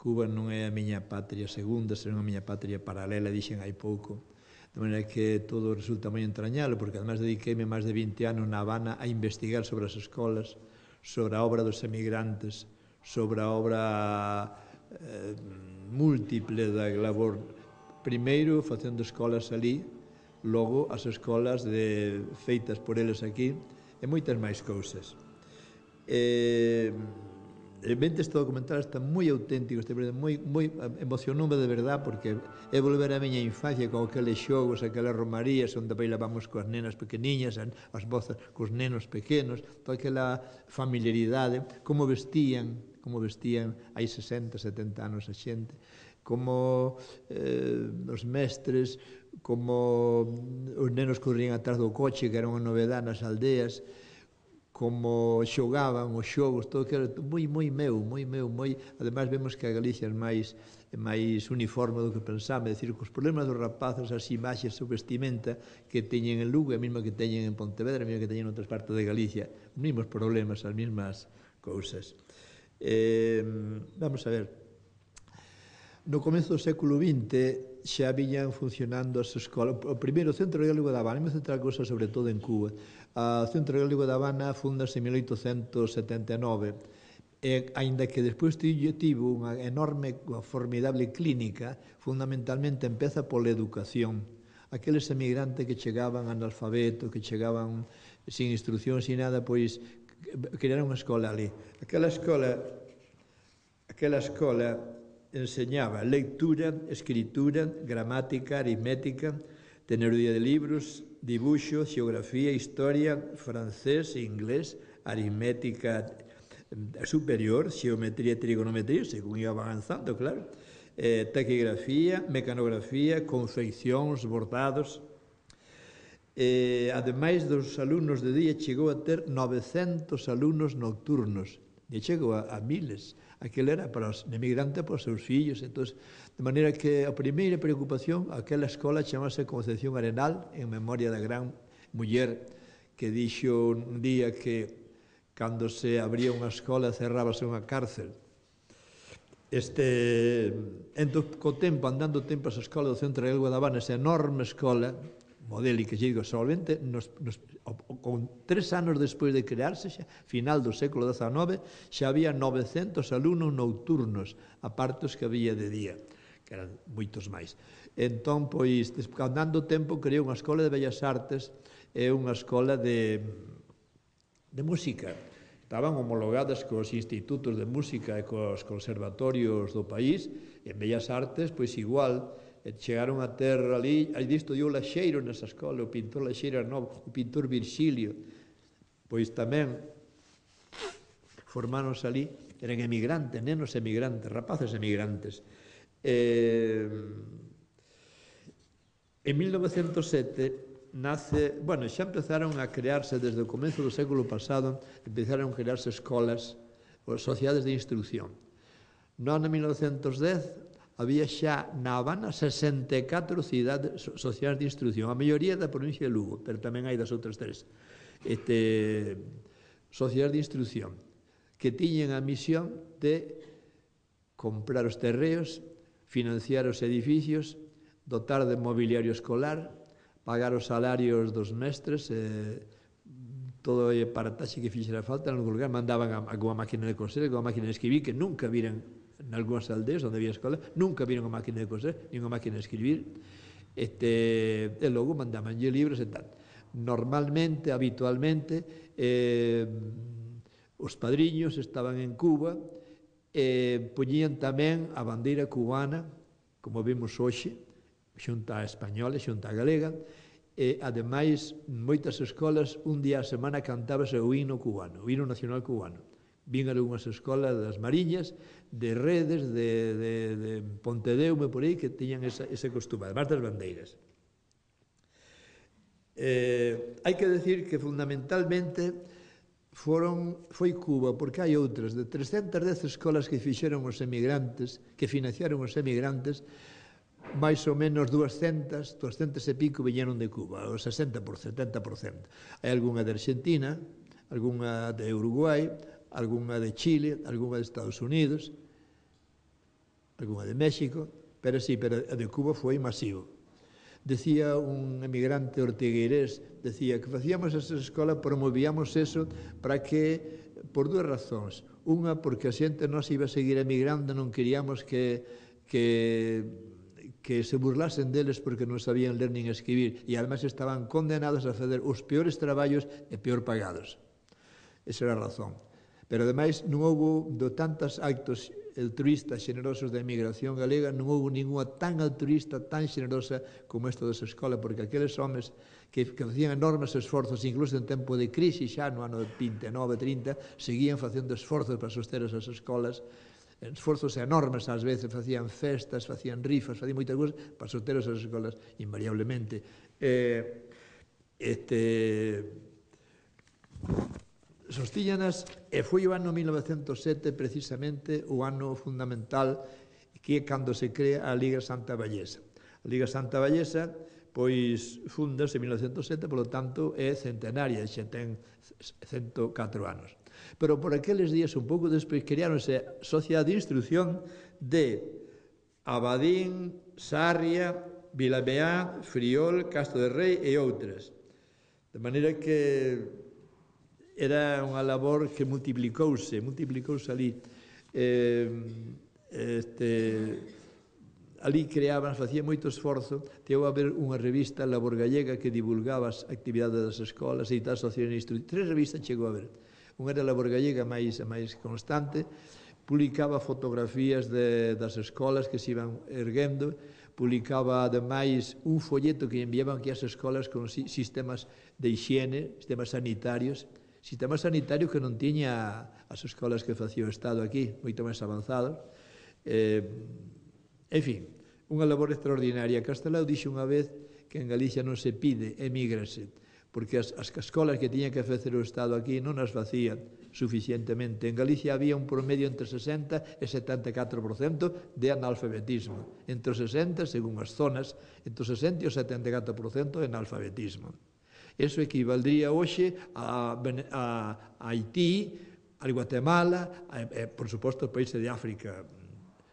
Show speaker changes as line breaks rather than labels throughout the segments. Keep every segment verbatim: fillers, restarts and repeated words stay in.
Cuba non é a miña patria segunda, senón a miña patria paralela, dixen hai pouco. De maneira que todo resulta moi entrañable, porque además dediqueime máis de vinte anos na Habana a investigar sobre as escolas, sobre a obra dos emigrantes, sobre a obra eh, múltiple da labor. Primeiro, facendo escolas ali, logo as escolas de, feitas por eles aquí, e moitas máis cousas. E, realmente este documental está moi auténtico, este moi, moi emocionoume de verdad, porque é volver a miña infancia con aqueles xogos, aquelas romarías onde bailábamos coas nenas pequeniñas, as vozas cos nenos pequenos, toda aquela familiaridade, como vestían, como vestían hai sesenta, setenta anos a xente, como eh, os mestres, como os nenos corrían atrás do coche, que era unha novedade nas aldeas, como xogaban os xogos, todo que era moi, moi meu, moi meu, moi... Ademais, vemos que a Galicia é máis, é máis uniforme do que pensamos, é dicir, que os problemas dos rapazes, as imaxes, a vestimenta que teñen en Lugo, a mesma que teñen en Pontevedra, a mesma que teñen en outras partes de Galicia, os mesmos problemas, as mesmas cousas. Eh, vamos a ver, no comezo do século vinte xa viñan funcionando as escolas. O primeiro, o Centro Gaélico da Habana, me centrar cousas sobre todo en Cuba. O Centro Gaélico da Habana fundase en mil oitocentos setenta e nove, e, aínda que despois tivo unha enorme, unha formidable clínica, fundamentalmente empeza pola educación. Aqueles emigrantes que chegaban analfabetos, que chegaban sin instrucción, sin nada, pois crearon unha escola ali. Aquela escola, aquela escola enseñaba lectura, escritura, gramática, aritmética, teoría de libros, dibuixo, xeografía, historia, francés e inglés, aritmética superior, xeometría e trigonometría, según iba avanzando, claro, eh, taquigrafía, mecanografía, confeccións, bordados. Eh, ademais dos alumnos de día, chegou a ter novecentos alumnos nocturnos, e chegou a, a miles. Aquel era para os emigrantes, para os seus fillos. Entón, de maneira que a primeira preocupación, aquela escola chamase Concepción Arenal, en memoria da gran muller que dixo un día que cando se abría unha escola cerrábase unha cárcel. Este, entón, co tempo, andando o tempo, esa escola do Centro Gaélico da Habana, esa enorme escola modélica, que digo, solamente nos, nos, con tres anos despois de crearse, xa, final do século dezanove, xa había novecentos alumnos nocturnos, aparte os que había de día, que eran moitos máis. Entón, pois, andando o tempo, creou unha escola de Bellas Artes e unha escola de, de música. Estaban homologadas cos institutos de música e cos conservatorios do país, e en Bellas Artes, pois igual, chegaron a ter ali, aí disto dio Laxeiro nesa escola, o pintor Laxeiro era novo, o pintor Virxilio, pois tamén formáronse ali, eran emigrantes, nenos emigrantes, rapaces emigrantes. Eh, en mil novecentos sete nace, bueno, xa empezaron a crearse desde o comezo do século pasado, empezaron a crearse escolas, sociedades de instrucción. No ano mil novecentos dez había xa na Habana sesenta e catro cidades sociais de instrucción, a maioría da provincia de Lugo, pero tamén hai das outras tres, este, sociais de instrucción, que tiñen a misión de comprar os terreos, financiar os edificios, dotar de mobiliario escolar, pagar os salarios dos mestres, eh, todo o aparataxe que fixera falta, en algún lugar mandaban a, a unha máquina de coser, a unha máquina de escribir, que nunca viran en algúnas aldeas onde había escola, nunca viron a máquina de coser, nin a máquina de escribir, este, e logo mandabanlle libros e tal. Normalmente, habitualmente, eh, os padriños estaban en Cuba e poñían tamén a bandeira cubana, como vimos hoxe, xunta a española, xunta a galega, e, ademais, moitas escolas, un día a semana cantábase o himno cubano, o himno nacional cubano. Vin algunhas escolas das Mariñas, de Redes, de, de, de Pontedeume, por aí, que tiñan esa, ese costume, además das bandeiras. Eh, hai que decir que, fundamentalmente, foron, foi Cuba, porque hai outras, de trescentas e dez escolas que fixeron os emigrantes, que financiaron os emigrantes, máis ou menos duascentas, duascentas e pico viñeron de Cuba, o sesenta por cento, setenta por cento. Hai algunha de Argentina, algunha de Uruguai, algunha de Chile, algunha de Estados Unidos. algunha de México, pero sí, pero a de Cuba foi masivo. Decía un emigrante ortigueirés, decía que facíamos esa escola, promovíamos eso para que, por dúas razóns. Unha, porque a xente nos iba a seguir emigrando, non queríamos que, que, que se burlasen deles porque non sabían ler nin escribir, e ademais estaban condenados a fazer os peores traballos e peor pagados. Esa era a razón. Pero, ademais, non houve do tantos actos altruistas xenerosos da emigración galega, non houve ninguna tan altruista, tan xenerosa como esta desa escola, porque aqueles homes que, que facían enormes esforzos, incluso en tempo de crise, xa no ano vinte e nove, trinta, seguían facendo esforzos para soster esas escolas, esforzos enormes, ás veces facían festas, facían rifas, facían moitas cousas para soster esas escolas, invariablemente. Eh, este... Sostíllanas, e foi o ano mil novecentos sete precisamente o ano fundamental que é cando se crea a Liga Santa Vallesa. A Liga Santa Vallesa pois fundase en mil novecentos sete, polo tanto é centenaria, xa ten cento catro anos. Pero por aqueles días, un pouco despois, creáronse a Sociedade de Instrucción de Abadín, Sarria, Vilameá, Friol, Castro de Rei e outras. De maneira que era unha labor que multiplicouse, multiplicouse ali. Eh, este, ali creaban, facía moito esforzo, teo a ver unha revista, Labor Gallega, que divulgaba as actividades das escolas, e tal, Sociedade de Instrucción. Tres revistas chegou a ver. Unha era Labor Gallega, máis, máis constante, publicaba fotografías de, das escolas que se iban erguendo, publicaba, ademais, un folleto que enviaban aquí ás escolas con sistemas de higiene, sistemas sanitarios, sistema sanitario que non tiña as escolas que facía o Estado aquí, moito máis avanzados. Eh, en fin, unha labor extraordinaria. Castelao dixo unha vez que en Galicia non se pide, emígrase, porque as, as escolas que tiña que facer o Estado aquí non as facía suficientemente. En Galicia había un promedio entre sesenta e setenta e catro por cento de analfabetismo. Entre os sesenta, según as zonas, entre os sesenta e o setenta e catro por cento de analfabetismo. Eso equivaldría hoxe a, a, a Haití, a Guatemala, a, a, por suposto, os países de África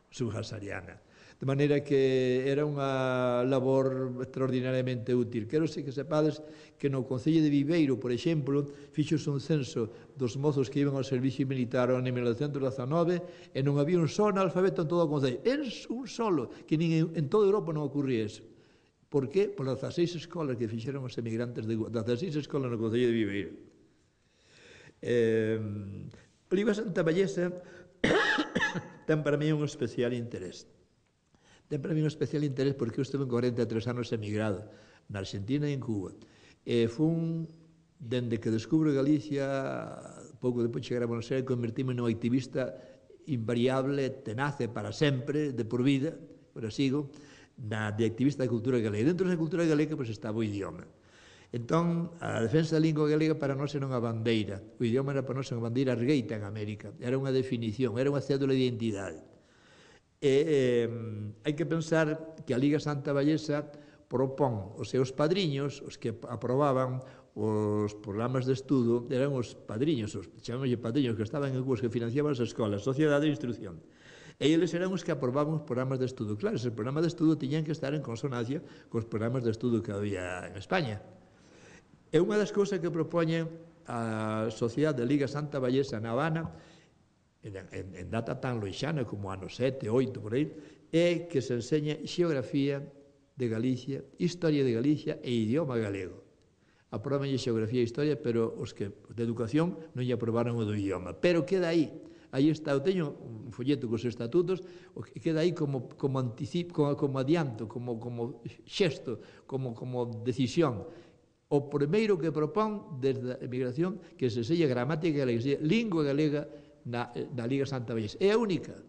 subsahariana. De maneira que era unha labor extraordinariamente útil. Quero que sepades que no Concello de Viveiro, por exemplo, fixose un censo dos mozos que iban ao servicio militar en mil novecentos dezanove e non había un só analfabeto en todo o Concello. Era un solo, que nin en toda Europa non ocurría eso. Por que? Por as dezaseis escolas que fixeron os emigrantes de dezaseis escolas no Concello de Viveiro. Eh, a Liga Santa Vallesa ten para mí un especial interés. Ten para mí un especial interés porque eu estuve en cuarenta e tres anos emigrado na Argentina e en Cuba. E fun, dende que descubro Galicia, pouco depois chegar a Buenos Aires, convertíme num activista invariable, tenace para sempre, de por vida, pero sigo, na, de activista da cultura galega. Dentro da cultura galega pois, estaba o idioma. Entón, a defensa da lingua galega para nós era unha bandeira. O idioma era para nós unha bandeira ergueita en América. Era unha definición, era unha cédula de identidade. E eh, hai que pensar que a Liga Santa Vallesa propón os seus padriños, os que aprobaban os programas de estudo, eran os padriños, os chamámoslle padriños, que estaban en Cuba, que financiaban as escolas, Sociedade de Instrucción. E eles eran os que aprobaban os programas de estudo. Claro, esos programas de estudo tiñan que estar en consonancia cos programas de estudo que había en España. E unha das cousas que propoñen a Sociedade de Liga Santa Vallesa na Habana, en, en, en data tan loixana como ano sete, oito, por aí, é que se enseña xeografía de Galicia, historia de Galicia e idioma galego. Aproban xeografía e historia, pero os que de educación non lle aprobaron o do idioma. Pero queda aí. Aí está, eu teño un folleto cos estatutos, que queda aí como, como, anticipo, como, como adianto, como, como xesto, como, como decisión. O primeiro que propón desde a emigración que se sella gramática galega, que se lingua galega na, na Liga Santa Vallesa. É a única.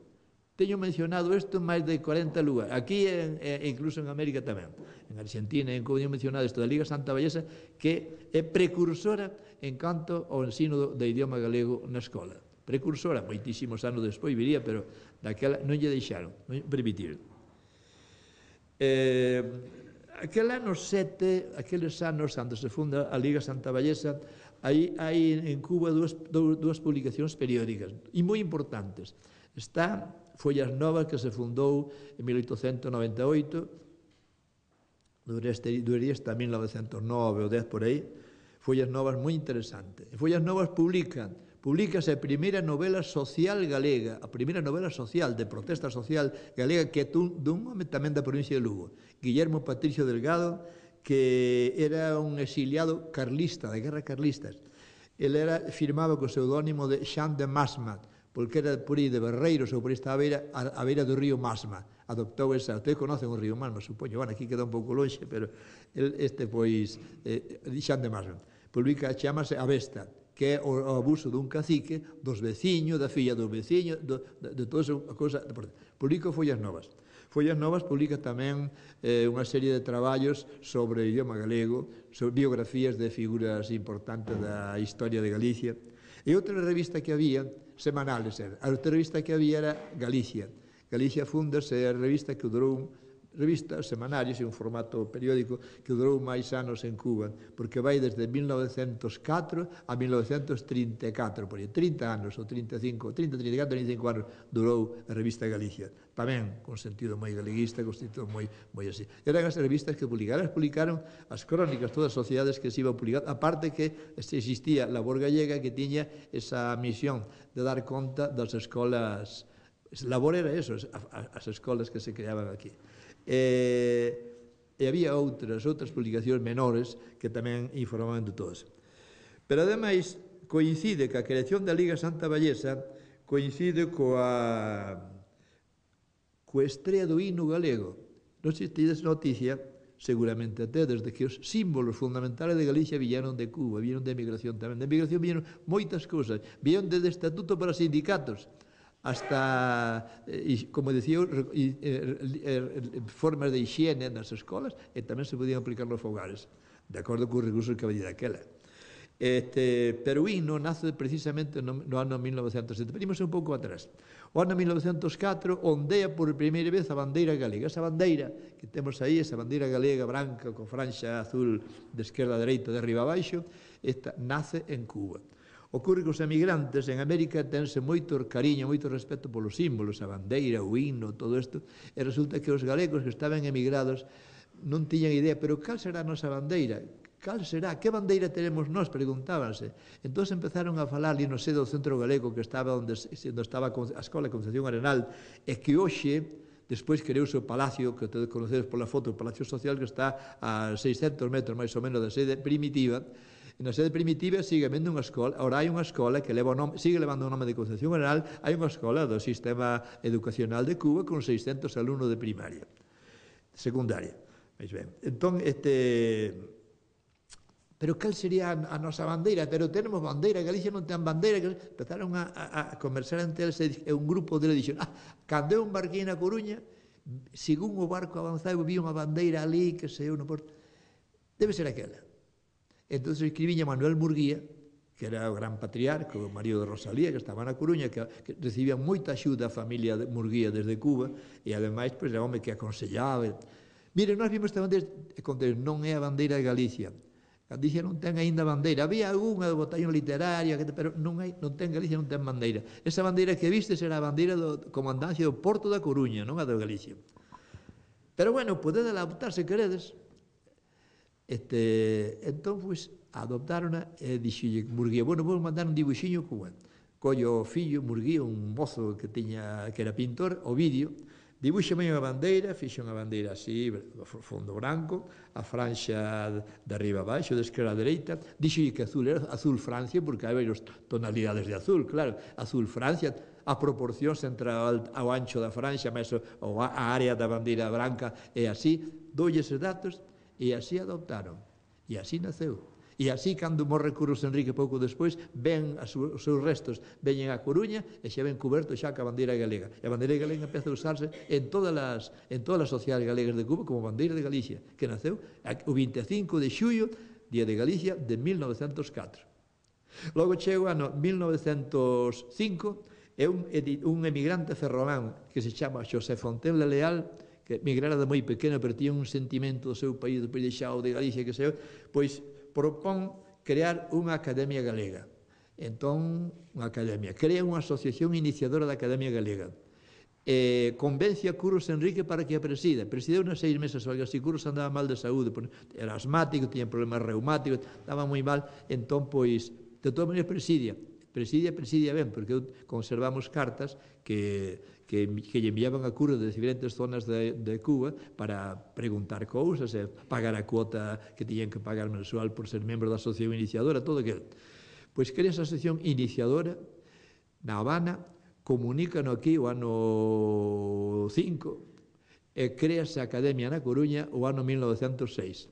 Teño mencionado isto en máis de cuarenta lugares. Aquí e, e incluso en América tamén. En Argentina, en como teño mencionado isto da Liga Santa Vallesa, que é precursora en canto ao ensino do, do idioma galego na escola. Precursora, moitísimos anos despois viría, pero daquela non lle deixaron, non lle permitiron. Eh, aquel ano sete, aqueles anos cando se funda a Liga Santa Vallesa, hai, hai en Cuba dúas, dúas publicacións periódicas, e moi importantes. Está Follas Novas, que se fundou en mil oitocentos noventa e oito, duraría hasta mil novecentos nove ou dez por aí. Follas Novas moi interesante. En Follas Novas publican, publicase a primeira novela social galega, a primeira novela social, de protesta social galega, que é dun home tamén da provincia de Lugo, Guillermo Patricio Delgado, que era un exiliado carlista, de guerra carlistas. Ele era, firmaba co pseudónimo de Xan de Masma, porque era por aí de Barreiros ou por esta beira, a, a beira do río Masma. Adoptou esa, ustedes conocen o río Masma, supoño, bueno, aquí queda un pouco longe, pero el, este, pois, eh, Xan de Masma. Publica, chamase Avesta, que é o, o abuso dun cacique, dos veciños, da filla dos veciños, do, de, de toda esa cosa. Publica Follas Novas. Follas Novas publica tamén eh, unha serie de traballos sobre o idioma galego, sobre biografías de figuras importantes da historia de Galicia. E outra revista que había, semanales era, a outra revista que había era Galicia. Galicia Fundas é a revista que durou, revista semanarios, en un formato periódico, que durou máis anos en Cuba, porque vai desde mil novecentos catro a mil novecentos trinta e catro, por aí, trinta anos, ou trinta e cinco, trinta, trinta e catro, trinta e cinco anos durou a revista Galicia, tamén con sentido moi galeguista, con sentido moi, moi así. Eran as revistas que publicaron, publicaron as crónicas, todas as sociedades que se iban publicar, aparte que existía a Labor Gallega, que tiña esa misión de dar conta das escolas. Labor era eso, as escolas que se creaban aquí. E, e había outras, outras publicacións menores que tamén informaban de todas. Pero, ademais, coincide que a creación da Liga Santa Vallesa coincide coa, coa estrea do himno galego. Non sei se tedes noticia, seguramente até, desde que os símbolos fundamentales de Galicia vieron de Cuba, vieron de emigración tamén. De emigración vieron moitas cousas, vieron desde estatuto para sindicatos, hasta, como decía, formas de higiene nas escolas, e tamén se podían aplicar nos fogares, de acordo con os recursos que había daquela. Este, pero o himno nace precisamente no, no ano mil novecentos sete. Venimos un pouco atrás. O ano mil novecentos catro ondea por primeira vez a bandeira galega. Esa bandeira que temos aí, esa bandeira galega branca con franxa azul de esquerda a dereita, de arriba a baixo, esta nace en Cuba. Ocorre que os emigrantes en América tense moito cariño, moito respeto polos símbolos, a bandeira, o himno, todo isto, e resulta que os galegos que estaban emigrados non tiñan idea, pero cal será a nosa bandeira? Cal será? Que bandeira teremos nós? Preguntábanse. Entón empezaron a falar ali no sede do Centro Galego, que estaba onde, onde estaba a Escola de Concepción Arenal, e que hoxe, despois creouse o Palacio, que te conocedes pola foto, o Palacio Social, que está a seiscentos metros máis ou menos da sede primitiva. Na sede primitiva sigue habendo unha escola, ora hai unha escola que leva o nome, sigue levando o nome de Concepción Arenal, hai unha escola do sistema educacional de Cuba con seiscentos alumnos de primaria, secundaria. Veis ben. Entón, este... pero cal sería a nosa bandeira? Pero tenemos bandeira, Galicia non ten bandeira. Empezaron a, a, a conversar entre eles, e un grupo deles dixeron, ah, cando eu embarquei na Coruña, según o barco avanzaba, vi unha bandeira ali, que se eu no porto, debe ser aquela. Entón escribía Manuel Murguía, que era o gran patriarca, o marido de Rosalía, que estaba na Coruña, que, que recibía moita axuda a familia de Murguía desde Cuba, e ademais, pois, era home que aconsellaba. Mire, nós vimos esta bandeira, e contei, non é a bandeira de Galicia. Galicia non ten aínda bandeira. Había algunha do botallón literaria, pero non, hai, non ten Galicia, non ten bandeira. Esa bandeira que viste será a bandeira do comandancia do Porto da Coruña, non a de Galicia. Pero, bueno, podedes adaptar se queredes. Este, entón, pois, adoptarona e dixille Murguía, bueno, vou mandar un dibuixinho cubano. Collo o fillo, Murguía, un mozo que tiña, que era pintor, o vídeo, dibuixame unha bandeira, fixe unha bandeira así, fondo branco, a franxa de arriba a baixo, de esquerda a dereita, dixille que azul era azul Francia, porque hai varias tonalidades de azul, claro, azul Francia, a proporcións entre o ancho da franxa, máis a área da bandeira branca, e así, doulle eses datos, e así adoptaron, e así naceu. E así, cando morre Curros Enrique pouco despois, ven os seus restos, veñen a Coruña e xa ven coberto xa ca bandeira galega. E a bandeira galega empeza a usarse en todas as, en todas as sociedades galegas de Cuba como bandeira de Galicia, que naceu o vinte e cinco de xullo, Día de Galicia, de mil novecentos catro. Logo chega o ano mil novecentos cinco, e un, un emigrante ferrolán que se chama Xosé Fontenla Leal, que migrara de moi pequeno, pero tiña un sentimento do seu país, do país de Xao, de Galicia, que sei, pois propón crear unha academia galega. Entón, unha academia. Crea unha asociación iniciadora da Academia Galega. eh, convence a Curros Enrique para que a presida. Presideu unas seis meses, porque así Curros andaba mal de saúde, era asmático, tiña problemas reumáticos, estaba moi mal, entón, pois, de todas maneiras presidia, presidia, presidia ben, porque conservamos cartas que, que, que lle enviaban a Curros de diferentes zonas de, de Cuba para preguntar cousas, e pagar a cuota que tiñan que pagar mensual por ser membro da asociación iniciadora, todo aquilo. Pois crea esa asociación iniciadora na Habana, comunícano aquí o ano cinco, e crease a Academia na Coruña o ano mil novecentos seis.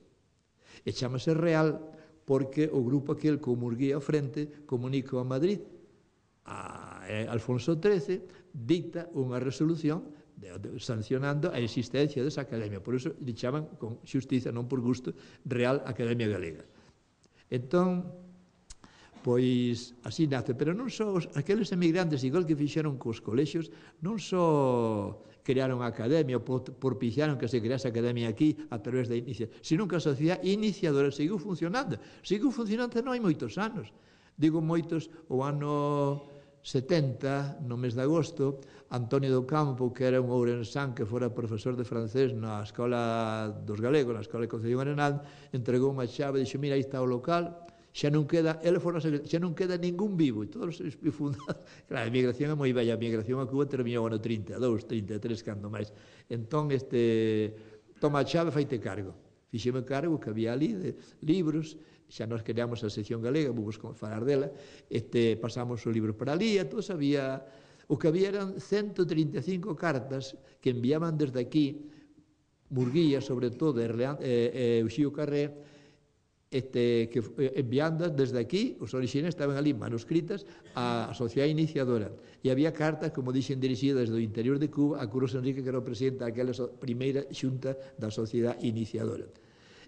E chamase Real porque o grupo aquel con Murguía ao frente comunica a Madrid, a Alfonso trece dicta unha resolución de, de, sancionando a existencia desa academia. Por iso lle chaman con xustiza, non por gusto, Real Academia Galega. Entón, pois así nace, pero non só os, aqueles emigrantes, igual que fixeron cos colexios, non só crearon a academia, ou propiciaron que se crease a academia aquí a través da iniciativa, sino que a sociedade iniciadora seguiu funcionando, seguiu funcionando non hai moitos anos, digo moitos, o ano setenta, no mes de agosto, Antonio do Campo, que era un ourensán que fora profesor de francés na Escola dos Galegos, na Escola de Concepción Arenal, entregou unha chave e dixo, mira, aí está o local, xa non queda, ele fora xa non queda ningún vivo, e todos os fundados, claro, a emigración é moi bella, a emigración a Cuba terminou ano trinta e dous, trinta e tres, cando máis, entón, este, toma a chave, faite cargo, fixeme cargo que había ali de libros, xa nos creamos a sección galega, vamos falar dela, este, pasamos os libros para ali, e todos había, o que había eran ciento trinta e cinco cartas que enviaban desde aquí, Murguía, sobre todo, e, e, e Uxío Carré, Este, que enviando desde aquí, os orixinais estaban ali manuscritas á sociedade iniciadora, e había cartas, como dixen, dirixidas do interior de Cuba a Curros Enrique, que era o presidente daquela primeira xunta da sociedade iniciadora.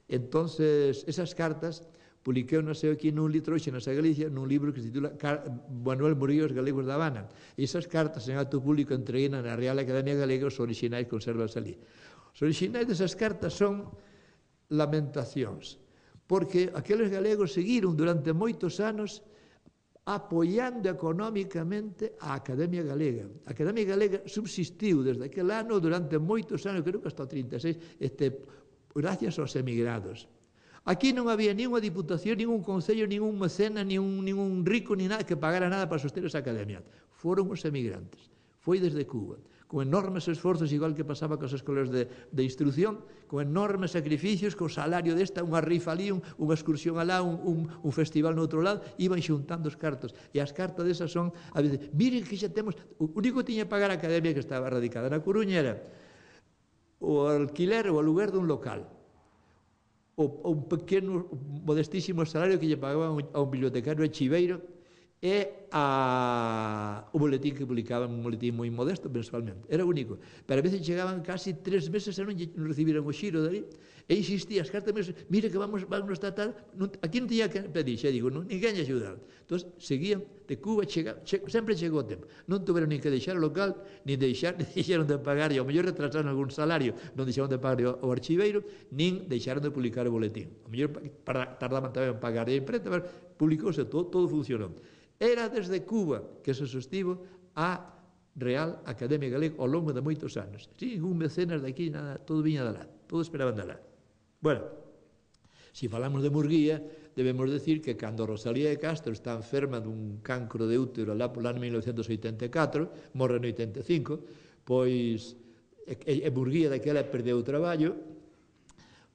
Entonces, esas cartas publiquei unhas aquí nun litro hoxe nasa Galicia, nun libro que se titula Manuel Murillo, os Galegos da Habana, e esas cartas en acto público entreguei na Real Academia Galega, os orixinais conservas ali. Os orixinais desas cartas son lamentacións, porque aqueles galegos seguiron durante moitos anos apoiando económicamente a Academia Galega. A Academia Galega subsistiu desde aquel ano durante moitos anos, creo que hasta o trinta e seis, este, gracias aos emigrados. Aquí non había nin unha diputación, nin un concello, nin un mecena, nin un, nin un rico, nin nada que pagara nada para soster esa academia. Foron os emigrantes. Foi desde Cuba, con enormes esforzos, igual que pasaba cos escolas de, de instrucción, con enormes sacrificios, con salario desta, unha rifa ali, un, unha excursión alá, un, un, un festival no outro lado, iban xuntando os cartos. E as cartas desas son, a veces, miren que xa temos, o único que tiña que pagar a academia que estaba radicada na Coruña era o alquiler ou aluguer dun local, o, o un pequeno, modestísimo salario que lle pagaban a un bibliotecario chiveiro, e a, o boletín que publicaban, un boletín moi modesto mensualmente, era único, pero a veces chegaban casi tres meses e non, non recibiran o xiro dali, e insistía, as cartas meses, mire que vamos, vamos tratar, non, aquí non tiña que pedir, xa digo, non, ninguén lle axudaba, entón seguían de Cuba, chega, che, sempre chegou o tempo, non tuveron nin que deixar o local, nin deixar, nin deixaron de pagar, e ao mellor retrasaron algún salario, non deixaron de pagar o, o archiveiro, nin deixaron de publicar o boletín, ao mellor tardaban tamén en pagar a imprenta, pero publicouse, todo, todo funcionou. Era desde Cuba que se sostivo a Real Academia Galega ao longo de moitos anos. Sin ningún mecenas de aquí, nada, todo viña de lá, todo esperaban de lá. Bueno, se falamos de Murguía, debemos decir que cando Rosalía de Castro está enferma dun cancro de útero lá por ano mil novecentos oitenta e catro, morre no oitenta e cinco, pois e, e Murguía daquela perdeu o traballo,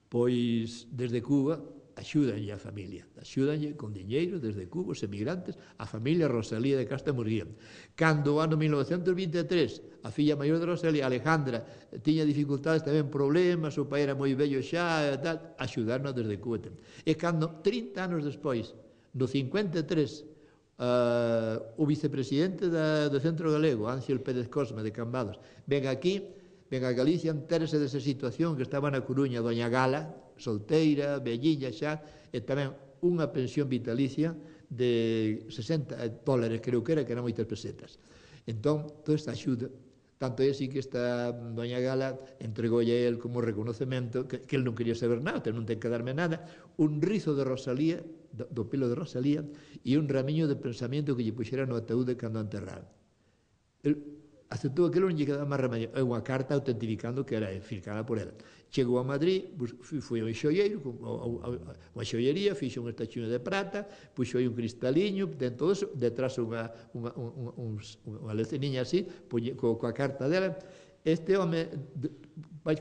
pois desde Cuba axúdanlle a familia, axúdanlle con diñeiro desde Cuba, os emigrantes, a familia Rosalía de Castro Murguía. Cando o ano mil novecentos vinte e tres, a filla maior de Rosalía, Alejandra, tiña dificultades, tamén problemas, o pai era moi vello xa, e tal, axudarnos desde Cuba. E cando, trinta anos despois, no cincuenta e tres, uh, o vicepresidente da, do Centro Galego, Ángel Pérez Cosme, de Cambados, ven aquí, ven a Galicia, entérese desa situación que estaba na Coruña, doña Gala, solteira, velliña xa, e tamén unha pensión vitalicia de sesenta dólares, creo que era, que eran moitas pesetas. Entón, toda esta axuda, tanto é así que esta doña Gala entregoulle a él como reconocemento, que, que él non quería saber nada, non ten que darme nada, un rizo de Rosalía, do, do pelo de Rosalía, e un ramiño de pensamento que lle puxera no ataúde cando enterraron. El, aceptou aquilo, non lle quedaba máis remedio. É unha carta autentificando que era firmada por ela. Chegou a Madrid, foi ao xoieiro, unha xoiería, fixo un estachuño de prata, puxo aí un cristaliño, dentro disso, detrás unha, unha, unha, unha leceniña así, coa carta dela. Este home,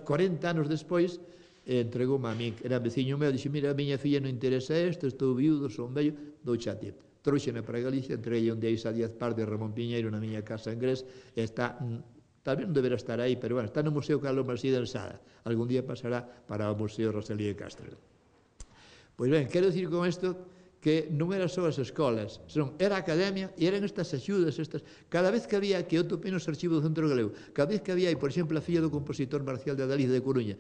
cuarenta anos despois, entregou-me a min, era veciño meu, dixe, mira, a miña filla non interesa isto, estou viudo, son vello, douche a ti. Trouxena para Galicia, entreguei un día a Díaz Pardo e Ramón Piñeiro na miña casa en Grés, e está... tal vez non deberá estar aí, pero bueno, está no Museo Carlos Marsí de Ensada. Algún día pasará para o Museo Rosalía de Castro. Pois ben, quero dicir con isto que non era só as escolas, senón era a academia e eran estas axudas, estas, cada vez que había, que eu topei nos archivos do Centro Galego, cada vez que había, por exemplo, a filla do compositor Marcial de Adaliz de Coruña,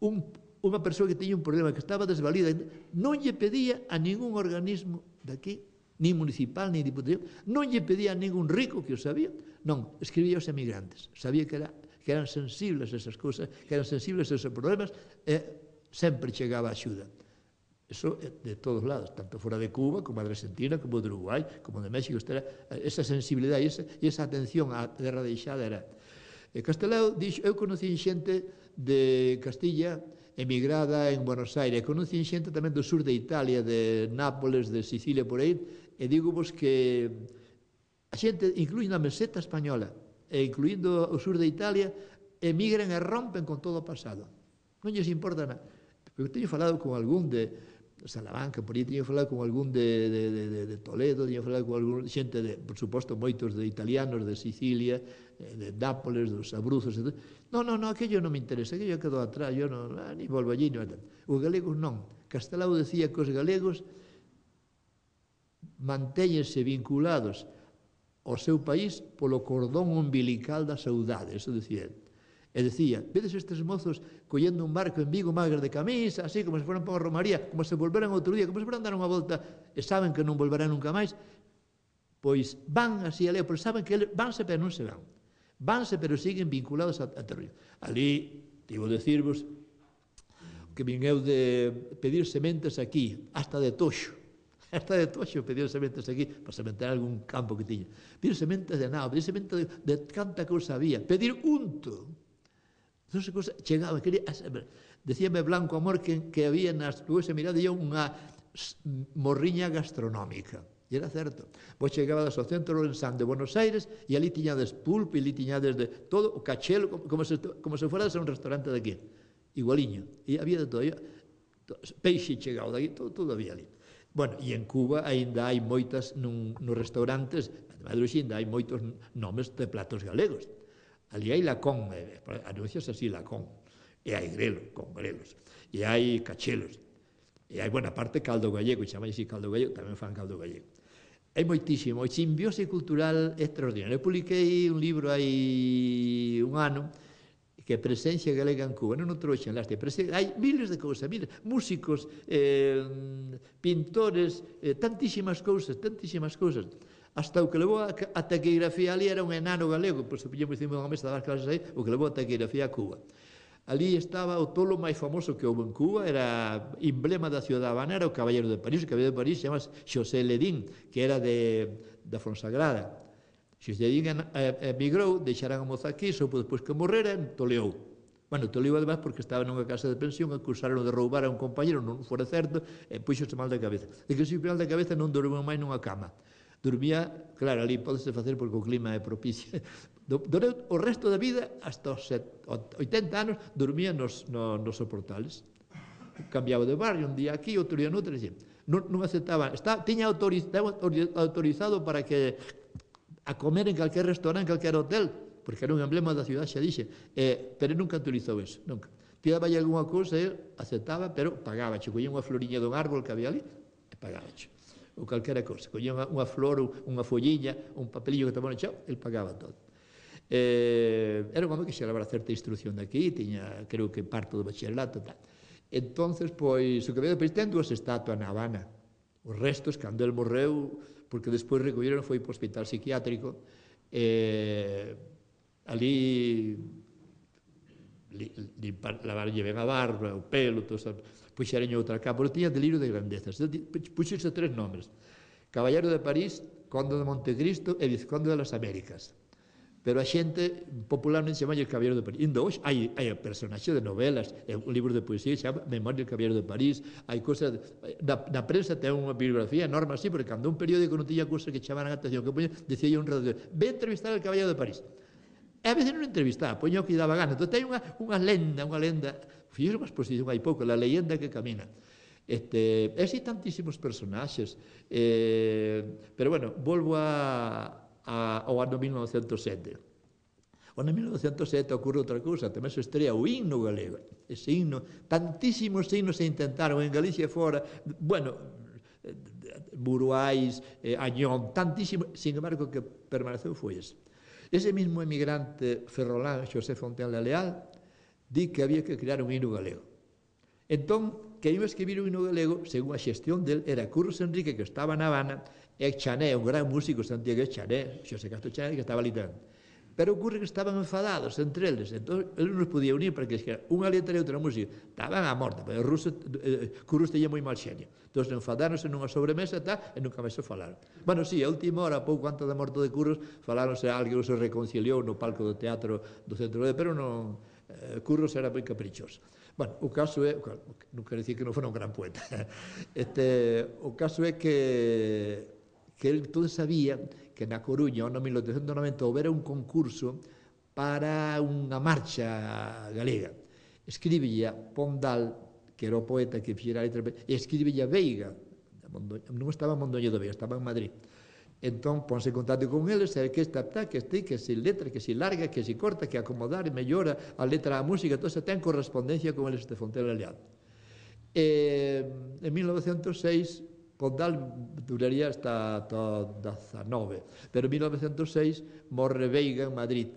un, unha persoa que tiña un problema, que estaba desvalida, non lle pedía a ningún organismo daqui, nin municipal, nin diputación, non lle pedía a ningún rico que o sabía, non, escribía aos emigrantes, sabía que, era, que eran sensibles a esas cousas, que eran sensibles a esos problemas, e sempre chegaba a axuda. Eso de todos lados, tanto fora de Cuba, como de Argentina, como de Uruguai, como de México, esa sensibilidade e esa, esa atención á terra deixada era. E Castelao, dixo, eu conocí xente de Castilla emigrada en Buenos Aires, conocí xente tamén do sur de Italia, de Nápoles, de Sicilia, por aí, e digo vos que a xente, incluindo a meseta española, e incluindo o sur de Italia, emigran e rompen con todo o pasado. Non lles importa nada. Eu teño falado con algún de Salamanca, por aí teño falado con algún de, de, de, de Toledo, teño falado con algún xente, de, por suposto, moitos de italianos, de Sicilia, de Nápoles, dos Abruzos, etc. Non, non, non, aquello non me interesa, aquello quedou atrás, yo non, ah, ni volvo allí, non. Os galegos non. Castelao decía que os galegos mantéñense vinculados ao seu país polo cordón umbilical da saudade, eso decía ele. E decía, vedes estes mozos collendo un barco en Vigo magres de camisa, así como se foran para a Romaría, como se volveran outro día, como se foran dar unha volta e saben que non volverán nunca máis, pois van así a leo, pero saben que vanse pero non se van. Vanse pero siguen vinculados a, a territorio. Ali, digo decirvos, que vin eu de pedir sementes aquí, hasta de toxo, hasta de toxo pedir sementes aquí, para sementar algún campo que tiña. Pedir sementes de nao, pedir sementes de, de canta cousa había, pedir unto. Entonces, cosa, chegaba, quería, decíame Blanco Amor que, que había nas ruas e mirade eu unha morriña gastronómica. E era certo. Pois chegaba ao centro Lorenzán de Buenos Aires e ali tiñades pulpo e ali tiñades de todo, o cachelo, como, como, se, como se fuera de ser un restaurante daqui. Igualiño. E había de todo. Peixe chegado daqui, todo, todo había ali. Bueno, e en Cuba ainda hai moitas, nun, nos restaurantes, además de ainda hai moitos nomes de platos galegos. Ali hai lacón, anuncias así lacón, e hai grelo, con grelos, e hai cachelos, e hai, buena parte, caldo gallego, chamai así caldo gallego, tamén fan caldo gallego. Hai moitísimo, a simbiose cultural extraordinaria. Eu publiquei un libro hai un ano, que é Presencia Galega en Cuba, non o trouxen, láste, hai miles de cousas, miles, músicos, eh, pintores, eh, tantísimas cousas, tantísimas cousas. Hasta o que levou a, a taquigrafía ali era un enano galego, pois se pillamos encima dunha mesa das clases aí, o que levou a taquigrafía a Cuba. Ali estaba o tolo máis famoso que houve en Cuba, era emblema da ciudad habanera, o Caballero de París, o Caballero de París se chama Xosé Ledín, que era de, da Fonsagrada. Xosé Ledín emigrou, deixaran a moza aquí, soupo despois que morrera, toleou. Bueno, toleou además porque estaba nunha casa de pensión, acusaron de roubar a un compañero, non fora certo, e puxose mal da cabeza. De que se mal da cabeza non dormeu máis nunha cama. Dormía, claro, ali podese facer porque o clima é propicio. Durante o resto da vida, hasta os oitenta anos, dormía nos, nos, nos soportales. Cambiaba de barrio, un día aquí, outro día noutro, non, non aceptaba. Está, tiña autorizado, autorizado para que a comer en calquer restaurante, en calquer hotel, porque era un emblema da ciudad, xa dixe, eh, pero nunca autorizou eso, nunca. Pidaba alguna cousa, ele aceptaba, pero pagaba. Collía unha floriña dun árbol que había ali, e pagaba. Ou calquera cousa, collía unha, unha flor, unha folliña, un papelillo que tomaba no chao, el pagaba todo. Eh, era un home que xeraba certa instrucción daqui, tiña, creo que parto do bacharelato, tal. Entonces, pois, o que veio depois ten dúas estatuas na Habana. Os restos, cando el morreu, porque despois recolleron, foi para o hospital psiquiátrico, eh, ali lavarlle ben a barba, o pelo, todo eso, puxereño outra capa, porque tiña delirio de grandezas. Puxerse tres nomes: Caballero de París, Conde de Montecristo e Vizconde de las Américas. pero a xente popularmente chama o Caballero de París. Indo hoxe hai, hai personaxe de novelas, un libro de poesía que chama Memoria del Caballero de París, hai cosas, na, na prensa ten unha bibliografía enorme así, porque cando un periódico non tiña cosas que chamaran a atención, que poña, decía un redactor, ve entrevistar al Caballero de París. E a veces non entrevistaba, poña o que daba gana. Entón ten unha, unha lenda, unha lenda, fixo unha exposición hai pouco, la leyenda que camina. Este, e así tantísimos personaxes, eh, pero bueno, volvo a A, ao ano mil novecentos e sete. O ano mil novecentos e sete ocorre outra cousa, tamén se estrea o himno galego. Ese himno, tantísimos himnos se intentaron en Galicia e fora, bueno, Buruais, eh, Añón, tantísimos, sin embargo, que permaneceu foi ese. Ese mismo emigrante ferrolán, Xosé Fontenla Leal, di que había que crear un himno galego. Entón, que iba a escribir un himno galego, según a xestión del, era Curros Enrique, que estaba na Habana, e Chané, un gran músico santiagués, Chané, Xosé Castro Chané, que estaba ali tamén. Pero ocurre que estaban enfadados entre eles, entón, eles non podía unir para que escribir unha letra e outra música. Estaban a morte, pero o ruso, eh, Curros teña moi mal xenio. Entón, enfadaronse nunha sobremesa tá, e nunca máis se falaron. Bueno, sí, a última hora, pouco antes da morte de Curros, falaronse a alguén se reconciliou no palco do teatro do Centro de, pero non, eh, Curros era moi caprichoso. Bueno, o caso é, non quero dicir que non fora un gran poeta, este, o caso é que que ele todo sabía que na Coruña, no mil oitocentos e noventa, houbera un concurso para unha marcha galega. Escríbella Pondal, que era o poeta que fixera a letra, e escríbella Veiga, non estaba en Mondoñedo de Veiga, estaba en Madrid. Entón, ponse en contacto con eles, e que esta, que este, que se letra, que se larga, que se corta, que acomodar, mellora a letra da música, todo se ten correspondencia con eles de Fontenla Leal. E, en mil novecentos e seis, Pondal duraría hasta o dezanove, pero en mil novecentos e seis morre Veiga en Madrid.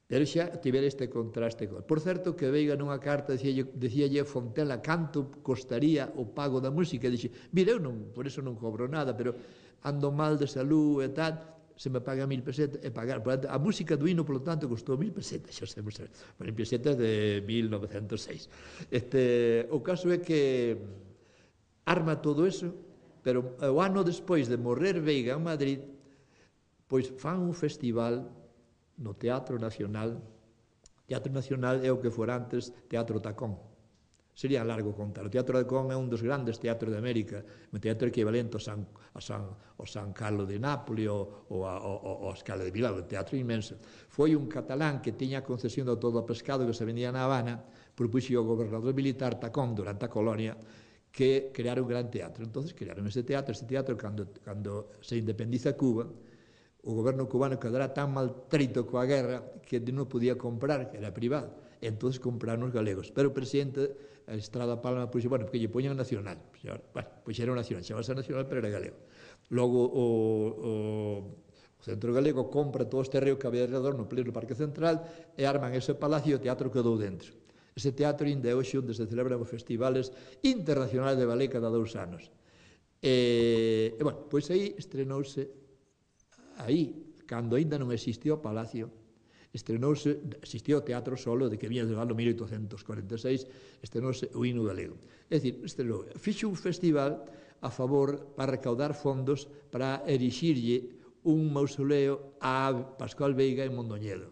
Pero xa tivera este contraste. Por certo, que Veiga nunha carta dicíalle a Fontenla canto costaría o pago da música, e dixe, mira, eu non, por eso non cobro nada, pero ando mal de salud e tal, se me paga mil pesetas e pagar. A música do hino, polo tanto, costou mil pesetas, xa sabemos, mil pesetas de mil novecentos e seis. Este, o caso é que arma todo eso, pero o ano despois de morrer Veiga en Madrid, pois fan un festival no Teatro Nacional. Teatro Nacional é o que fora antes Teatro Tacón. Sería largo contar. O Teatro Tacón é un dos grandes teatros de América, un teatro equivalente ao San, ao San, ao San Carlo de Nápoles ou ao Scala de Milán, un teatro inmenso. Foi un catalán que tiña a concesión de todo o pescado que se vendía na Habana, propuxo ao gobernador militar Tacón durante a colonia que crear un gran teatro. Entonces crearon ese teatro, ese teatro cando, cando se independiza Cuba, o goberno cubano quedará tan maltrito coa guerra que non podía comprar, que era privado. Entonces compraron os galegos. Pero o presidente Estrada Palma puxo, bueno, porque lle poñan nacional. Bueno, pois era nacional, chamase nacional, pero era galego. Logo o, o, o Centro Galego compra todo este terreo que había alrededor no pleno Parque Central e arman ese palacio e o teatro quedou dentro. Ese teatro ainda é hoxe onde se celebran os festivales internacionais de ballet cada dous anos. E, e bueno, pois aí estrenouse, aí, cando ainda non existía o palacio, estrenouse, existía o teatro solo, de que viña do ano mil oitocentos cuarenta e seis, estrenouse o hino galego. É dicir, estrenou, fixo un festival a favor para recaudar fondos para erixirlle un mausoleo a Pascual Veiga en Mondoñedo.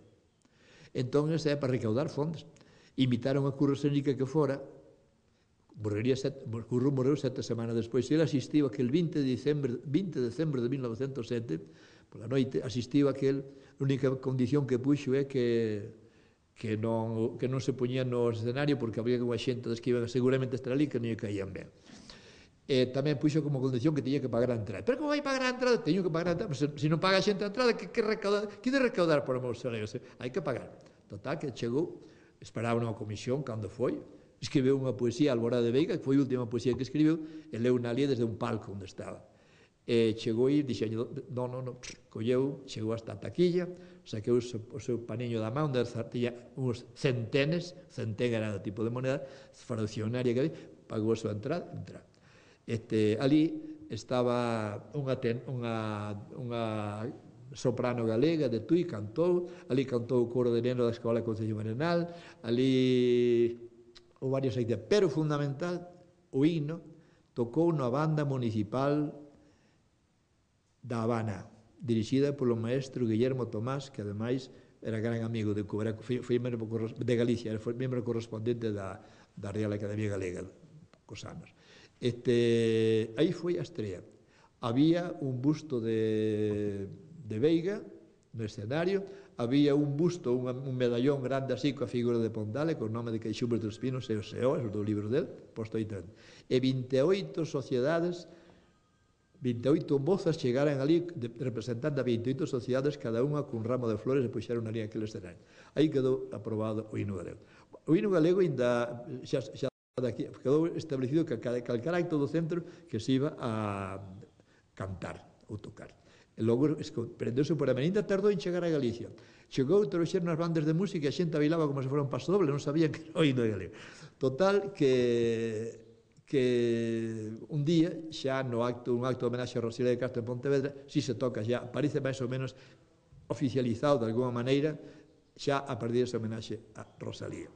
Entón, ese é para recaudar fondos. Invitaron a Curros Enrique que fora, morrería sete, Curro morreu sete semanas despois, e ele asistiu aquel vinte de decembro de mil novecentos e sete, pola noite, asistiu aquel, a única condición que puxo é que que non, que non se poñía no escenario porque había unha xente que iban seguramente a estar ali que non lle caían ben. E tamén puxo como condición que tiña que pagar a entrada. Pero como vai pagar a entrada? Teño que pagar a entrada. Se, se non paga a xente a entrada, que, que recaudar? Que de recaudar por o mausoleo? Hai que pagar. Total, que chegou, esperaba unha comisión cando foi, escribeu unha poesía, Alborada de Veiga, que foi a última poesía que escribeu, e leu na ali desde un palco onde estaba. E chegou aí, dixeño, non, non, non, colleu, chegou hasta a taquilla, saqueu o seu, o seu paniño da mão, onde tiña uns centenes, centén era o tipo de moneda, fraccionaria que había, pagou a súa entrada, entrada. Este, ali estaba unha, ten, unha, unha soprano galega de Tui, cantou, ali cantou o coro de neno da Escola de Concello Marenal, ali ou varios aí, pero fundamental, o himno tocou na banda municipal da Habana, dirixida polo maestro Guillermo Tomás, que ademais era gran amigo de Cuba, foi membro de Galicia, foi membro correspondente da, da Real Academia Galega, cos anos. Este, aí foi a estrella. Había un busto de, de Veiga no escenario, había un busto, un, un medallón grande así coa figura de Pondale, con o nome de Queixumbres dos Pinos e o Seo, os do libro del, posto aí dentro. E vinte e oito sociedades, vinte e oito mozas chegaran ali representando a vinte e oito sociedades, cada unha cun ramo de flores, e puxeron ali aquele escenario. Aí quedou aprobado o hino galego. O hino galego ainda xa, xa daqui, quedou establecido que calcar acto do centro que se iba a cantar ou tocar. E logo prendeuse por a menina, tardou en chegar a Galicia. Chegou, trouxeron as bandas de música e a xente bailaba como se fora un paso doble, non sabían que era o hino galego. Total, que que un día, xa no acto, un acto de homenaxe a Rosalía de Castro en Pontevedra, si se toca xa, parece máis ou menos oficializado de alguma maneira, xa a partir desa homenaxe a Rosalía.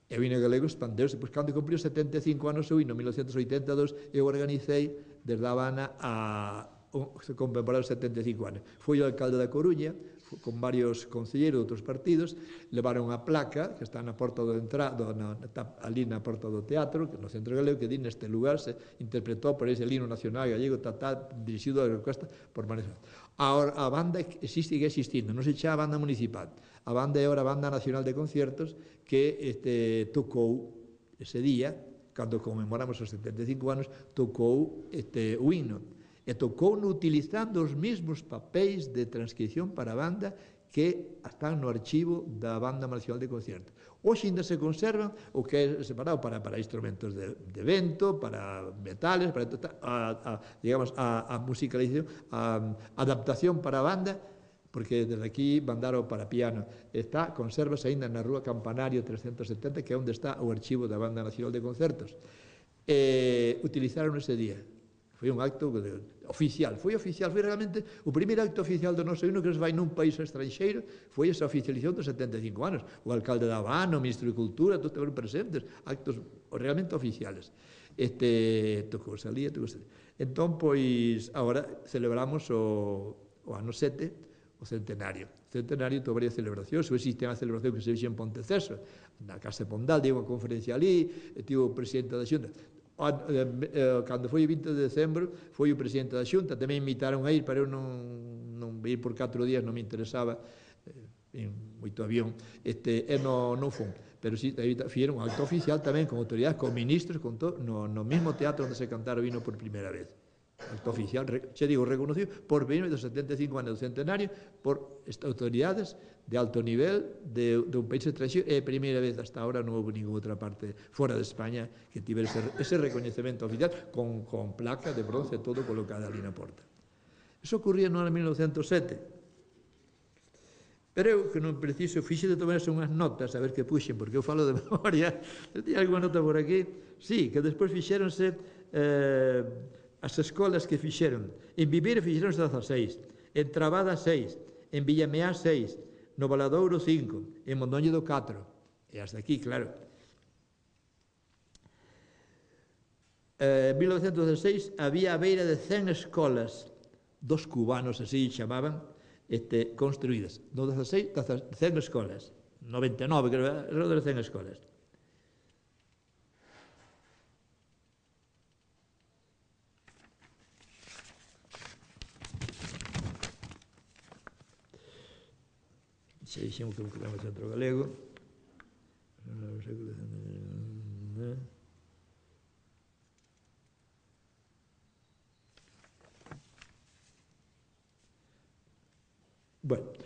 E o hino galego expandeuse, pois cando cumpriu setenta e cinco anos o hino, en mil novecentos oitenta e dous, eu organicei desde A Habana a se conmemorar os setenta e cinco anos. Foi o alcalde da Coruña, con varios concelleiros de outros partidos, levaron a placa que está na porta do entrado, na, ali na porta do teatro, no centro galego, que di neste lugar se interpretou por ese himno nacional gallego, tatá, dirixido a orquesta por Manuel. A, a banda existe e existindo, non se chama banda municipal. A banda é ahora a Banda Nacional de Conciertos, que este, tocou ese día, cando conmemoramos os setenta e cinco anos, tocou este, o himno. E tocou utilizando os mesmos papéis de transcripción para a banda que están no archivo da Banda Nacional de Conciertos. Hoxe ainda se conservan o que é separado para, para instrumentos de, de vento, para metales, para a, a, digamos, a, a musicalización, a, a adaptación para a banda, porque desde aquí mandaron para piano. Está, consérvase ainda na Rúa Campanario trescentos setenta, que é onde está o archivo da Banda Nacional de Concertos. E utilizaron ese día. Foi un acto oficial, foi oficial, foi realmente o primeiro acto oficial do noso hino que se vai nun país estranxeiro, foi esa oficialización dos setenta e cinco anos. O alcalde da Habana, o ministro de Cultura, todos estaban presentes, actos realmente oficiales. Este, tocou salía, tocou salía. Entón, pois, agora celebramos o, o ano sete, o centenario. O centenario ten varias celebracións, existe unha celebración que se fixe en Ponteceso, na Casa de Pondal, digo unha conferencia ali, tivo o presidente da Xunta. Cando foi o vinte de decembro foi o presidente da Xunta, tamén invitaron a ir, pero eu non, non ir por catro días non me interesaba, en moito avión, este, e non, non fun, pero si fixeron un acto oficial tamén con autoridades, con ministros, con todo, no, no mesmo teatro onde se cantara o hino por primeira vez. Acto oficial, xa digo, reconocido por vino dos setenta e cinco anos do centenario por autoridades de alto nivel de, de un país estranxeiro, e a primeira vez hasta ahora non houve ninguna outra parte fora de España que tivera ese, ese recoñecemento oficial con, con placa de bronce todo colocada ali na porta. Eso ocurría no ano mil novecentos sete, pero eu que non preciso fixe de tomarse unhas notas a ver que puxen, porque eu falo de memoria. Tem alguna nota por aquí? Sí, que despois fixéronse eh, as escolas que fixeron. En Viveiro fixeronse dezaseis, en Trabada seis, en Villameá seis, no Valadouro cinco, en Mondoño do catro, e hasta aquí, claro. En mil novecentos dezaseis había a beira de cen escolas, dos cubanos así chamaban, este, construídas. No dezaseis, cen escolas, noventa e nove, creo, alrededor de cen escolas. Se dixemos que buscamos o centro galego. Bueno,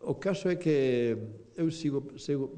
o caso é que eu sigo, sigo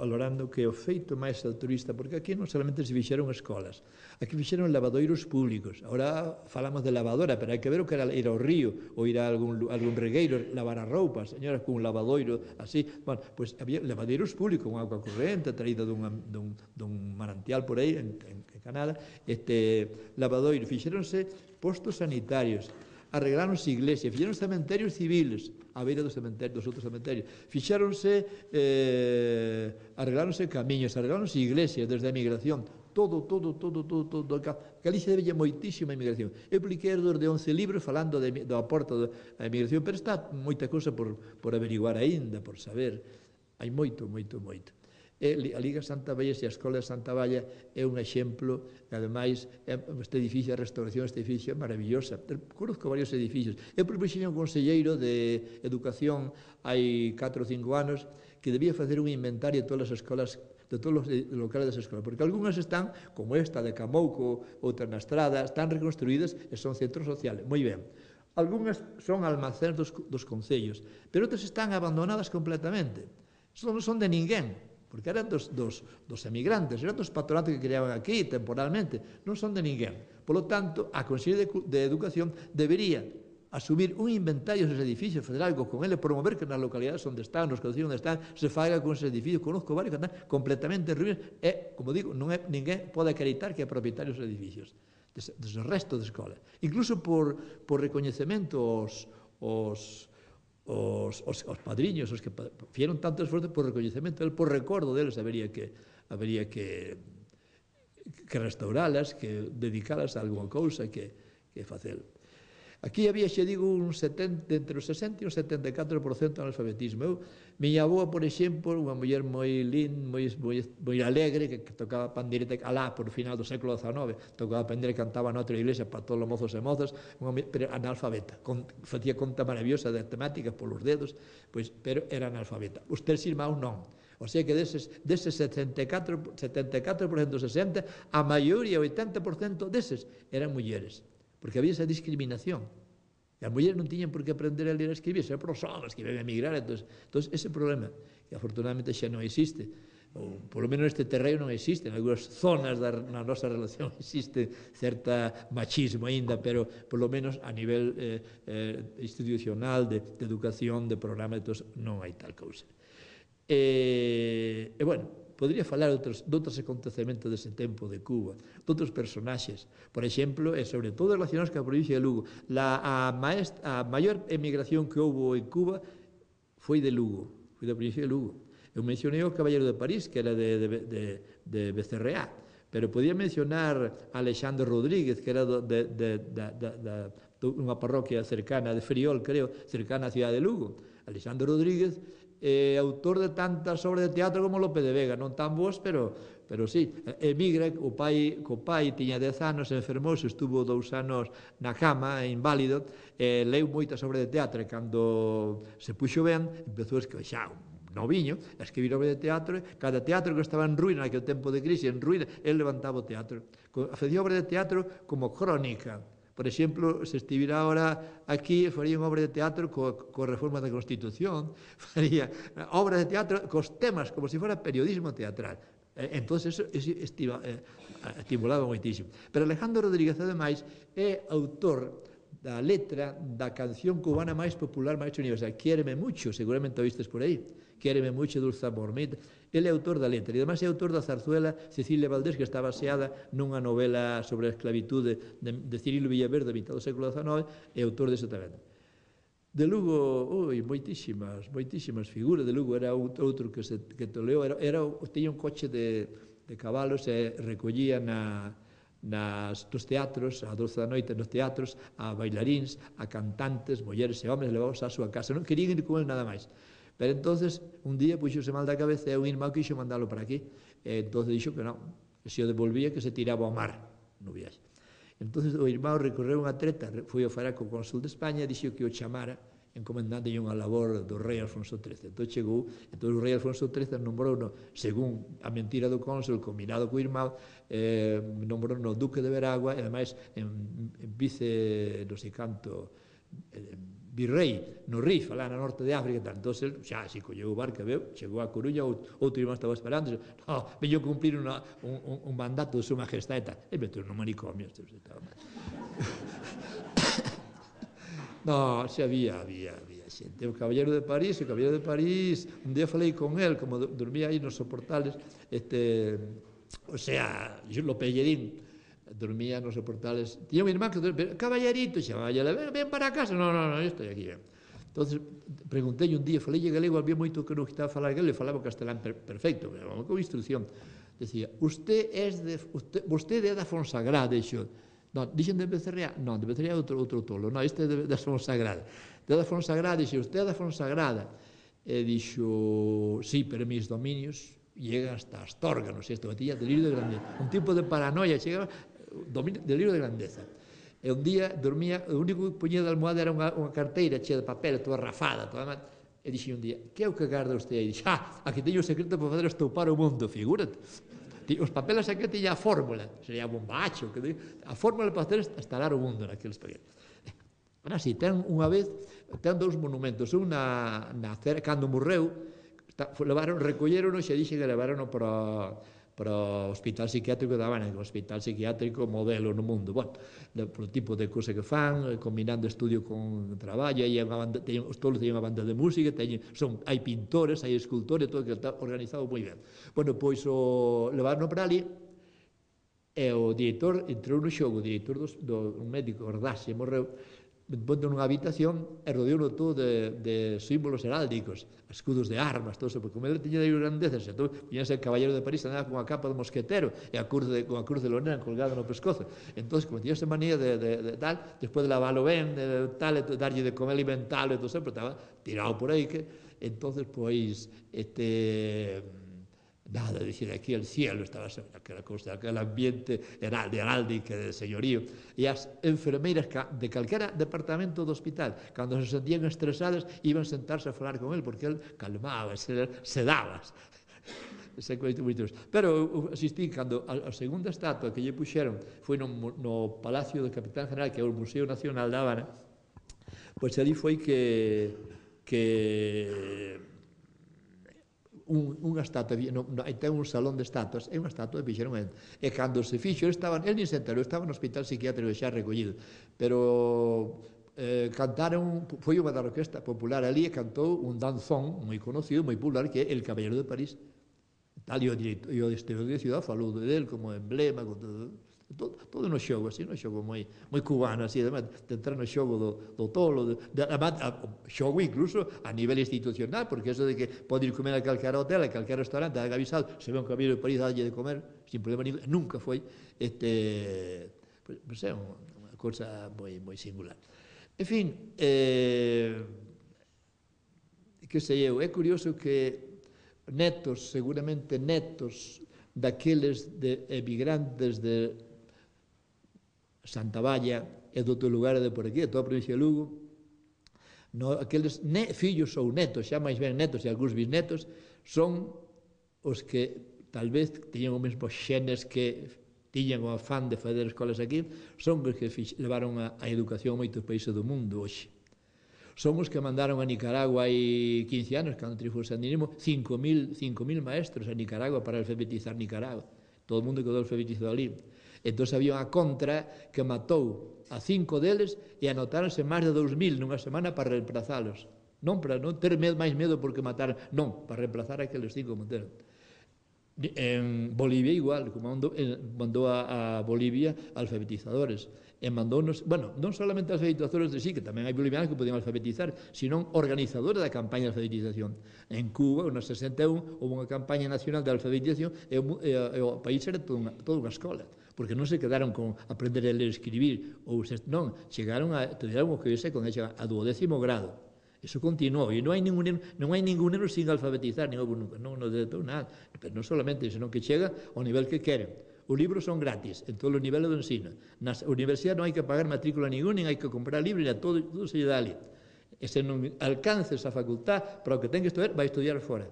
valorando que o feito máis altruista, porque aquí non solamente se fixeron escolas, aquí fixeron lavadoiros públicos. Ahora falamos de lavadora, pero hai que ver o que era ir ao río ou ir a algún, algún regueiro, lavar a roupa, señoras, con un lavadoiro así. Bueno, pois pues había lavadeiros públicos con agua corrente traída dun, dun, dun manantial por aí en, en, en Canadá. Este lavadoiro, fixeronse postos sanitarios, arregláronse iglesias, fixeron cementerios civiles a beira dos cementerios, dos outros cementerios, fixéronse, eh, arregláronse camiños, arregláronse iglesias desde a emigración, todo, todo, todo, todo, todo. Galicia debella moitísima inmigración. Eu publiquei de once libros falando de, do aporto da inmigración, pero está moita cousa por, por averiguar aínda, por saber. Hai moito, moito, moito. E a Liga Santa Valla e a Escola de Santa Valla é un exemplo, e ademais este edificio, a restauración deste edificio é maravillosa. Conozco varios edificios. Eu propuxei un conselleiro de Educación hai catro ou cinco anos que debía facer un inventario de todas as escolas, de todos os locales das escolas, porque algunhas están, como esta de Camouco, outras na Estrada, están reconstruídas e son centros sociales. Moi ben. Algunhas son almacéns dos, dos concellos, pero outras están abandonadas completamente. Non son de ninguén, porque eran dos, dos, dos emigrantes, eran dos patronatos que criaban aquí temporalmente, non son de ninguén. Por lo tanto, a Consellería de, de Educación debería asumir un inventario dos edificios, fazer algo con ele, promover que nas localidades onde están, nos concellos onde están, se faga con esos edificios. Conozco varios que están completamente en ruínas e, como digo, non é, ninguén pode acreditar que é propietario dos edificios, des, des resto de escolas. Incluso por, por recoñecemento os, os Os, os, os padriños, os que fieron tanto esforzo por recoñecemento, por recordo deles, habería que, habería que, que restauralas, que dedicalas a alguma cousa, que, que facelo. Aquí había, xe digo, un setenta, entre o sesenta e o setenta e catro por cento de analfabetismo. Eu, miña avoa, por exemplo, unha muller moi lin, moi, moi, moi alegre, que, que tocaba pandeireta alá por final do século dezanove, tocaba pandeireta e cantaba na outra iglesia para todos os mozos e mozas, unha, pero analfabeta, con, facía conta maravillosa de temáticas polos dedos, pois, pero era analfabeta. Os tres irmãos non. O sea que deses, deses setenta e catro por cento, sesenta, a maioría, oitenta por cento deses, eran mulleres, porque había esa discriminación. E as mulleres non tiñan por que aprender a ler e a escribir, xa por os homens que ven a emigrar. Entón, ese problema, que afortunadamente xa non existe, ou polo menos neste terreno non existe, en algunhas zonas da na nosa relación existe certa machismo aínda, pero polo menos a nivel eh, eh, institucional, de, de educación, de programa, entón, non hai tal cousa. E, e bueno, podría falar de outros, de outros acontecementos dese tempo de Cuba, de outros personaxes, por exemplo, e sobre todo relacionados ca provincia de Lugo. La, a, maest, a maior emigración que houve en Cuba foi de Lugo, foi da provincia de Lugo. Eu mencionei o Caballero de París, que era de, de, de, de Becerreá, pero podía mencionar a Alexandre Rodríguez, que era de, de, de, de, de, de unha parroquia cercana de Friol, creo, cercana á cidade de Lugo. Alexandre Rodríguez é autor de tantas obras de teatro como Lope de Vega, non tan boas, pero, pero sí, emigra, o pai, co pai tiña dez anos, enfermouse, estuvo dous anos na cama, inválido, e leu moitas obras de teatro, e cando se puxo ben, empezou a escribir xa noviño, a escribir obras de teatro, cada teatro que estaba en ruína, naquele tempo de crise, en ruína, el levantaba o teatro. Facía obras de teatro como crónica. Por exemplo, se estivera ahora aquí, faría unha obra de teatro coa, coa reforma da Constitución, faría obras de teatro cos temas, como se fora periodismo teatral. Entón, eso, eso estiva, eh, estimulaba moitísimo. Pero Alejandro Rodríguez, ademais, é autor da letra da canción cubana máis popular, máis universal, Quiéreme mucho, seguramente oístes por aí, Quiéreme mucho, dulce amor mío. Ele é autor da letra, e ademais é autor da zarzuela Cecilia Valdés, que está baseada nunha novela sobre a esclavitude de, de Cirilo Villaverde, mitad do século dezanove, é autor deso tamén. De Lugo, ui, moitísimas, moitísimas figuras. De Lugo era outro que se que toleou, era, era, tiña un coche de, de cabalos e recollía na, nas, nos teatros, a doce da noite nos teatros, a bailaríns, a cantantes, mulleres e homes, levábamos á súa casa. Non querían ir con ele nada máis. Pero entonces, un día puxose mal da cabeza e un irmão quixo mandalo para aquí. E entonces dixo que non, que se o devolvía que se tiraba ao mar no viaxe. Entonces o irmão recorreu unha treta, foi ao falar co cónsul de España e dixo que o chamara encomendante unha labor do rei Alfonso trece. Entón chegou, entón o rei Alfonso trece nombrou, no, según a mentira do cónsul, combinado co irmão, eh, nombrou no duque de Veragua e ademais en, en vice, non sei canto, eh, virrei no Rif, alá na norte de África, tal. Entón, xa, se colleu o barco, veu, chegou a Coruña, outro irmão estaba esperando, no, veño cumplir una, un, un mandato de súa majestade, tal. E meteu no manicomio. No, xa había, había, había xente. O Caballero de París, o Caballero de París, un día falei con el, como dormía aí nos soportales, este, o sea, lo pellerín, dormía nos soportales. Tiña un irmán que dormía, caballerito, chamaba, ven, ven para casa. No, no, no, eu estou aquí, ven. Entonces, preguntei un día, falei galego, había moito que non estaba a falar galego, e falaba castelán perfecto, con instrucción. Decía, usted es de, usted, usted é da Fonsagrada, dixo. Non, dixen de Becerreá? Non, de Becerreá outro, outro tolo, non, este é da Fonsagrada. De da Fonsagrada, dixo, usted é da Fonsagrada. E dixo, sí, pero mis dominios llegan hasta Astorga, non sei, isto, batía delirio de grandeza. Un tipo de paranoia, chegaba, delirio de grandeza. E un día dormía, o único que poñía de almohada era unha, unha carteira chea de papel, toda rafada, toda mal. E dixi un día, que é o que garda usted? E dixi, ah, aquí teño o secreto para fazer estoupar o mundo, figúrate. Os papeles aquí teña a fórmula, sería bombacho, que a fórmula para fazer instalar o mundo naqueles papeles. Ahora sí, ten unha vez, ten dous monumentos, un na, na cando morreu, levaron, recolleron e dixen que levaron para para o hospital psiquiátrico da Habana, que é o hospital psiquiátrico modelo no mundo. Bueno, polo tipo de cousa que fan, combinando estudio con traballo, aí banda, teñen, os tolos teñen unha banda de música, teñen, son, hai pintores, hai escultores, todo que está organizado moi ben. Bueno, pois o levaron para ali, e o director entrou no xogo, o director do, do un médico, Ordase, morreu, ponte nunha habitación e rodeouno todo de, de símbolos heráldicos, escudos de armas, todo eso, porque como ele tiña de grandezas, e todo, poñíase el caballero de París, andaba con a capa de mosquetero e a cruz de, con a cruz de Lorena colgada no pescozo. Entón, como tiña esa manía de, de, de tal, despois de lavalo ben, de tal, de darlle de comer alimentalo e todo eso, pero estaba tirado por aí, que, entonces, pois, este... nada, dicir, aquí el cielo estaba aquela cosa, aquel ambiente de heráldica, de señorío, e as enfermeiras de calquera departamento do hospital, cando se sentían estresadas, iban sentarse a falar con el, porque el calmaba, sedabas. Pero asistí, cando a segunda estatua que lle puxeron foi no Palacio do Capitán General, que é o Museo Nacional da Habana, pois ali foi que que Un, unha estatua, no, no, ten un salón de estatuas, é unha estatua que fixeron el. E cando se fixo, estaban, el nin se enterou, estaba no hospital psiquiátrico xa recollido, pero eh, cantaron, foi unha da orquesta popular ali e cantou un danzón moi conocido, moi popular, que é El Caballero de París. Tal, e o director, e o exterior de Ciudad falou del como emblema, con todo, todo, todo no xogo, así, no xogo moi, moi cubano, así, además, de entrar no xogo do, do tolo, de, de, además, xogo incluso a nivel institucional, porque eso de que pode ir comer a calquera hotel, a calquera restaurante, haga avisado, se ve un caballero de París, dalle de comer, sin problema ningún, nunca foi, este, pues, pues é unha cosa moi, moi singular. En fin, eh, que sei eu, é curioso que netos, seguramente netos daqueles de emigrantes de Santa Valla e de outro lugar de por aquí, de toda a provincia de Lugo, no, aqueles ne, fillos ou netos, xa máis ben netos e algúns bisnetos, son os que tal vez teñen os mesmos xenes que tiñan o afán de fazer escolas aquí, son os que fix, levaron a, a educación a moitos países do mundo hoxe. Son os que mandaron a Nicaragua hai quince anos, cando triunfou o sandinismo, cinco mil maestros a Nicaragua para alfabetizar Nicaragua. Todo o mundo quedou alfabetizado ali. Entón había unha contra que matou a cinco deles e anotáronse máis de dous mil nunha semana para reemplazalos. Non para non ter máis medo porque mataron, non, para reemplazar aqueles cinco que mataron. En Bolivia igual, como mandou, mandou a, a Bolivia alfabetizadores, e mandounos, bueno, non solamente alfabetizadores de sí, que tamén hai bolivianos que podían alfabetizar, sino organizadores da campaña de alfabetización. En Cuba, no sesenta e un, houve unha campaña nacional de alfabetización e o, e, e o país era toda unha, toda unha escola, porque non se quedaron con aprender a ler e escribir, ou se, non, chegaron a, estudiaron o que se con a duodécimo grado. Eso continuou, e non hai ningún non hai ningún neno sin alfabetizar, nin houve nunca, non, non detou nada, pero non solamente, senón que chega ao nivel que queren. Os libros son gratis en todos os niveles do ensino. Nas universidades non hai que pagar matrícula ningún, nin hai que comprar libros, nin todo, todo se lle dá ali. E se non alcance esa facultad para o que ten que estudar, vai estudiar fora.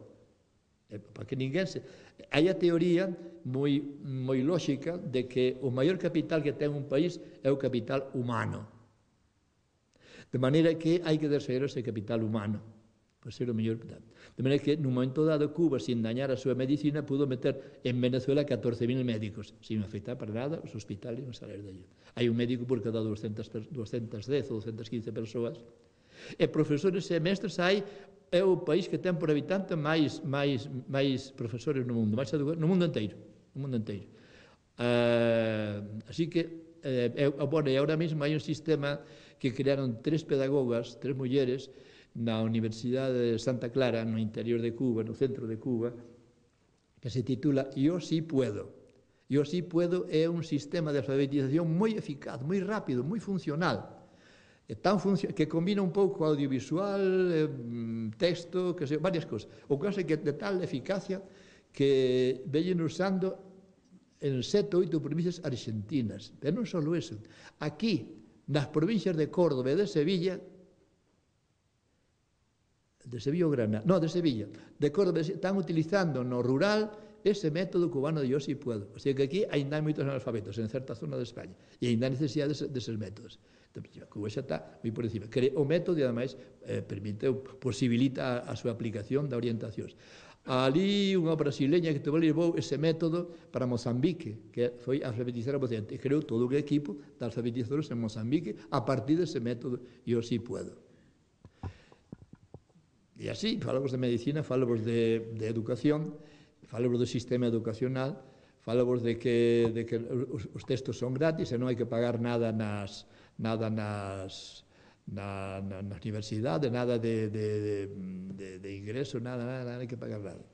E, para que ninguén se... Hai a teoría moi, moi lóxica de que o maior capital que ten un país é o capital humano. De maneira que hai que desfazer ese capital humano para ser o mellor. De maneira que, nun momento dado, Cuba, sin dañar a súa medicina, pudo meter en Venezuela catorce mil médicos, sin afectar para nada os hospitales non salir de allí. Hai un médico por cada doscientas dez ou doscientas quince persoas. E profesores e mestres hai, é o país que ten por habitante máis, máis, máis profesores no mundo, máis educadores, no mundo inteiro. No mundo inteiro. Uh, así que, eh, bueno, e agora mesmo hai un sistema que crearon tres pedagogas, tres mulleres, na Universidade de Santa Clara, no interior de Cuba, no centro de Cuba, que se titula Yo sí puedo. Yo sí puedo é un sistema de alfabetización moi eficaz, moi rápido, moi funcional, tan funcio que combina un pouco audiovisual, eh, texto, que sei, varias cosas. O caso é que de tal eficacia que veñen usando en sete ou oito provincias argentinas. Pero non só eso. Aquí, nas provincias de Córdoba e de Sevilla, de Sevilla ou Granada, no, de Sevilla, de Córdoba, están utilizando no rural ese método cubano de yo sí puedo. O sea que aquí ainda hai moitos analfabetos en certa zona de España e ainda hai necesidade deses métodos. Cuba xa está moi por encima. O método, ademais, eh, permite, posibilita a, a súa aplicación de orientacións. Ali unha brasileña que levou ese método para Mozambique, que foi alfabetizar a Mozambique, e creou todo o equipo de alfabetizadores en Mozambique a partir dese método yo sí puedo. E así, falamos de medicina, falamos de, de educación, falamos do sistema educacional, falamos de que, de que os, os textos son gratis e non hai que pagar nada nas, nada nas, na, na, na universidade, nada de, de, de, de, de ingreso, nada, nada, nada, hai que pagar nada.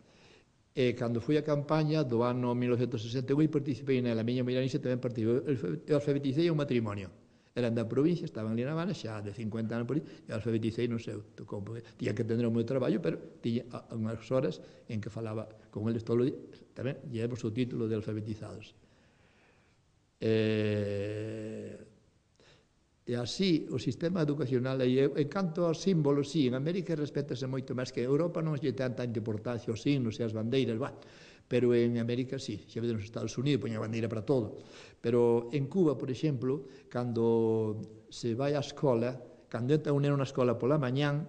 E cando fui a campaña do ano mil novecentos sesenta e un, participei nela, a miña Miranixe tamén participei, eu alfabetizei un matrimonio. Eran da provincia, estaban ali na Habana, xa de cincuenta anos por aí, e alfabetizei no seu. Tiña que tener o meu traballo, pero tiña unhas horas en que falaba con eles todo o día, tamén llevamos o título de alfabetizados. E, e así, o sistema educacional, e en canto aos símbolos, sí, en América respétase moito máis que en Europa, non lle ten tanta importancia os signos e as bandeiras, bah, pero en América sí, xa vedes nos Estados Unidos poñen a bandeira para todo, pero en Cuba, por exemplo, cando se vai á escola, cando entra un neno na escola pola mañán,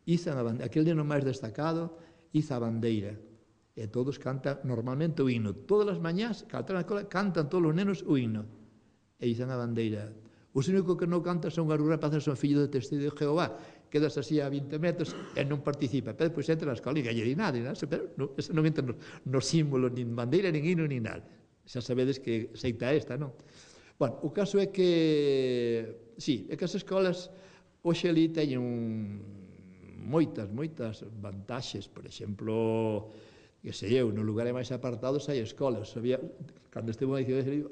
izan a bandeira, aquel neno máis destacado iza a bandeira, e todos cantan normalmente o himno, todas as mañás, cando na escola, cantan todos os nenos o himno, e izan a bandeira. Os únicos que non cantan son as rapaces, son fillos de testigo de Jehová, quedas así a vinte metros e non participa, pero depois entra na escola e galle di nada, pero non, eso non entra nos, nos símbolos, nin bandeira, nin hino, nin nada. Xa sabedes que seita esta, non? Bueno, o caso é que, sí, é que as escolas hoxe ali teñen moitas, moitas vantaxes, por exemplo, que sei eu, nos lugares máis apartados hai escolas. Había, cando estivo a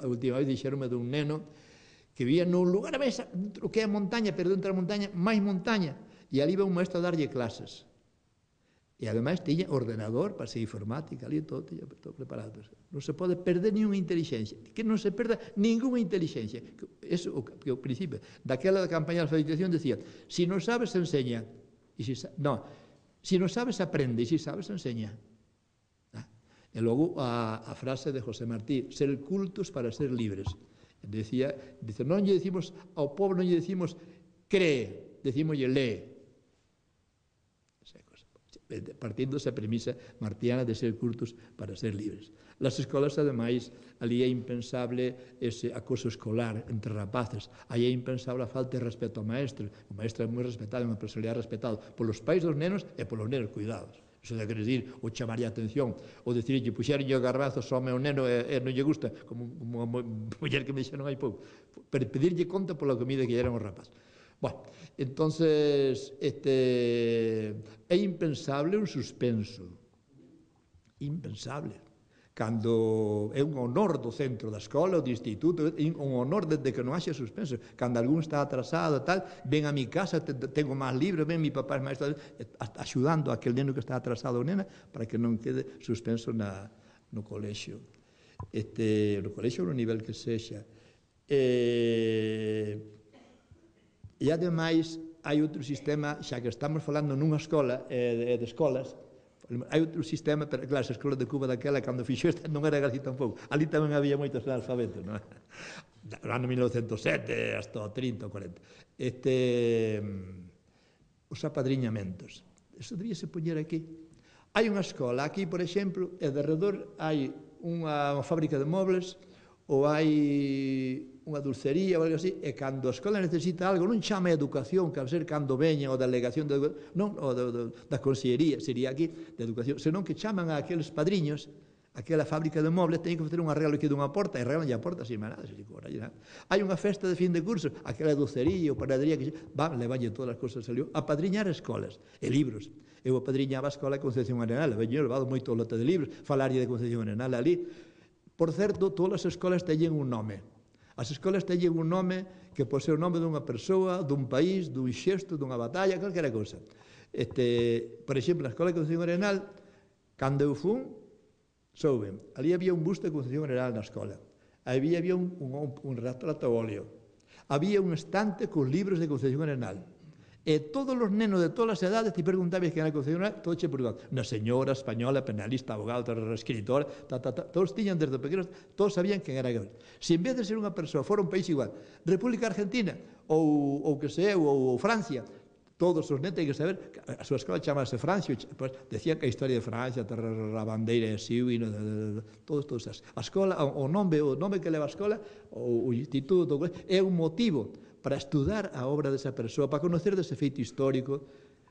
última vez, dixeronme dun neno que vivía nun lugar máis, o que é montaña, pero dentro da montaña, máis montaña, e ali iba un maestro a darlle clases. E ademais tiña ordenador para ser informática, ali todo, tiña todo preparado. Non se pode perder ninguna inteligencia, que non se perda ninguna inteligencia. Eso, o, que o principio, daquela da campaña de alfabetización decía, si non sabes, enseña. E si, no, si non sabes, aprende, e si sabes, enseña. Ah, e logo a, a frase de José Martí, ser cultos para ser libres. Decía, dice, non lle decimos ao povo, non lle decimos cree, decimoslle lee. Partindo esa premisa martiana de ser cultos para ser libres. Las escolas, ademais, ali é impensable ese acoso escolar entre rapaces, aí é impensable a falta de respeto ao maestro. O maestro é moi respetado, é unha personalidade respetado polos pais dos nenos e polos nenos cuidados. Iso de querer dir, ou chamaría a atención, ou dicirlle, puxeronlle o garbazo só ao neno e, e non lle gusta, como unha muller que me dixeron hai pouco, pero pedirlle conta pola comida que lle eran os rapaz. Bueno, entonces, este, é impensable un suspenso, impensable. Cando é un honor do centro da escola ou do instituto, é un honor desde que non haxe suspenso. Cando algún está atrasado, tal, ven a mi casa, tengo máis libros, ven mi papá, maestro, axudando a aquel neno que está atrasado ou nena, para que non quede suspenso na, no colexio. Este, no colexio no nivel que sexa. E, e ademais, hai outro sistema, xa que estamos falando nunha escola, e de, de escolas, hai outro sistema, pero claro, as escolas de Cuba daquela, cando fixo esta, non era así tampouco. Ali tamén había moitos analfabetos, non? No ano mil novecentos e sete, hasta o trinta ou corenta. Este, os apadriñamentos. Eso debíase poñer aquí. Hai unha escola, aquí, por exemplo, e de redor hai unha, unha fábrica de mobles, ou hai unha dulcería ou algo así, e cando a escola necesita algo, non chama a educación, que al ser cando veña, ou da delegación de educación, non, ou da, da, da consellería, sería aquí, de educación, senón que chaman a aqueles padriños, aquela fábrica de mobles, teñen que facer un arreglo aquí dunha porta, e arreglan a porta sin manada. Hai unha festa de fin de curso, aquela docería ou panadería, que van, levanlle todas as cosas salió, a padriñar escolas e libros. Eu apadriñaba a escola de Concepción Arenal, veño levado moito lote de libros, falarlle de Concepción Arenal ali. Por certo, todas as escolas teñen un nome. As escolas teñen un nome que pode ser o nome dunha persoa, dun país, dun xesto, dunha batalla, calquera cousa. Este, por exemplo, na escola de Concepción Arenal, cando eu fun, souben, ali había un busto de Concepción Arenal na escola, ali había un, un, un retrato a óleo, había un estante con libros de Concepción Arenal, e todos os nenos de todas as edades te preguntabas que era Concepción Arenal, todos che preguntaban, unha señora española, penalista, abogado, escritora, ta, ta, ta, todos tiñan desde pequenos, todos sabían quen era aquel. Se en vez de ser unha persoa fora un país igual, República Argentina, ou, ou que sei, ou, ou Francia, todos os netos teñen que saber, a súa escola chamase Francia, pues, decían que a historia de Francia, a bandeira de Siu, todos, todos as. A escola, o nome, o nome que leva a escola, o, o instituto, é un motivo para estudar a obra desa persoa, para conocer dese feito histórico,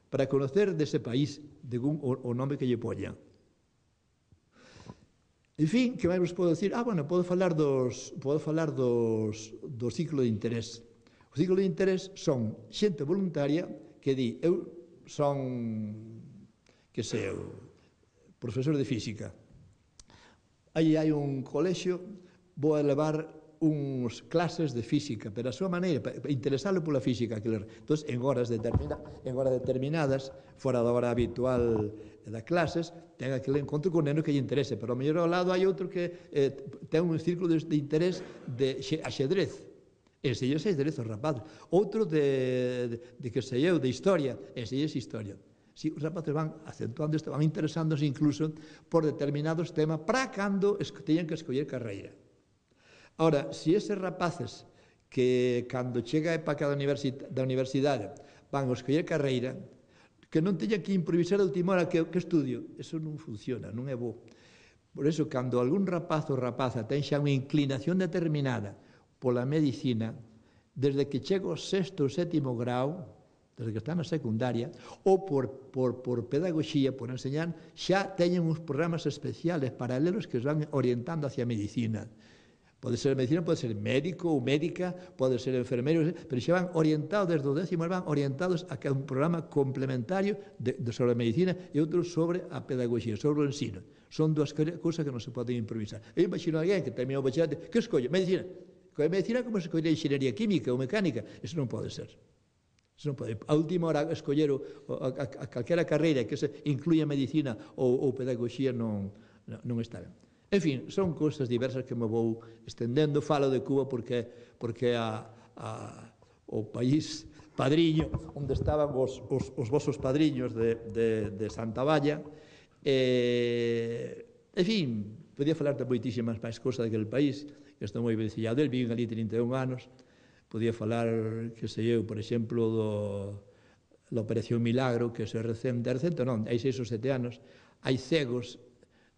para conocer dese país, de un, o, o nome que lle poñan. En fin, que máis vos podo decir? Ah, bueno, podo falar dos, podo falar dos, do ciclo de interés. O ciclo de interés son xente voluntaria que di, eu son, que sei, profesor de física. Aí hai un colexio, vou a levar uns clases de física, pero a súa maneira, para interesarlo pola física. Entón, en horas, determina, en horas determinadas, fora da hora habitual das clases, ten aquele encontro con neno que lle interese, pero ao mellor ao lado hai outro que eh, ten un círculo de, de interés de axedrez, enseñas axedrez aos rapazes, outro de, de, de que sei eu, de historia, enseñas historia. Si, os rapaces van acentuando isto, van interesándose incluso por determinados temas para cando teñan que escoller carreira. Ora, se eses rapaces que cando chega a época da universidade van a escoller carreira, que non teñan que improvisar a última hora que, que estudio, eso non funciona, non é bo. Por eso, cando algún rapaz ou rapaza ten xa unha inclinación determinada pola medicina, desde que chega ao sexto ou sétimo grau, desde que está na secundaria, ou por, por, por pedagogía, por enseñar, xa teñen uns programas especiales paralelos que os van orientando hacia a medicina. Pode ser medicina, pode ser médico ou médica, pode ser enfermeiro, pero xa van orientados, desde o décimo, van orientados a un programa complementario de, de sobre a medicina e outro sobre a pedagogía, sobre o ensino. Son dúas cousas que non se poden improvisar. Eu imagino a alguén que terminou o bacharate, que escolle? Medicina. Colle medicina como se escolle enxeñería química ou mecánica. Eso non pode ser. Eso non pode. A última hora escoller a, a, a calquera carreira que se incluya medicina ou, ou pedagogía non, non está ben. En fin, son cousas diversas que me vou estendendo. Falo de Cuba porque porque a, a, o país padriño onde estaban os, os, os vosos padriños de, de, de Santa Valla. E, en fin, podía falar de moitísimas máis cousas daquele país, que estou moi vencillado del, viven ali trinta e un anos. Podía falar, que sei eu, por exemplo, do, da Operación Milagro, que se recente, recente non, hai seis ou sete anos, hai cegos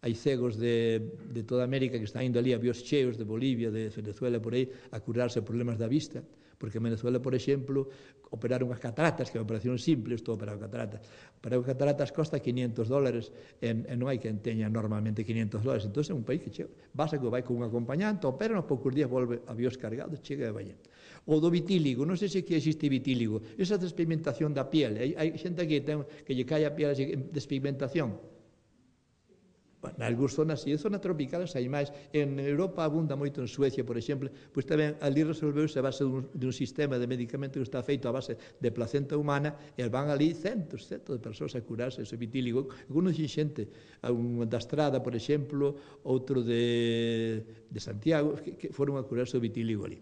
hai cegos de, de toda América que están indo ali a avións cheos de Bolivia, de Venezuela, por aí, a curarse problemas da vista, porque en Venezuela, por exemplo, operaron as cataratas, que é unha operación simple, estou a operar cataratas. Operar cataratas costa quinientos dólares, e, e non hai quen teña normalmente quinientos dólares, entón é un país que chega, basta que vai con un acompañante, opera, nos poucos días volve avións cargados, chega e vai. O do vitíligo, non sei se que existe vitíligo, esa despigmentación da piel, hai, hai xente que, ten, que lle cae a piel de despigmentación. Na algúns zonas, e en zonas tropicales hai máis. En Europa abunda moito, en Suecia, por exemplo, pois tamén ali resolveuse a base dun, dun sistema de medicamento que está feito a base de placenta humana, e van ali centos, centos de persoas a curarse ese vitíligo. Algunos xente, un da Estrada, por exemplo, outro de, de Santiago, que, que foron a curarse o vitíligo ali.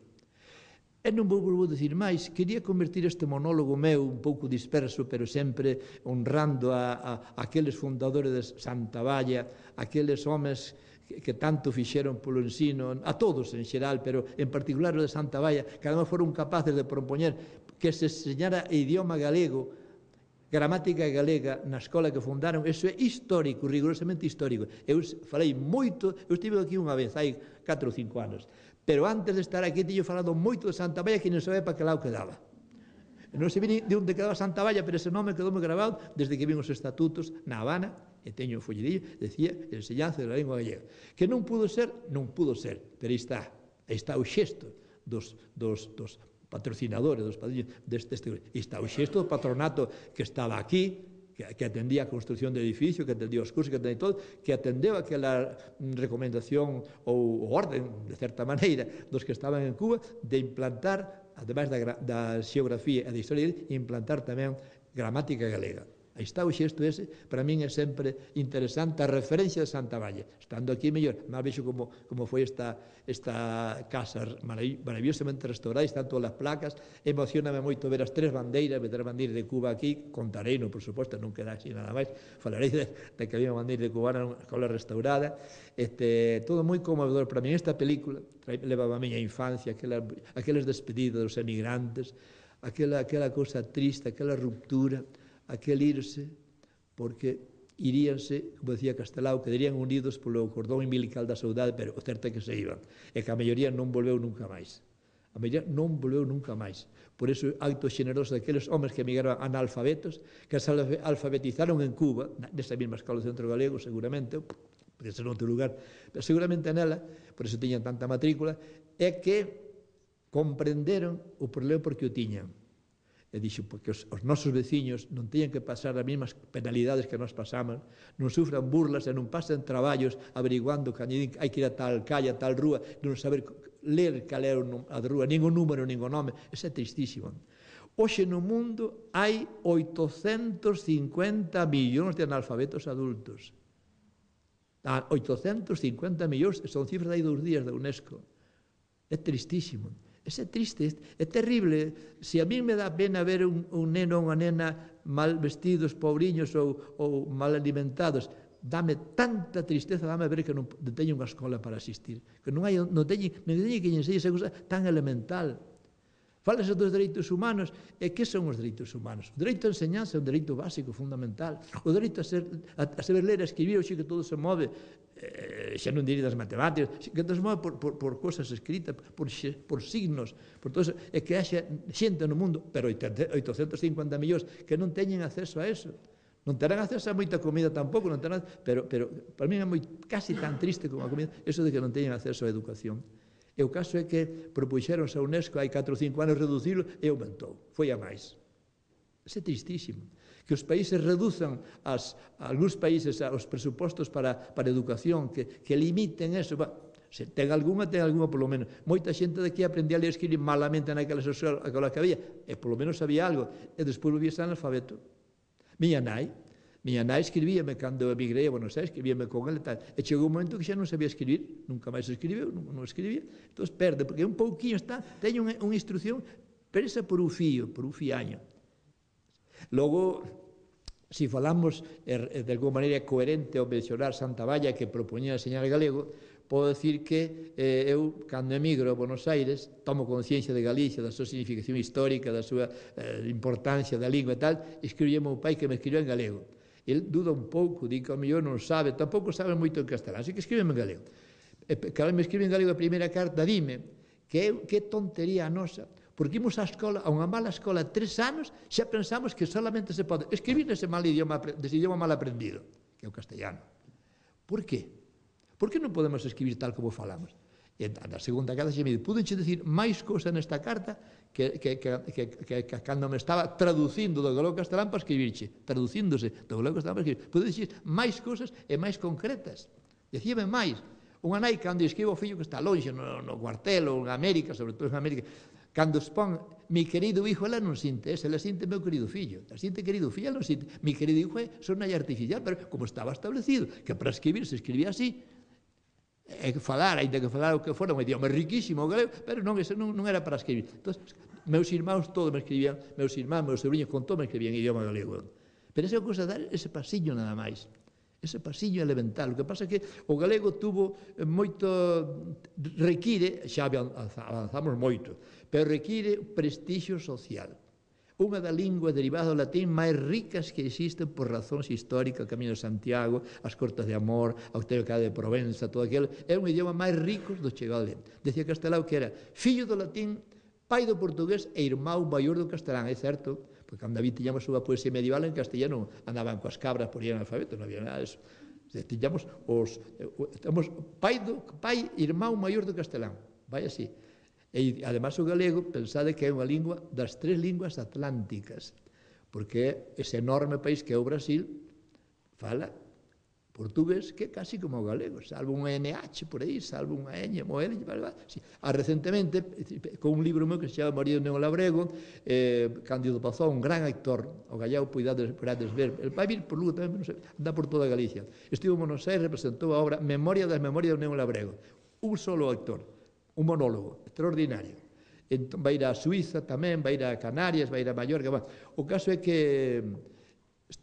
E non vou vou dicir máis, quería convertir este monólogo meu un pouco disperso, pero sempre honrando a, a, a aqueles fundadores de Santa Valla, aqueles homes que, que tanto fixeron polo ensino, a todos en xeral, pero en particular o de Santa Valla, que además foron capaces de propoñer que se enseñara idioma galego, gramática galega na escola que fundaron. Eso é histórico, rigurosamente histórico. Eu falei moito, eu estive aquí unha vez, hai catro ou cinco anos, pero antes de estar aquí teño falado moito de Santa Valla, que non sabe para que lado quedaba. Non se vi de onde quedaba Santa Valla, pero ese nome quedou moi grabado desde que vin os estatutos na Habana, e teño o follerillo, decía enseñanza da lingua galega. Que non pudo ser, non pudo ser, pero aí está, aí está o xesto dos, dos, dos patrocinadores, dos padriños deste, deste, aí está o xesto do patronato que estaba aquí, que, que atendía a construcción de edificio, que atendía os cursos, que atendía todo, que atendeu aquela recomendación ou orden, de certa maneira, dos que estaban en Cuba, de implantar, ademais da, da xeografía e da historia, implantar tamén gramática galega. Aí está o xesto ese, para min é sempre interesante a referencia de Santa Valla. Estando aquí mellor, máis vexo como, como foi esta, esta casa maravillosamente restaurada, están todas as placas, emocioname moito ver as tres bandeiras, ver as bandeiras de Cuba aquí, contarei, no, por suposto, non queda así nada máis, falarei de, de que había unha bandeira de Cuba na escola restaurada, este, todo moi conmovedor para min. Esta película levaba a miña infancia, aquela, aqueles despedidos dos emigrantes, aquela, aquela cosa triste, aquela ruptura, aquel irse, porque iríanse, como decía Castelao, quedarían unidos polo cordón umbilical da saudade, pero o certo é que se iban, e que a maioría non volveu nunca máis. A maioría non volveu nunca máis. Por iso, acto xeneroso daqueles homes que emigraron analfabetos, que se alfabetizaron en Cuba, nesa mesma escola do Centro Galego, seguramente, porque ser outro lugar, pero seguramente nela, por iso tiñan tanta matrícula, é que comprenderon o problema porque o tiñan. E dixo, porque os, os nosos veciños non teñen que pasar as mesmas penalidades que nós pasamos, non sufran burlas e non pasen traballos averiguando que hai que ir a tal calle, a tal rúa, non saber ler cal é a rúa, nin o número, nin o nome. Eso é tristísimo. Hoxe no mundo hai oitocentos cincuenta millóns de analfabetos adultos. oitocentos cincuenta millóns, son cifras de hai dous días da UNESCO. É tristísimo. É triste, é terrible. Se a mí me dá pena ver un, un neno ou unha nena mal vestidos, pobriños ou, ou mal alimentados, dame tanta tristeza, dame ver que non teño unha escola para asistir, que non hai, non teño, non teño que enseñar esa cosa tan elemental. Falase dos dereitos humanos, e que son os dereitos humanos? O dereito a enseñanza é un dereito básico, fundamental. O dereito a, ser, a, a saber ler, a escribir, xe que todo se move, eh, xa non diría das matemáticas, que todo se move por, por, por cosas escritas, por, por signos, por todo eso, e que haxa xente no mundo, pero oitocentos cincuenta millóns que non teñen acceso a eso. Non terán acceso a moita comida tampouco, non terán, pero, pero para mí é moi, casi tan triste como a comida, eso de que non teñen acceso á educación. E o caso é que propuxeronse a UNESCO hai catro ou cinco anos reducilo e aumentou, foi a máis. Isso é tristísimo. Que os países reduzan, as, algúns países, os presupostos para, para educación, que, que limiten eso. Bah, se ten algunha, ten algunha polo menos. Moita xente daqui aprendía a ler e escribir malamente naquela escola que había, e polo menos sabía algo, e despois volvía a ser analfabeto. Miña nai, Miña nai escribíame cando emigrei a Buenos Aires, escribíame con ele e tal. E chegou un momento que xa non sabía escribir, nunca máis escribeu, non, non escribía. Entón perde, porque un pouquinho está, teño unha, unha instrucción presa por un fío, por un fiaño. Logo, se si falamos er, de alguma maneira coherente ao mencionar Santa Valla que propoñía enseñar galego, podo decir que eh, eu, cando emigro a Buenos Aires, tomo conciencia de Galicia, da súa significación histórica, da súa eh, importancia da lingua e tal, escribí ao meu pai que me escribiu en galego. El duda un pouco, di que ao mellor non sabe, tampouco sabe moito en castelán, así que escribe en galego. E, claro, me escribe en galego a primeira carta, dime que, que tontería a nosa, porque imos á escola, a unha mala escola, tres anos, xa pensamos que solamente se pode escribir nese mal idioma, dese idioma mal aprendido, que é o castellano. Por qué? Por que non podemos escribir tal como falamos? E na segunda carta xe me di, pudenche dicir máis cousa nesta carta que, que, que, que, que, que cando me estaba traducindo do galego castelán para escribirche, traducíndose do galego castelán para escribir, pudenche dicir máis cousas e máis concretas. Dicíame máis. Unha nai, cando escribe o fillo que está longe, no, no cuartel ou en América, sobre todo en América, cando expón mi querido hijo, ela non sinte ese, ela sinte meu querido fillo, ela sinte querido fillo, ela non sinte, mi querido hijo é sonalla artificial, pero como estaba establecido, que para escribir se escribía así, e que falar, ainda que falar o que fora, un idioma riquísimo, galego, pero non, ese non, non era para escribir. Entón, meus irmãos todos me escribían, meus irmãos, meus sobrinhos, con todo me escribían idioma galego. Pero esa cousa dar ese pasillo nada máis. Ese pasillo elemental. O que pasa é que o galego tuvo moito, require, xa avanzamos moito, pero require prestixio social. Unha da lingua derivada do latín máis ricas que existen por razóns históricas, o Camiño de Santiago, as Cortes de Amor, a Austeridade de Provenza, todo aquilo, é un idioma máis rico do chegado a ler. Decía Castelao que era fillo do latín, pai do portugués e irmão maior do castelán, é certo, porque cando David tiñamos unha poesía medieval en castellano, andaban coas cabras por ir en alfabeto, non había nada disso. Tiñamos os, estamos pai, do, pai irmão maior do castelán, vai así. E, además, o galego, pensade que é unha lingua das tres linguas atlánticas, porque ese enorme país que é o Brasil fala portugués que é casi como o galego, salvo un N H por aí, salvo unha ñ, mo L, sí. Ah, recentemente, con un libro meu que se chama Marido Neo Labrego, eh, Cándido Pazón, un gran actor, o gallego, podades, podades ver, el vai vir por Lugo tamén, non sei, anda por toda Galicia. Estivo en Buenos Aires, representou a obra Memoria das Memorias do Neo Labrego, un solo actor, un monólogo, extraordinario. Entón, vai ir a Suiza tamén, vai ir a Canarias, vai ir a Mallorca. Bueno, o caso é que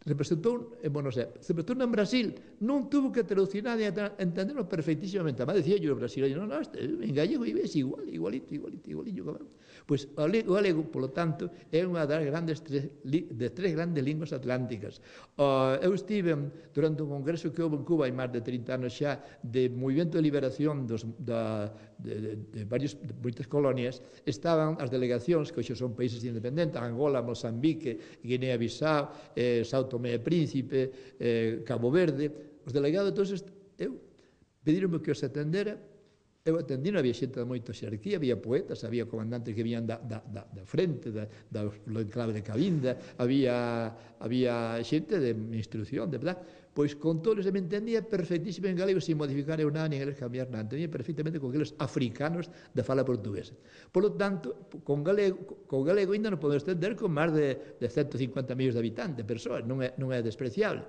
representou en Buenos Aires, representou en Brasil, non tuvo que traducir nada, entenderlo perfectísimamente. Además, decía yo, o brasileño, non, non, en gallego é igual, igualito, igualito, igualito. Pois o galego, polo tanto, é unha das grandes tres, de tres grandes linguas atlánticas. Uh, eu estive durante un congreso que houve en Cuba hai máis de trinta anos xa, de movimento de liberación dos, da, de, de, de, varios, de moitas colonias. Estaban as delegacións, que hoxe son países independentes, Angola, Mozambique, Guinea-Bissau, eh, Sao Tomé e Príncipe, eh, Cabo Verde. Os delegados, entonces, eu pedironme que os atendera. Eu atendí, non había xente de moita xerarquía, había poetas, había comandantes que vían da, da, da, da frente, da, da, do enclave de Cabinda, había, había xente de instrucción, de verdad. Pois con todos se me entendía perfectísimo en galego, sin modificar eu nada, nin eles cambiar nada. Entendía perfectamente con aqueles africanos de fala portuguesa. Por lo tanto, con galego, con galego ainda non podemos entender con máis de, de ciento cincuenta millóns de habitantes, persoas, non é, non é despreciable.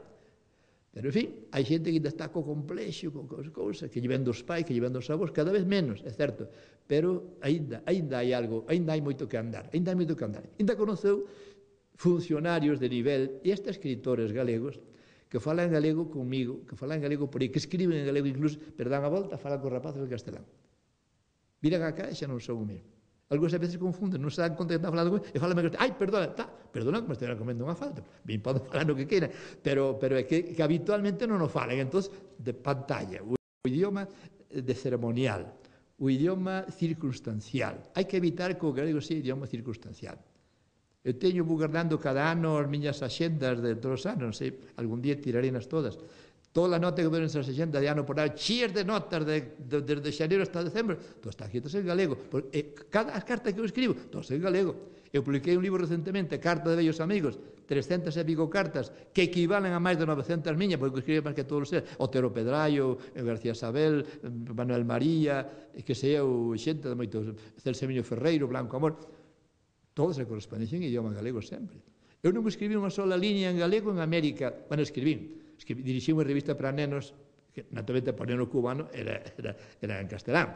Pero, en fin, hai xente que ainda está co complexo, con cousas, que lle ven dos pais, que lle ven dos avós, cada vez menos, é certo, pero ainda, ainda hai algo, ainda hai moito que andar, ainda hai moito que andar. Ainda conoceu funcionarios de nivel e estes escritores galegos que falan en galego comigo, que falan en galego por aí, que escriben en galego incluso, pero dan a volta, falan con rapaces en castelán. Miran acá e xa non son o mesmo. Algúns a veces confunden, non se dan conta que están falando e falan en castelán. Ai, perdona, tá, perdona que me estará comendo unha falta. Ben, poden falar no que queiran, pero, pero é que, que habitualmente non o falan. Entón, de pantalla, o, o idioma de ceremonial, o idioma circunstancial. Hai que evitar que o galego sea idioma circunstancial. Eu teño guardando cada ano as miñas axendas de todos os anos, non sei, algún día tirarei nas todas. Toda a nota que veo nesas axendas de ano por ano, chías de notas de, de, desde xaneiro hasta decembro, todo está aquí, todo en galego. E cada as cartas que eu escribo, todo en galego. Eu publiquei un libro recentemente, Carta de vellos amigos, trescentas e pico cartas, que equivalen a máis de novecentas miñas, porque eu escribo máis que todos os seres, Otero Pedraio, García Sabel, Manuel María, que sei eu, xente de moitos, Celsemino Ferreiro, Blanco Amor, todos se corresponden en idioma galego sempre. Eu non escribí unha sola línea en galego en América, bueno, escribín, dirixí unha revista para nenos, que naturalmente para neno cubano era, era, era en castelán.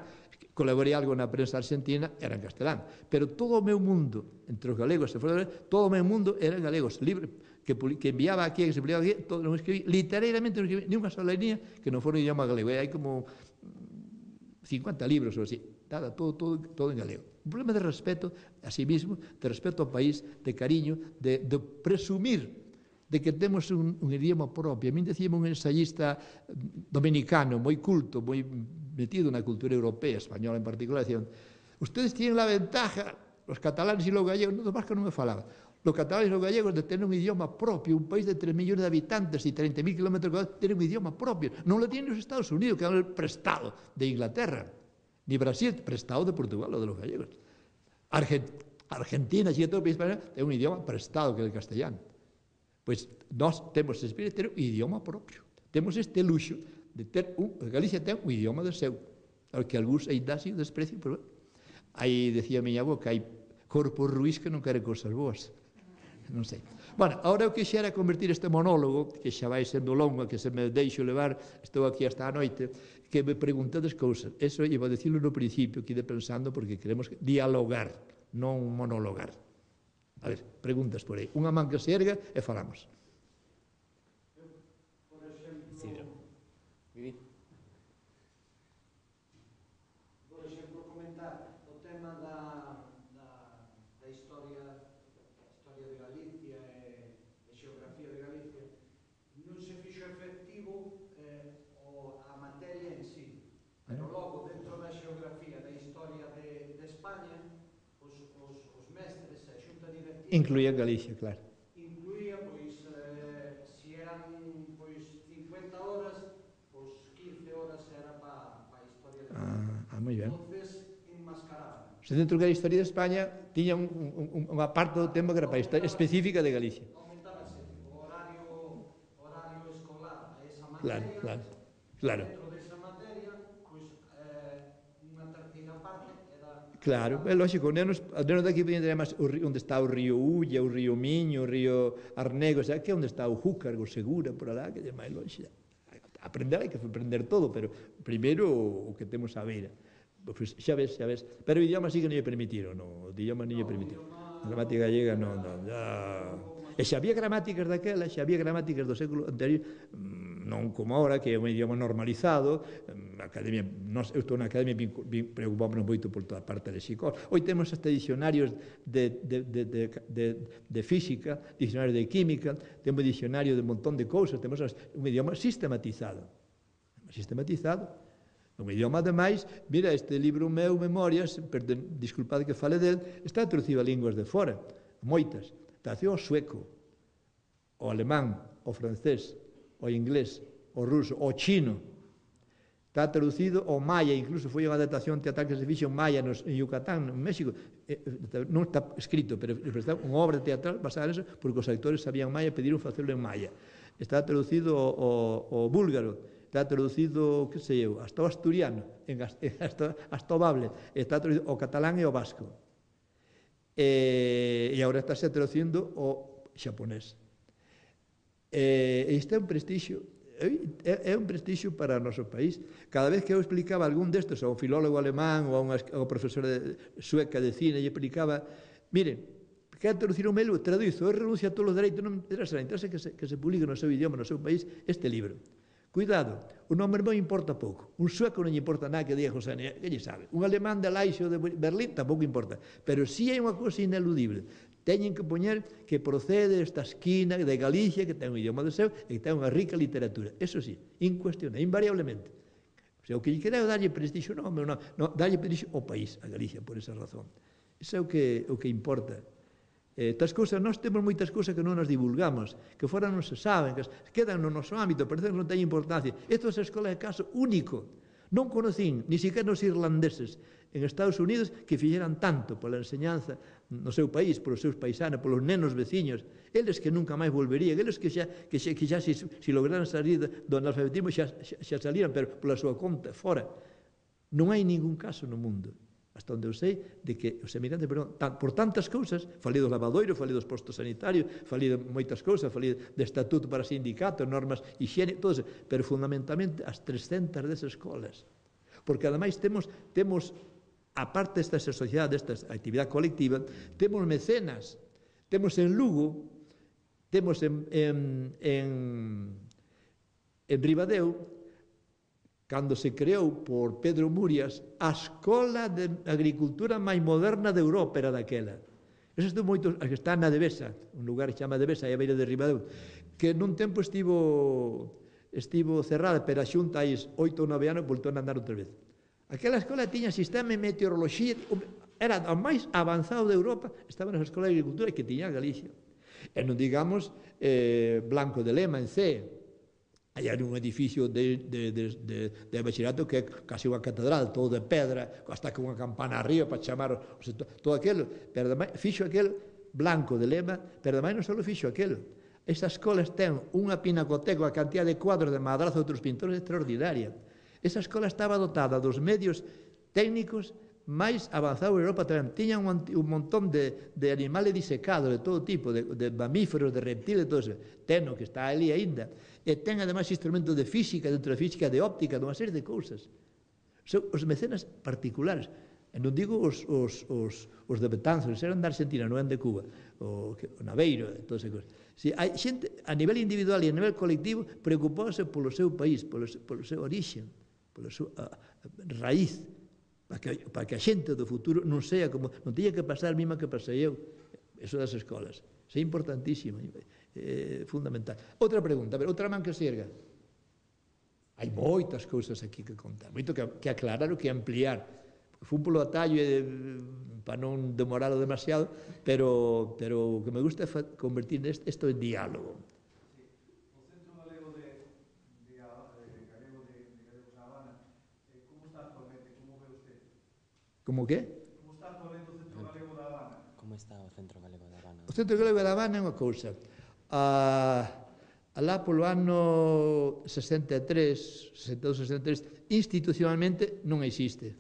Colaborei algo na prensa argentina, era en castelán. Pero todo o meu mundo, entre os galegos e fora, todo o meu mundo era en galegos. Libre, que, que enviaba aquí, que se publicaba aquí, todo, non escribí, literalmente non escribí ni unha sola línea que non fora en idioma galego. E hai como cincuenta libros ou así. Nada, todo, todo, todo en galego. Un problema de respeto a sí mismo, de respeto ao país, de cariño, de, de presumir de que temos un, un idioma propio. A mí decíame un ensayista dominicano, moi culto, moi metido na cultura europea, española en particular, decían, ustedes tienen la ventaja, los catalanes y los gallegos, no, más que non me falaba, los catalanes y los gallegos de tener un idioma propio, un país de tres millones de habitantes y treinta mil kilómetros cuadrados, tienen un idioma propio. Non lo tienen los Estados Unidos, que dan el prestado de Inglaterra, ni Brasil, prestado de Portugal, o de los gallegos. Argent Argentina, si todo o país español, é un idioma prestado, que é o castellano. Pois nós temos ese espírito de ter un idioma propio. Temos este luxo de ter un... Galicia ten un idioma de seu, ao que algúns ainda así o desprecio, pero aí decía a miña avó que hai corpos ruís que non queren cosas boas. Non sei. Bueno, agora eu quixera convertir este monólogo, que xa vai sendo longo, que se me deixo levar, estou aquí hasta a noite, que me preguntades cousas. Eso iba a decirlo no principio, que ide pensando, porque queremos dialogar, non monologar. A ver, preguntas por aí. Unha man que se erga e falamos.
Por exemplo, Vivi. Por exemplo, comentar o tema da, da, da historia, historia de Galicia e, e xeografía de Galicia. Non se fixo efectivo eh, o, a materia en sí, pero logo dentro da xeografía da historia de, de España, os, os, os mestres e a xunta directiva
Incluía Galicia, claro.
Incluía, pois, eh, si eran, pois, cincuenta horas, pois, quince horas era para pa a historia de Galicia.
Ah, ah, moi ben.
Entonces, enmascaraba.
Se dentro da historia de España tiña un, un, unha parte do tempo que era para a historia específica de Galicia.
Aumentábase o horario, horario escolar a esa
Claro,
materia,
claro, claro.
dentro desa materia, pois, eh, unha terceira parte era...
Claro, é lógico, os nenos, os nenos daqui podían ter máis onde está o río Ulla, o río Miño, o río Arnego, xa, que é onde está o Júcar, o Segura, por alá, que é máis longe. Aprender hai que aprender todo, pero primeiro o que temos a beira. Pois xa ves, xa ves. Pero o idioma sí que non lle permitiron, no, o idioma non lle permitiron. A gramática gallega non, non, ya... E xa había gramáticas daquela, xa había gramáticas do século anterior, non como ahora, que é un idioma normalizado, a academia, nós, eu estou na academia, preocupámonos moito por toda a parte lexicol. Hoy temos hasta dicionarios de, de, de, de, de, de física, dicionarios de química, temos dicionario de un montón de cousas, temos un idioma sistematizado. Sistematizado. Un idioma, ademais, mira, este libro meu, Memorias, perdón, disculpad que fale del, está traducido a linguas de fora, moitas. Está traducido ao sueco, ao alemán, ao francés, ao inglés, ao ruso, ao chino. Está traducido ao maya, incluso foi unha adaptación teatral que se fixo en maya nos, en Yucatán, en México. Non está escrito, pero está unha obra teatral basada en eso, porque os actores sabían maya e pediron facelo en maya. Está traducido ao, ao búlgaro, está traducido, que sei eu, hasta o asturiano, en, hasta, hasta o bable, está traducido ao catalán e ao vasco. E, e agora está se traducindo ao xaponés. E isto é un prestixio, é, é un prestixio para o noso país. Cada vez que eu explicaba algún destes, a un filólogo alemán ou a unha, a unha profesora de, sueca de cine, e explicaba, miren, quer traducir un mail, traduzo, eu renuncio a todos os dereitos, non interesa, interesa que se, que se publique no seu idioma, no seu país, este libro. Cuidado, o nome meu importa pouco. Un sueco non lle importa nada que diga José Antonio, que lle sabe? Un alemán de Laixo de Berlín tampouco importa. Pero si hai unha cousa ineludible. Teñen que poñer que procede esta esquina de Galicia, que ten un idioma de seu, e que ten unha rica literatura. Eso sí, incuestionable, invariablemente. O sea, o que lle queda é darlle prestixio, non, non, non, darlle prestixio ao país, a Galicia, por esa razón. Iso é o que, o que importa. Eh, tas cousas, nós temos moitas cousas que non nos divulgamos, que fora non se saben, que quedan no noso ámbito, parece que non ten importancia. Isto é a escola de caso único. Non conocín, ni siquiera os irlandeses en Estados Unidos, que fixeran tanto pola enseñanza no seu país, polos seus paisanos, polos nenos veciños, eles que nunca máis volverían, eles que xa, que xa, que xa si, si lograran salir do analfabetismo xa, xa, xa salían, pero pola súa conta, fora. Non hai ningún caso no mundo, hasta onde eu sei, de que os emigrantes, perdón, por tantas cousas, falei dos lavadoiros, falei dos postos sanitarios, falei de moitas cousas, falei de estatuto para sindicatos, normas higiene, todo eso, pero fundamentalmente as trescentas desas escolas. Porque ademais temos, temos aparte desta sociedade, desta actividade colectiva, temos mecenas, temos en Lugo, temos en, en, en, en Ribadeo, cando se creou por Pedro Murias a escola de agricultura máis moderna de Europa era daquela. Eso estou moito, que está na Devesa, un lugar que se chama Devesa, aí a beira de Ribadeo, que nun tempo estivo estivo cerrada, pero a xunta aí oito ou nove anos voltou a andar outra vez. Aquela escola tiña sistema de meteoroloxía, era o máis avanzado de Europa, estaba na escola de agricultura que tiña Galicia. E non digamos eh, Blanco de Lema, en C, aí hai un edificio de, de, de, de, de bachillerato que é casi unha catedral, todo de pedra, hasta con unha campana arriba para chamar o sector, todo aquilo, pero ademais fixo aquel Blanco de Lema, pero ademais non só fixo aquilo. Esas escolas ten unha pinacoteca, a cantidad de cuadros de Madrazo e outros pintores extraordinaria. Esa escola estaba dotada dos medios técnicos máis avanzados de Europa tamén. Tiñan un, un montón de, de animales disecados de todo tipo, de, de mamíferos, de reptiles, de todo eso. Teno, que está ali aínda. E ten, ademais, instrumentos de física, dentro de física, de óptica, de unha serie de cousas. Son os mecenas particulares. E non digo os, os, os, os de Betanzos, eran da Argentina, non eran de Cuba, o, o Naveiro, e todas esas cousas. Si, hai xente, a nivel individual e a nivel colectivo, preocupándose polo seu país, polo, polo seu origen, pola súa raíz, para que, para que a xente do futuro non sea como, non teña que pasar a mesma que pasei eu. Eso das escolas. Isso é importantísimo, é fundamental. Outra pregunta, a ver, outra man que se erga. Hai moitas cousas aquí que contar, moito que, que aclarar ou que ampliar. fun polo atallo e para non demoralo demasiado, pero, pero o que me gusta é convertir isto en diálogo.
O Centro Galego de, de, de, Galego de, de Galegos da Habana, eh, como está actualmente? Como ve usted?
Como que?
Como está actualmente o Centro Galego da Habana?
Como está o Centro Galego da Habana?
O Centro Galego da Habana é unha cousa. A, alá polo ano sesenta e tres, sesenta e dous, sesenta e tres, institucionalmente non existe.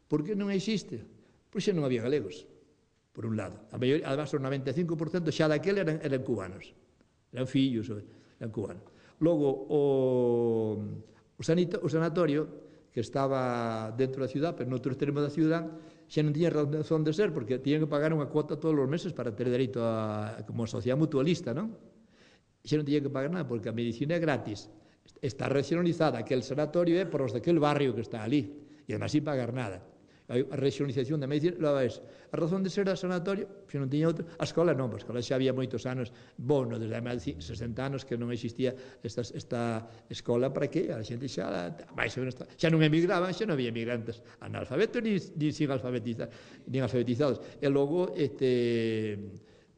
Por que non existe? Pois xa non había galegos, por un lado. A maioría, además, o noventa e cinco por cento xa daquele eran, eran cubanos. Eran fillos, eran cubanos. Logo, o, o, sanito, o sanatorio, que estaba dentro da ciudad, pero noutro extremo da ciudad, xa non tiña razón de ser, porque tiñan que pagar unha cuota todos os meses para ter dereito a, como sociedade mutualista, non? Xa non tiña que pagar nada, porque a medicina é gratis. Está regionalizada, aquel sanatorio é por os daquel barrio que está ali, e además sin pagar nada. A regionalización da medicina, logo es, a razón de ser a sanatorio, se non tiña outro, a escola non, a escola xa había moitos anos, bueno, desde máis de sesenta anos que non existía esta, esta escola para que a xente xa, máis ou menos, xa non emigraban, xa non había emigrantes analfabetos ni, ni sin alfabetizar, ni alfabetizados. E logo, este,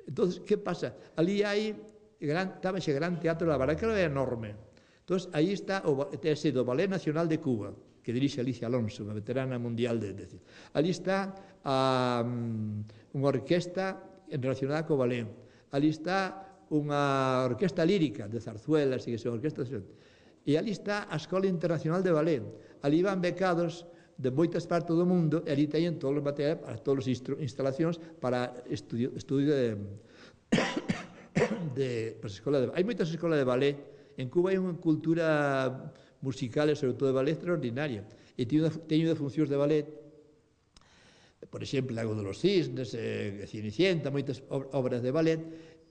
entonces, que pasa? Ali hai, gran, estaba xe gran teatro da Habana, que era enorme. Entonces, aí está o, o Ballet Nacional de Cuba, que dirixe Alicia Alonso, unha veterana mundial de, de... Ali está a, um, unha orquesta relacionada co ballet. Ali está unha orquesta lírica de zarzuelas e que son orquestas. E ali está a Escola Internacional de Ballet. Ali van becados de moitas partes do mundo e ali teñen todos os materiais, todas as instalacións para estudio, estudio de... de para escola de... Hai moitas escolas de ballet. En Cuba hai unha cultura musical e sobre todo de ballet extraordinaria. E teño unha funcións de ballet, por exemplo, Lago de los Cisnes, eh, Cenicienta, moitas obras de ballet,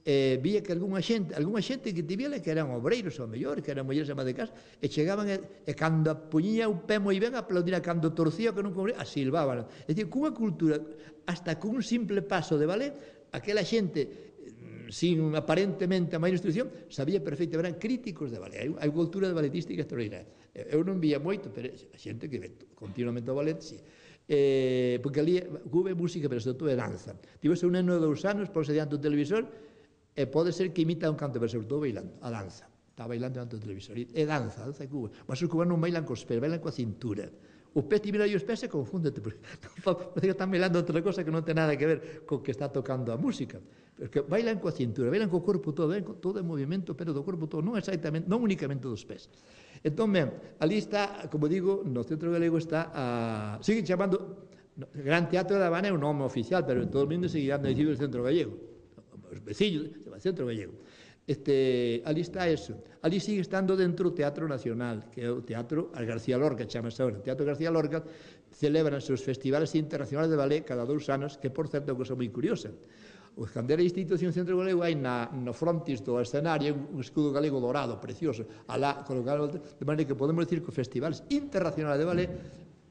eh, vía que algunha xente, algunha xente que te vía que eran obreiros ao mellor, que eran mulleres amas de casa, e chegaban e, e cando puñía un pé moi ben aplaudira, cando torcía que non cobría, a silbaban. É dicir, cunha cultura, hasta cun simple paso de ballet, aquela xente sin aparentemente a maior instrucción, sabía perfectamente, eran críticos de ballet. Hai unha cultura de balletística extraordinaria. Eu non vía moito, pero a xente que ve continuamente o ballet, sí. Eh, porque ali Cuba é música, pero sobre todo é danza. Tivese un neno de dous anos, ponse diante do televisor, e pode ser que imita un canto, pero sobre todo bailando, a danza. Está bailando diante do televisor. É danza, a danza de Cuba. Mas os cubanos non bailan cos pés, bailan coa cintura. O pé te mira e os pés e confúndete, porque parece que están bailando outra cosa que non ten nada que ver co que está tocando a música. Porque bailan coa cintura, bailan co corpo todo, todo é movimento, pero do corpo todo, non exactamente, non únicamente dos pés. Entón, ben, ali está, como digo, no Centro Galego está a... Sigue chamando... Gran Teatro da Habana é un nome oficial, pero todo o mundo seguirá dicindo el Centro Gallego. Os veciños, se chama Centro Gallego. Este, ali está eso. Ali sigue estando dentro o Teatro Nacional, que é o Teatro García Lorca, chamase agora. O Teatro García Lorca celebran os festivales internacionales de ballet cada dous anos, que, por certo, é unha cosa moi curiosa. O cando era a institución Centro Galego hai na, no frontis do escenario un escudo galego dorado, precioso, alá colocado, de maneira que podemos decir que os festivales internacionales de ballet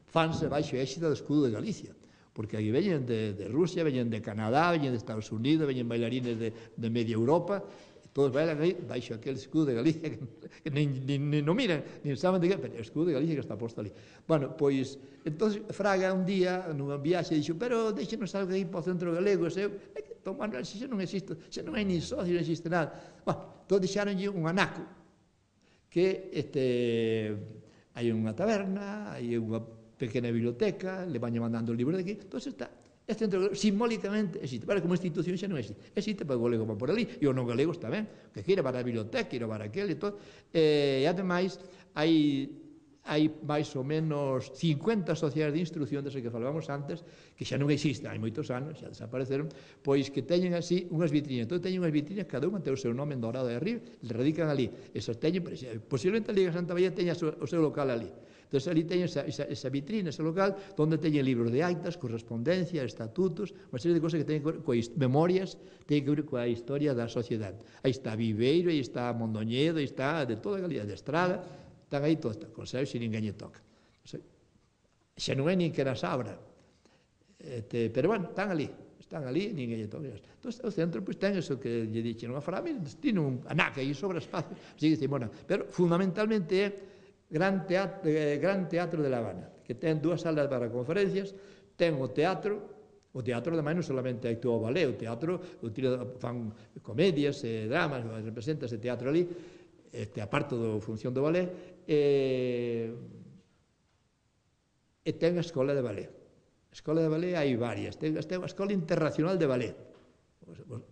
fanse baixo a éxito do escudo de Galicia, porque aí veñen de, de Rusia, veñen de Canadá, veñen de Estados Unidos, veñen bailarines de, de media Europa, todos bailan aí baixo aquel escudo de Galicia que, que nin, nin, nin no miran, nin saben de que, pero o escudo de Galicia que está posto ali. Bueno, pois, entonces Fraga un día, nunha viaxe, dixo, pero deixenos algo aí para o Centro Galego, e eu, Don Manuel, se xa non existe, xa non hai nin socio, non existe nada. Bueno, entón deixaronlle un anaco, que este, hai unha taberna, hai unha pequena biblioteca, le van mandando o libro de aquí, entón está. É Centro Galego, simbólicamente existe, para como institución xa non existe, existe para o galego van por ali, e o non galego está ben, que queira para a biblioteca, queira para aquel e todo, e ademais hai, hai máis ou menos cincuenta sociedades de instrucción desde que falábamos antes, que xa non existen, hai moitos anos, xa desapareceron, pois que teñen así unhas vitrinas, entón teñen unhas vitrinas, cada unha ten o seu nome en dorado de arriba, e radican ali, esas teñen, posiblemente a Liga Santa María teña o seu local ali. Entón, ali teñen esa, esa, esa vitrina, ese local, onde teñen libros de actas, correspondencia, estatutos, unha serie de cosas que teñen que ver coa memorias, teñen que ver coa historia da sociedade. Aí está Viveiro, aí está Mondoñedo, aí está de toda a Galicia, de Estrada, están aí todos, consellos e ninguén lle toca. Xa non é nin que nas abra, este, pero bueno, están ali, están ali, ninguén lle toca. Entón, o centro pois, ten eso que lle dixen unha frase, tiene un anaca aí sobre espacio, así que, bueno, pero fundamentalmente é Gran Teatro, eh, Gran Teatro de La Habana, que ten dúas salas para conferencias, ten o teatro. O teatro, ademais, non solamente actúa o ballet, o teatro fan comedias, eh, dramas, representa ese teatro ali, este, aparte da función do ballet, e, e ten a escola de ballet. A escola de ballet hai varias, ten, ten a escola internacional de ballet,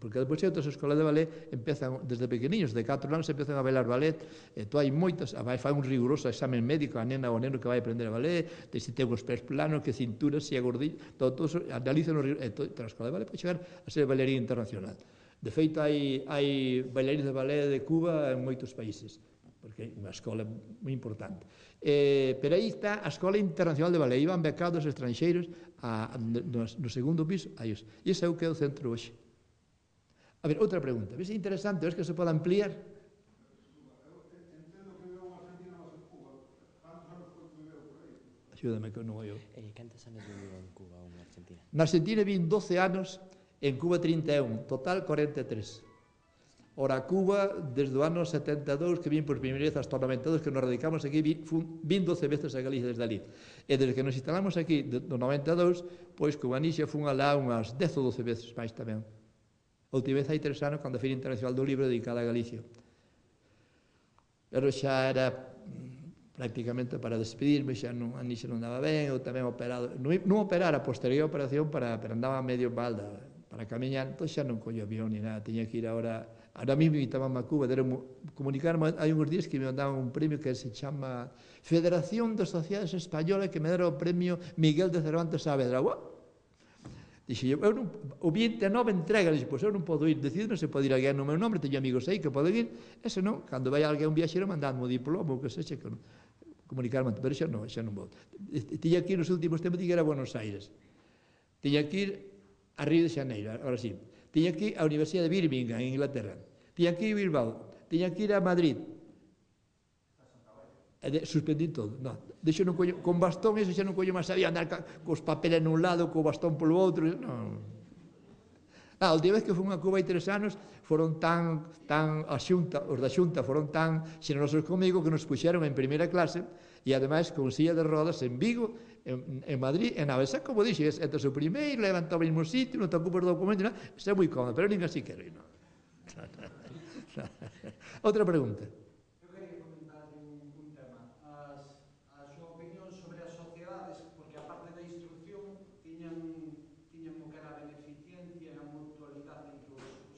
porque depois hai outras escolas de ballet, empezan desde pequeniños, de catro anos empezan a bailar ballet, e tu hai moitas, vai fai un riguroso examen médico a nena ou neno que vai aprender a ballet, de se ten os pés planos, que cintura, se é gordillo, todo, todo, analizan os rigurosos, e toda a escola de ballet pode chegar a ser bailarín internacional. De feito, hai, hai bailarines de ballet de Cuba en moitos países, porque é unha escola moi importante. Eh, pero aí está a Escola Internacional de Ballet, iban becados estranxeiros a, a, no, no segundo piso, aí, e ese é o que é o centro hoxe. A ver, outra pregunta. Ves interesante, ves que se pode ampliar?
Entendo que viveu en Argentina máis en Cuba. Cantos anos foi que viveu por aí?
Axúdame que non eu.
Eh, cantos anos viviu en Cuba ou en Argentina?
Na Argentina vin doce anos, en Cuba trinta e un, total cuarenta e tres. Ora, Cuba, desde o ano setenta e dous, que vin por primeira vez hasta o noventa e dous, que nos radicamos aquí, vin, vin doce veces a Galicia desde ali. E desde que nos instalamos aquí, do noventa e dous, pois, Cuba Nixa fun alá unhas dez ou doce veces máis tamén. A última vez hai tres anos, cando a Feira Internacional do Libro dedicada a Galicia. Pero xa era prácticamente para despedirme, xa non, a Nixa non daba ben, eu tamén operado, non, non operar a posterior operación, para, pero andaba medio balda, para camiñar, entón xa non collo avión ni nada, tiña que ir ahora, ahora mismo invitaban a Cuba, deron comunicarme, hai uns días que me mandaban un premio que se chama Federación de Sociedades Españolas, que me deron o premio Miguel de Cervantes Saavedra. Dixe, eu non, o vinte e nove entrega, dixe, pois eu non podo ir, decido, non se pode ir alguén no meu nombre, teño amigos aí que poden ir, ese non, cando vai alguén un viaxeiro, mandadme o diploma, ou que sexe, que non, comunicarme, pero xa non, xa non vou. Tiña que ir nos últimos tempos, tiña que ir a Buenos Aires, tiña que ir a Río de Xaneiro, agora sí, tiña que ir á Universidade de Birmingham, en Inglaterra, tiña que ir a Bilbao, tiña que ir a Madrid, suspendí todo, non, deixo non collo, con bastón, eso xa non collo máis sabía andar cos papeles nun lado, co bastón polo outro, non. Ah, a última vez que fui a Cuba hai tres anos, foron tan, tan, a xunta, os da xunta foron tan xenerosos comigo que nos puxeron en primeira clase, e ademais con silla de rodas en Vigo, en, en Madrid, en Avesa, como dixes, entre o primeiro, levanta ao mesmo sitio, non te ocupas do documento, non, é moi cómodo, pero nin así quero ir, non. Outra pregunta.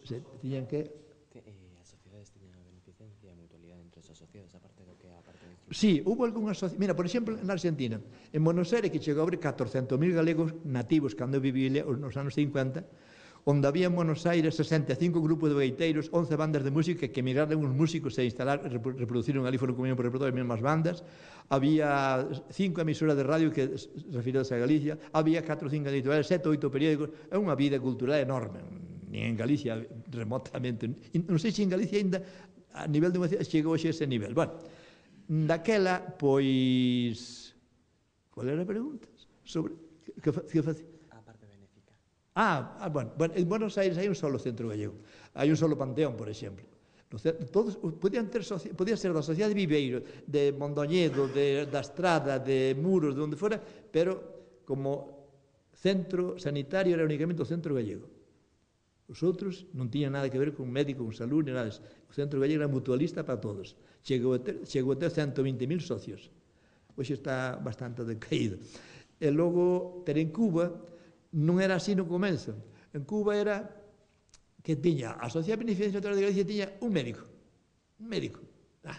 Se, tiñan que...
que eh, as sociedades tiñan a beneficencia e a mutualidade entre os asociados, aparte do que a parte de instrucción.
Sí, hubo algunhas sociedades... Mira, por exemplo, na Argentina, en Buenos Aires, que chegou a haber catorcentos mil galegos nativos cando viví nos anos cincuenta, onde había en Buenos Aires sesenta e cinco grupos de gaiteiros, once bandas de música que emigraron uns músicos e instalar, reproduciron ali, foron comiendo por repertorio as mesmas bandas, había cinco emisoras de radio que referidas a Galicia, había catro ou cinco editoriales, sete ou oito periódicos, é unha vida cultural enorme, nin en Galicia remotamente, non sei se en Galicia ainda a nivel de unha cidade chegou a ese nivel. Bueno, daquela, pois, qual era a pregunta? Sobre, que, que facía?
A parte benéfica.
Ah, ah bueno, bueno, en Buenos Aires hai un solo centro gallego, hai un solo panteón, por exemplo. Todos podían ter, podía ser da Sociedade de Viveiro, de Mondoñedo, de, da Estrada, de Muros, de onde fora, pero como centro sanitario era únicamente o centro gallego. Os outros non tiñan nada que ver con médico, con salud, ni nada. O centro gallego era mutualista para todos. Chegou a ter, chegou a ter ciento vinte mil socios. Hoxe está bastante decaído. E logo, ter en Cuba, non era así no comezo. En Cuba era que tiña, a Sociedade Beneficencia de Galicia tiña un médico. Un médico. Ah.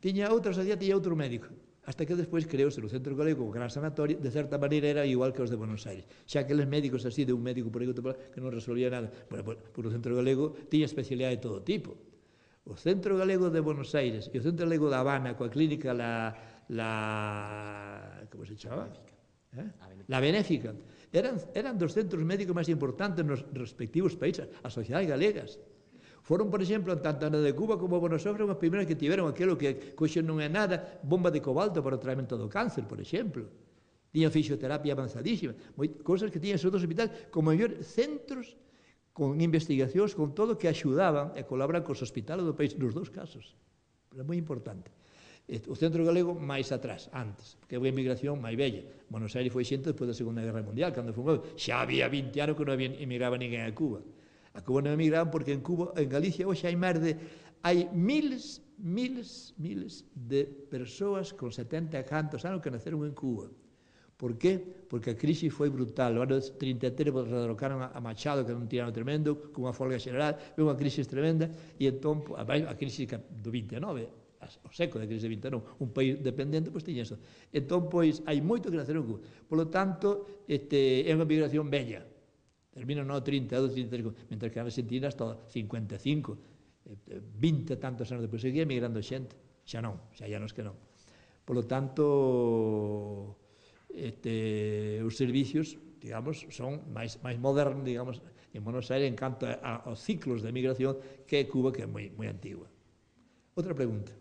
Tiña outra sociedade, tiña outro médico. Hasta que despois creouse o Centro Galego, o Gran Sanatorio, de certa maneira era igual que os de Buenos Aires. Xa que aqueles médicos así, de un médico por aí que non resolvía nada, bueno, por o Centro Galego tiña especialidade de todo tipo. O Centro Galego de Buenos Aires e o Centro Galego de Habana, coa clínica la, la como se chama? Eh? La Benéfica. Eran, eran dos centros médicos máis importantes nos respectivos países, as sociedades galegas. Foron, por exemplo, tanto na de Cuba como Buenos Aires, as primeiras que tiveron aquilo que coxe non é nada, bomba de cobalto para o tratamento do cáncer, por exemplo. Tiñan fisioterapia avanzadísima, cousas que tiñan os outros hospitais como mellor centros con investigacións, con todo que axudaban e colaboran cos hospitales do país, nos dous casos. Era moi importante. O centro galego máis atrás, antes, porque é unha emigración máis bella. Buenos Aires foi xente despois da Segunda Guerra Mundial, cando foi, xa había vinte anos que non había emigraba ninguén a Cuba. A Cuba non emigraban porque en Cuba, en Galicia, hoxe hai máis de, hai miles, miles, miles de persoas con setenta e cantos anos que naceron en Cuba. Por qué? Porque a crise foi brutal. No ano trinta e tres derrocaron a Machado, que era un tirano tremendo, con unha folga xeral, foi unha crise tremenda, e entón, a crise do vinte e nove, o século da crise de vinte e nove, un país dependente, pois tiña eso. Entón, pois, hai moito que naceron en Cuba. Por lo tanto, este, é unha migración bella. Termina no trinta e dous, trinta e tres, mentre que a Argentina hasta cincuenta e cinco, vinte e tantos anos depois seguía migrando xente. Xa non, xa hai anos que non. Por lo tanto, este, os servicios, digamos, son máis, máis modernos, digamos, en Buenos Aires, en canto a, aos ciclos de migración, que é Cuba, que é moi, moi antigua. Outra pregunta.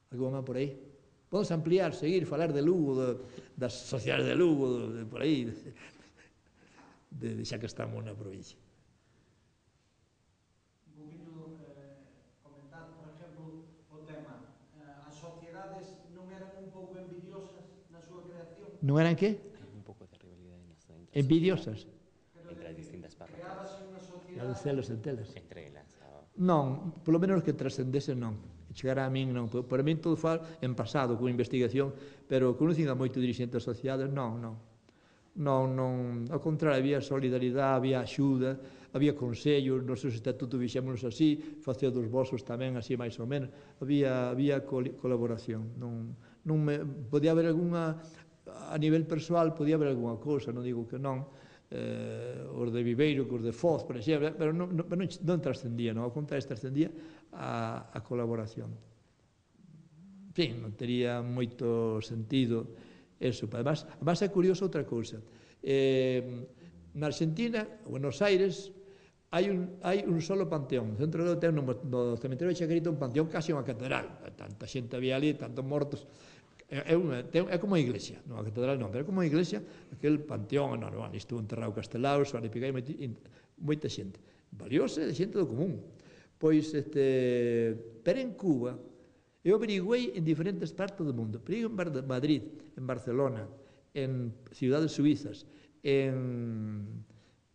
Algo máis por aí? Podemos ampliar, seguir, falar de Lugo, de, das sociedades de Lugo, de, de por aí, de, de, xa que estamos na provincia.
Un poquinho eh, comentar, por exemplo, o tema. Eh, as sociedades non eran un pouco envidiosas na súa creación?
Non eran que?
Hay un poco de rivalidad en las entre
Envidiosas?
entre las distintas parroquias.
Creábase unha sociedade...
Las de celos e telas.
Entre elas. Ah,
Non, polo menos que trascendese non. Chegará a min non. Para min todo fal en pasado, con investigación, pero conocín a moito dirigentes asociados, non, non. Non, non, ao contrario, había solidaridade, había axuda, había consellos, nos seus estatutos vixémonos así, facía dos vosos tamén así máis ou menos, había, había colaboración. Non, non me, podía haber algunha, a nivel persoal, podía haber algunha cousa, non digo que non, eh, os de Viveiro, os de Foz, por exemplo, pero non, non, non, non trascendía, non, ao contrario, trascendía a, a colaboración. En fin, non tería moito sentido eso. Además, además é curioso outra cousa. Eh, na Argentina, Buenos Aires, hai un, hai un solo panteón. No centro do ten no, no cementerio de Chacarita un panteón casi unha catedral. Tanta xente había ali, tantos mortos. É, unha, é como a iglesia, non a catedral non, pero é como a iglesia, aquel panteón enorme, estuvo enterrado Castelao, Suárez Picai, moita xente. Valióse de xente do común. Pois, este, pero en Cuba, eu averiguei en diferentes partes do mundo, pero en Madrid, en Barcelona, en ciudades suizas, en,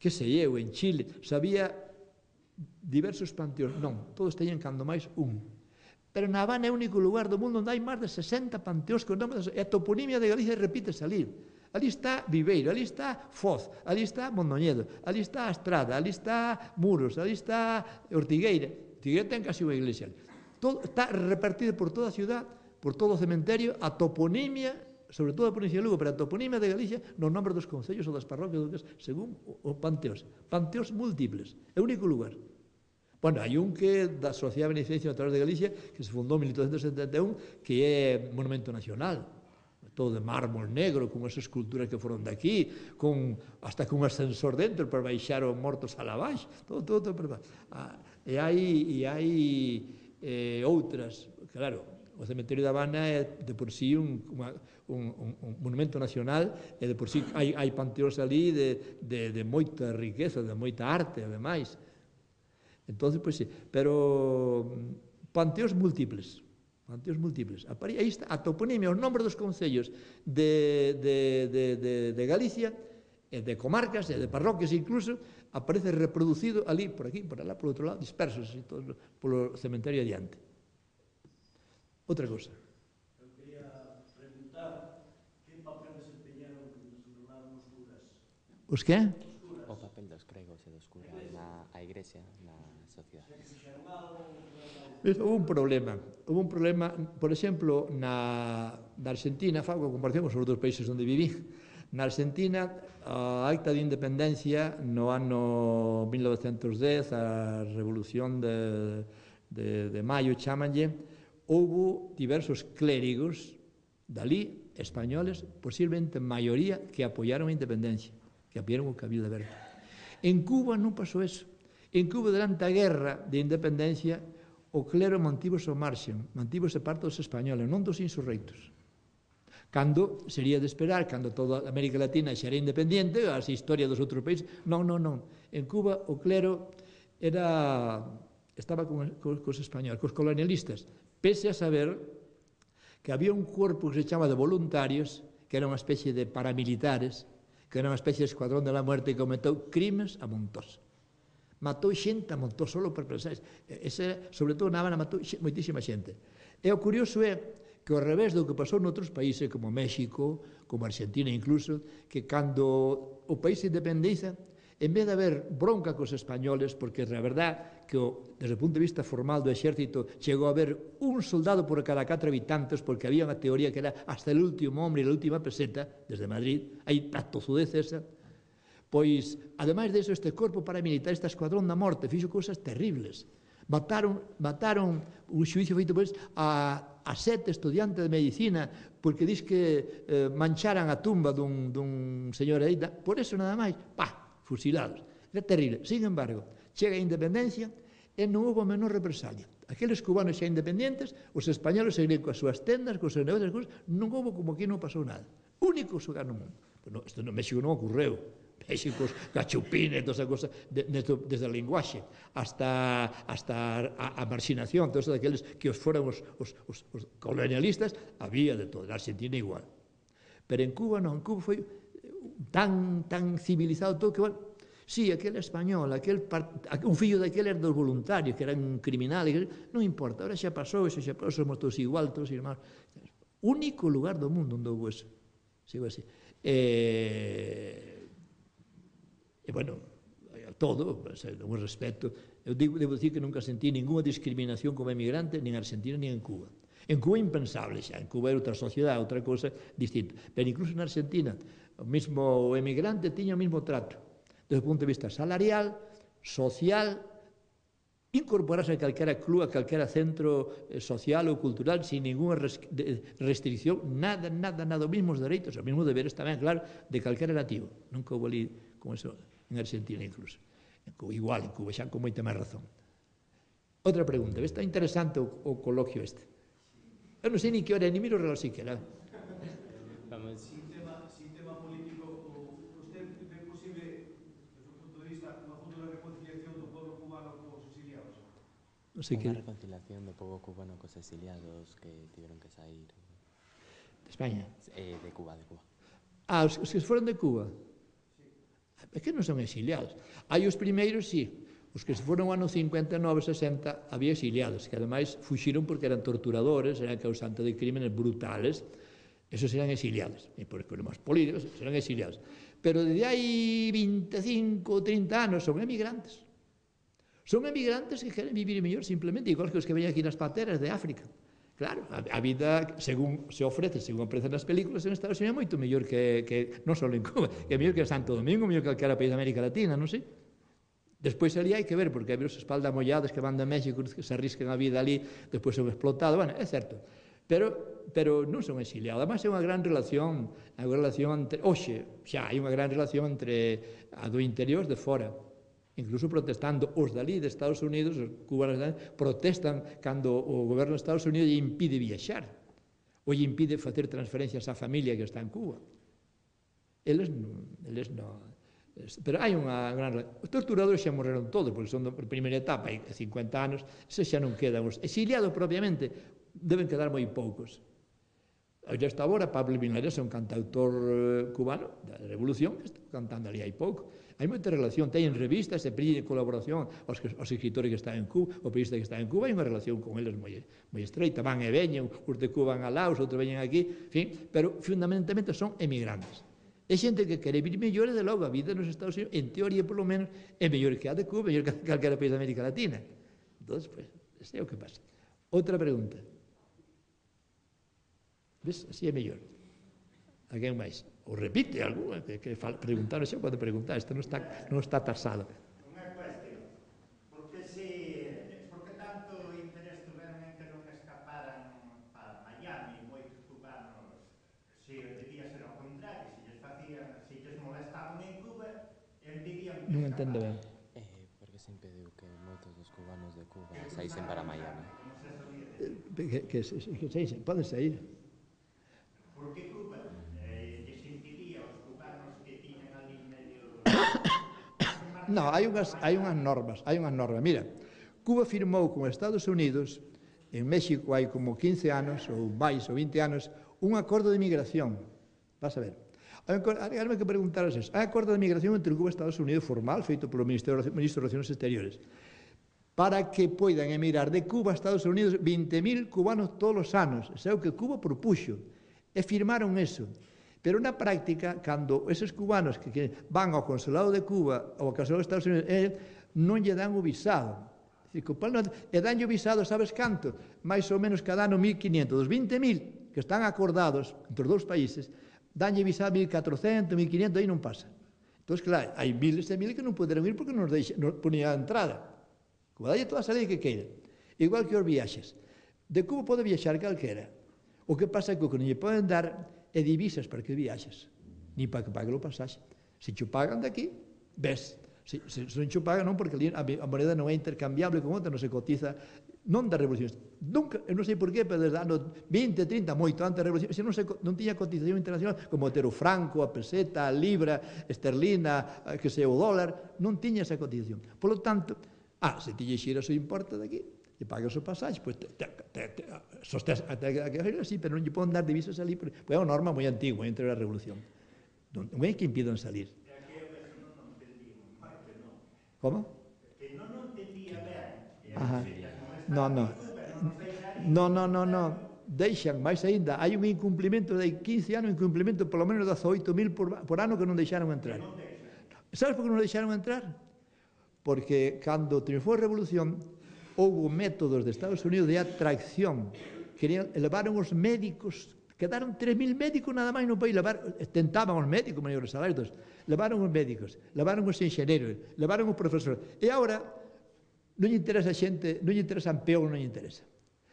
que sei eu, en Chile, sabía diversos panteóns, non, todos teñen cando máis un. Pero na Habana é o único lugar do mundo onde hai máis de sesenta panteóns con nomes, e a toponimia de Galicia repítese ali. Ali está Viveiro, ali está Foz, ali está Mondoñedo, ali está Astrada, ali está Muros, ali está Ortigueira. Ortigueira ten casi unha iglesia. Todo, está repartido por toda a ciudad, por todo o cementerio, a toponimia, sobre todo a provincia de Lugo, pero a toponimia de Galicia, nos nombres dos concellos ou das parroquias, según os panteóns. Panteóns múltiples, é o único lugar. Bueno, hai un que da Sociedade de Beneficencia Natural de Galicia, que se fundou en mil oitocentos setenta e un, que é monumento nacional, todo de mármol negro, con esas esculturas que foron daqui, con, hasta con un ascensor dentro para baixar os mortos a la baix, todo, todo, todo para ah, e hai, e hai eh, outras, claro, o cementerio da Habana é de por sí un, uma, un, un, un monumento nacional, e de por sí hai, hai panteóns ali de, de, de moita riqueza, de moita arte, ademais. Entonces, pois sí, pero panteóns múltiples, panteóns múltiples. Aí está a toponimia, os nombres dos concellos de, de, de, de, de Galicia, e de comarcas, e de parroquias incluso, aparece reproducido ali, por aquí, por alá, por outro lado, dispersos, así, todos, polo cementerio adiante. Outra cosa.
Eu quería preguntar que papel desempeñaron os curas.
Os que?
o papel dos cregos e dos curas na a igrexa, na sociedade.
Houve un problema, houve un problema, por exemplo, na, na Argentina, fago a comparación con os outros países onde viví, na Argentina, a acta de independencia no ano mil novecentos dez, a revolución de, de, de maio, chamanlle, houve diversos clérigos dali, españoles, posiblemente maioría, que apoiaron a independencia, que apoiaron o Cabildo Aberto. En Cuba non pasou eso. En Cuba, durante a guerra de independencia, o clero mantivose ao marxen, mantivose parte dos españoles, non dos insurreitos. Cando sería de esperar, cando toda a América Latina xa era independiente, as historias dos outros países, non, non, non. En Cuba o clero era, estaba con, con, cos españoles, cos colonialistas, pese a saber que había un corpo que se chama de voluntarios, que era unha especie de paramilitares, que era unha especie de escuadrón de la muerte que cometou crimes a montós. Matou xente a montós solo por pensar. Ese, sobre todo, na Habana matou moitísima xente. E o curioso é que ao revés do que pasou noutros países, como México, como Argentina incluso, que cando o país se independiza, en vez de haber bronca cos españoles, porque a verdad que o, desde o punto de vista formal do exército chegou a haber un soldado por cada catro habitantes, porque había unha teoría que era hasta el último hombre e a última peseta, desde Madrid, hai a tozudez esa, pois, ademais de eso, este corpo paramilitar, este escuadrón da morte, fixo cousas terribles. Mataron, mataron un xuicio feito por eles a, a sete estudiantes de medicina porque dis que eh, mancharan a tumba dun, dun señor aí, por eso nada máis, pa, fusilados. Era terrible. Sin embargo, chega a independencia e non houve a menor represalia. Aqueles cubanos xa independientes, os españoles seguirían coas súas tendas, coas súas negocios, cousas, non houve como que non pasou nada. Único lugar no mundo. Pero no, isto no México non ocorreu. México, cachupines, toda esa cosa, de, de, desde o linguaxe hasta, hasta a, a marxinación, todos aqueles que os foran os, os, os, os colonialistas, había de todo. Na Argentina igual. Pero en Cuba non, en Cuba foi tan, tan civilizado todo que, bueno, sí, aquel español, aquel un fillo daquele era dos voluntarios, que eran criminales, non importa, ahora xa pasou, xa xa pasou, somos todos igual, todos irmãos. Único lugar do mundo onde houve eso. Sigo así. E, e bueno, todo, un respeto. Eu digo, debo dicir que nunca sentí ninguna discriminación como emigrante, nin en Argentina, nin en Cuba. En Cuba impensable xa, en Cuba era outra sociedade, outra cosa distinta. Pero incluso en Argentina, o mismo emigrante tiña o mismo trato, desde o punto de vista salarial, social, incorporarse a calquera club, a calquera centro social ou cultural, sin ninguna restricción, nada, nada, nada, os mismos dereitos, os mismos deberes tamén, claro, de calquera nativo. Nunca houve ali como eso en Argentina incluso. En Cuba, igual, en Cuba xa con moita máis razón. Outra pregunta, está interesante o, o coloquio este. Eu non sei ni que hora, ni miro o reloj siquiera.
Vamos.
Sin tema, sin tema político, usted ve posible, desde o punto de vista, unha futura reconciliación do pueblo cubano cos exiliados?
Non sei que...
Unha reconciliación do pobo cubano cos exiliados que tiveron que sair...
De España?
Eh, de Cuba, de Cuba.
Ah, os, os que foron de Cuba? É que non son exiliados. Hai os primeiros, sí. Os que se foron no ano cincuenta e nove, sesenta, había exiliados, que ademais fuxiron porque eran torturadores, eran causantes de crímenes brutales. Esos eran exiliados. E por problemas políticos, eran exiliados. Pero desde hai veinticinco, trinta anos son emigrantes. Son emigrantes que queren vivir mellor simplemente, igual que os que veñen aquí nas pateras de África. Claro, a vida, según se ofrece, según aparecen nas películas, en Estados Unidos é moito mellor que, que non só en Cuba, que é mellor que Santo Domingo, mellor que calquera país de América Latina, non sei. Despois ali hai que ver, porque hai os espaldas molladas que van de México, que se arriscan a vida ali, despois son explotados, bueno, é certo. Pero, pero non son exiliados. Además, é unha gran relación, unha relación entre, oxe, xa hai unha gran relación entre a do interior de fora. Incluso protestando, os dali de Estados Unidos, os cubanos protestan cando o goberno de Estados Unidos lle impide viaxar, ou lle impide facer transferencias á familia que está en Cuba. Eles non, eles non. Pero hai unha gran... Os torturadores xa morreron todos, porque son da primeira etapa, hai cincuenta anos, se xa non quedan. Os exiliados propiamente deben quedar moi poucos. Esta agora, Pablo Milanés é un cantautor cubano da Revolución, que está cantando ali hai pouco. Hai moita relación, teñen revistas, se pide colaboración aos, que, aos escritores que están en Cuba, o periodista que está en Cuba, hai unha relación con eles moi, moi estreita, van e veñen, os de Cuba van a Laos, outros veñen aquí, en fin, pero fundamentalmente son emigrantes. É xente que quere vir mellor e de logo a vida nos Estados Unidos, en teoría polo menos, é mellor que a de Cuba, mellor que calquera país de América Latina. Entón, pues, ese é o que pasa. Outra pregunta. Ves? Así é mellor. Alguén máis? Ou repite algo, que, que preguntar, xa pode preguntar, isto non está, non está tasado.
Unha cuestión, porque se, porque tanto interés tuveron en que non escaparan para Miami moitos cubanos, se debía ser ao contrario, se lles facían, se lles molestaban en Cuba, impedían que
Non entendo ben.
Eh, porque se impediu que moitos dos cubanos de Cuba saísen para Miami.
Que, que, que, que saísen, poden sair.
Porque Cuba eh, lles impedía aos cubanos que tiñan ali medio...
No, hai unhas, hai unhas normas, hai unhas normas. Mira, Cuba firmou con Estados Unidos en México hai como quince anos, ou máis, ou vinte anos, un acordo de migración. Vas a ver. Hágame que preguntaras eso. Hai acordo de migración entre Cuba e Estados Unidos formal, feito polo Ministro de Relaciones Exteriores, para que poidan emigrar de Cuba a Estados Unidos vinte mil cubanos todos os anos. Isso é o que Cuba propuxo. E firmaron eso. Pero na práctica, cando eses cubanos que, que van ao consulado de Cuba ou ao consulado de Estados Unidos, eh, non lle dan o visado. E danlle o visado, sabes canto? Mais ou menos cada ano mil quinientos. Dos vinte mil que están acordados entre os dous países, danlle visado mil catrocentos, mil quinientos, aí non pasa. Entón, claro, hai miles e miles que non poderon ir porque non nos ponía a entrada. Cuba dalle toda a salida que queira. Igual que os viaxes. De Cuba pode viaxar calquera. O que pasa é que o que non lle poden dar é divisas para que viaxes, ni para que pague o pasaxe. Se cho pagan daqui, ves. Se, se, se non cho pagan, non, porque a, a moneda non é intercambiable con outra, non se cotiza, non da revolución. Nunca, eu non sei por qué, pero desde anos vinte, trinta, moito antes da revolución, se non, se, non tiña cotización internacional, como ter o franco, a peseta, a libra, esterlina, que sei, o dólar, non tiña esa cotización. Por lo tanto, ah, se ti lle xiras o importa daqui, e pagas o pasaxe, pois te, te, te, te, sostés até que así, pero non lle poden dar divisas ali, pois é unha norma moi antigua entre a revolución. Non, non é que impidan salir. Como?
Que non non entendía ben.
Ajá. No, no. No, no, no, no. Deixan, máis aínda, hai un incumplimento de quince anos, un incumplimento polo menos de dezoito mil por, por ano que non deixaron entrar. Sabes por que non deixaron entrar? Porque cando triunfou a revolución, houve métodos de Estados Unidos de atracción. Querían, elevaron os médicos, quedaron tres mil médicos nada máis no país, levar, tentaban os médicos, maiores salarios, levaron os médicos, levaron os enxeñeros, levaron os profesores. E agora non lle interesa xente, non lle interesan peón, non lle interesa.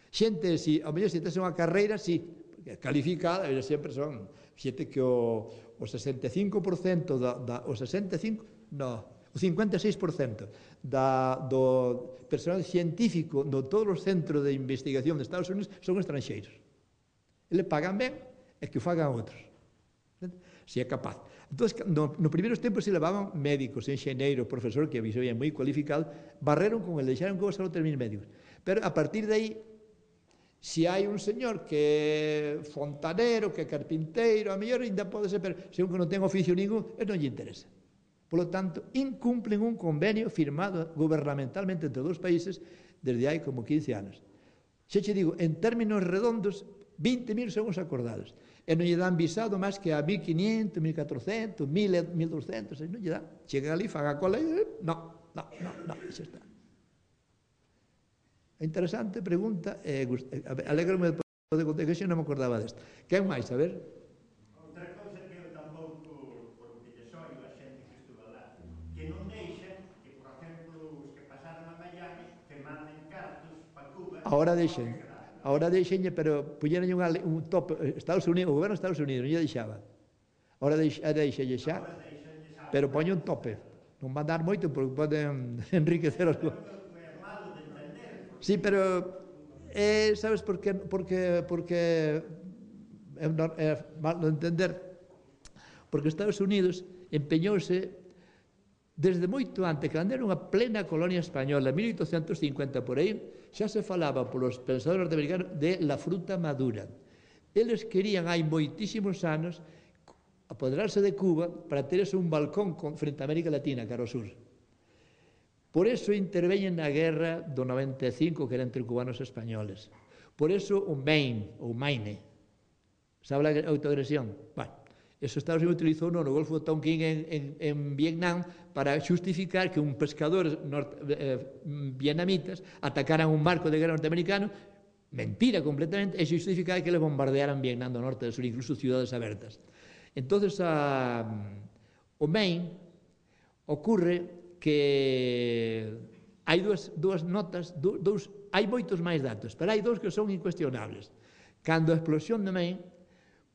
Xente, si, ao mellor se tes unha carreira, si, porque calificada, eles sempre son xente que o, o sesenta e cinco por cento da, da, o sesenta e cinco, no, o cincuenta e seis por cento da, do personal científico de todos os centros de investigación de Estados Unidos son estranxeiros. Eles pagan ben e que o fagan outros. Se é capaz. Entón, no, nos primeiros tempos se levaban médicos, enxeneiros, profesores que habían moi cualificados, barreron con el, deixaron que vos só terminen médicos. Pero a partir de aí, se hai un señor que é fontanero, que é carpinteiro, a mellor ainda pode ser, pero se un que non ten oficio ningún, non lle interesa. Por lo tanto, incumplen un convenio firmado gubernamentalmente entre dous países desde hai como quince anos. Xa che digo, en términos redondos, vinte mil son os acordados. E non lle dan visado máis que a mil quinientos, mil catrocentos, mil, mil doscientos, non lle dan. Chegan ali, fan a cola e... No, no, no, no, xa está. Interesante pregunta, eh, alegro-me de contar que xa non me acordaba desta. Quen máis, a ver?
Outra cousa que eu tampouco, por o que lle soio a xente que estuvo lá, que non deixa que, por exemplo, os que pasaron a Miami, que manden cartos para Cuba...
Ahora deixen. Ahora deixenlle, pero puñeron un, un tope, Estados Unidos, o goberno de Estados Unidos non lle deixaba. Ahora deixenlle xa, pero poñe un tope. Non van dar moito porque poden enriquecer os... Sí, pero eh, sabes por que porque porque é, é mal de entender. Porque Estados Unidos empeñouse desde moito antes, que era unha plena colonia española, mil oitocentos cincuenta por aí, xa se falaba polos pensadores norteamericanos de la fruta madura. Eles querían, hai moitísimos anos, apoderarse de Cuba para terse un balcón frente a América Latina, cara ao sur. Por eso interveñen na guerra do noventa e cinco, que era entre cubanos e españoles. Por eso o Maine, ou Maine, sabe a autoagresión? Bueno, eso Estados Unidos utilizou no Golfo de Tonkin en, en, en Vietnam para xustificar que un pescador norte, eh, vietnamitas atacaran un barco de guerra norteamericano, mentira completamente, e xustificar que le bombardearan Vietnam do norte e do sur, incluso ciudades abertas. Entonces, a, o Maine ocurre que hai dúas, dúas notas, dous, hai moitos máis datos, pero hai dous que son incuestionables. Cando a explosión de Maine,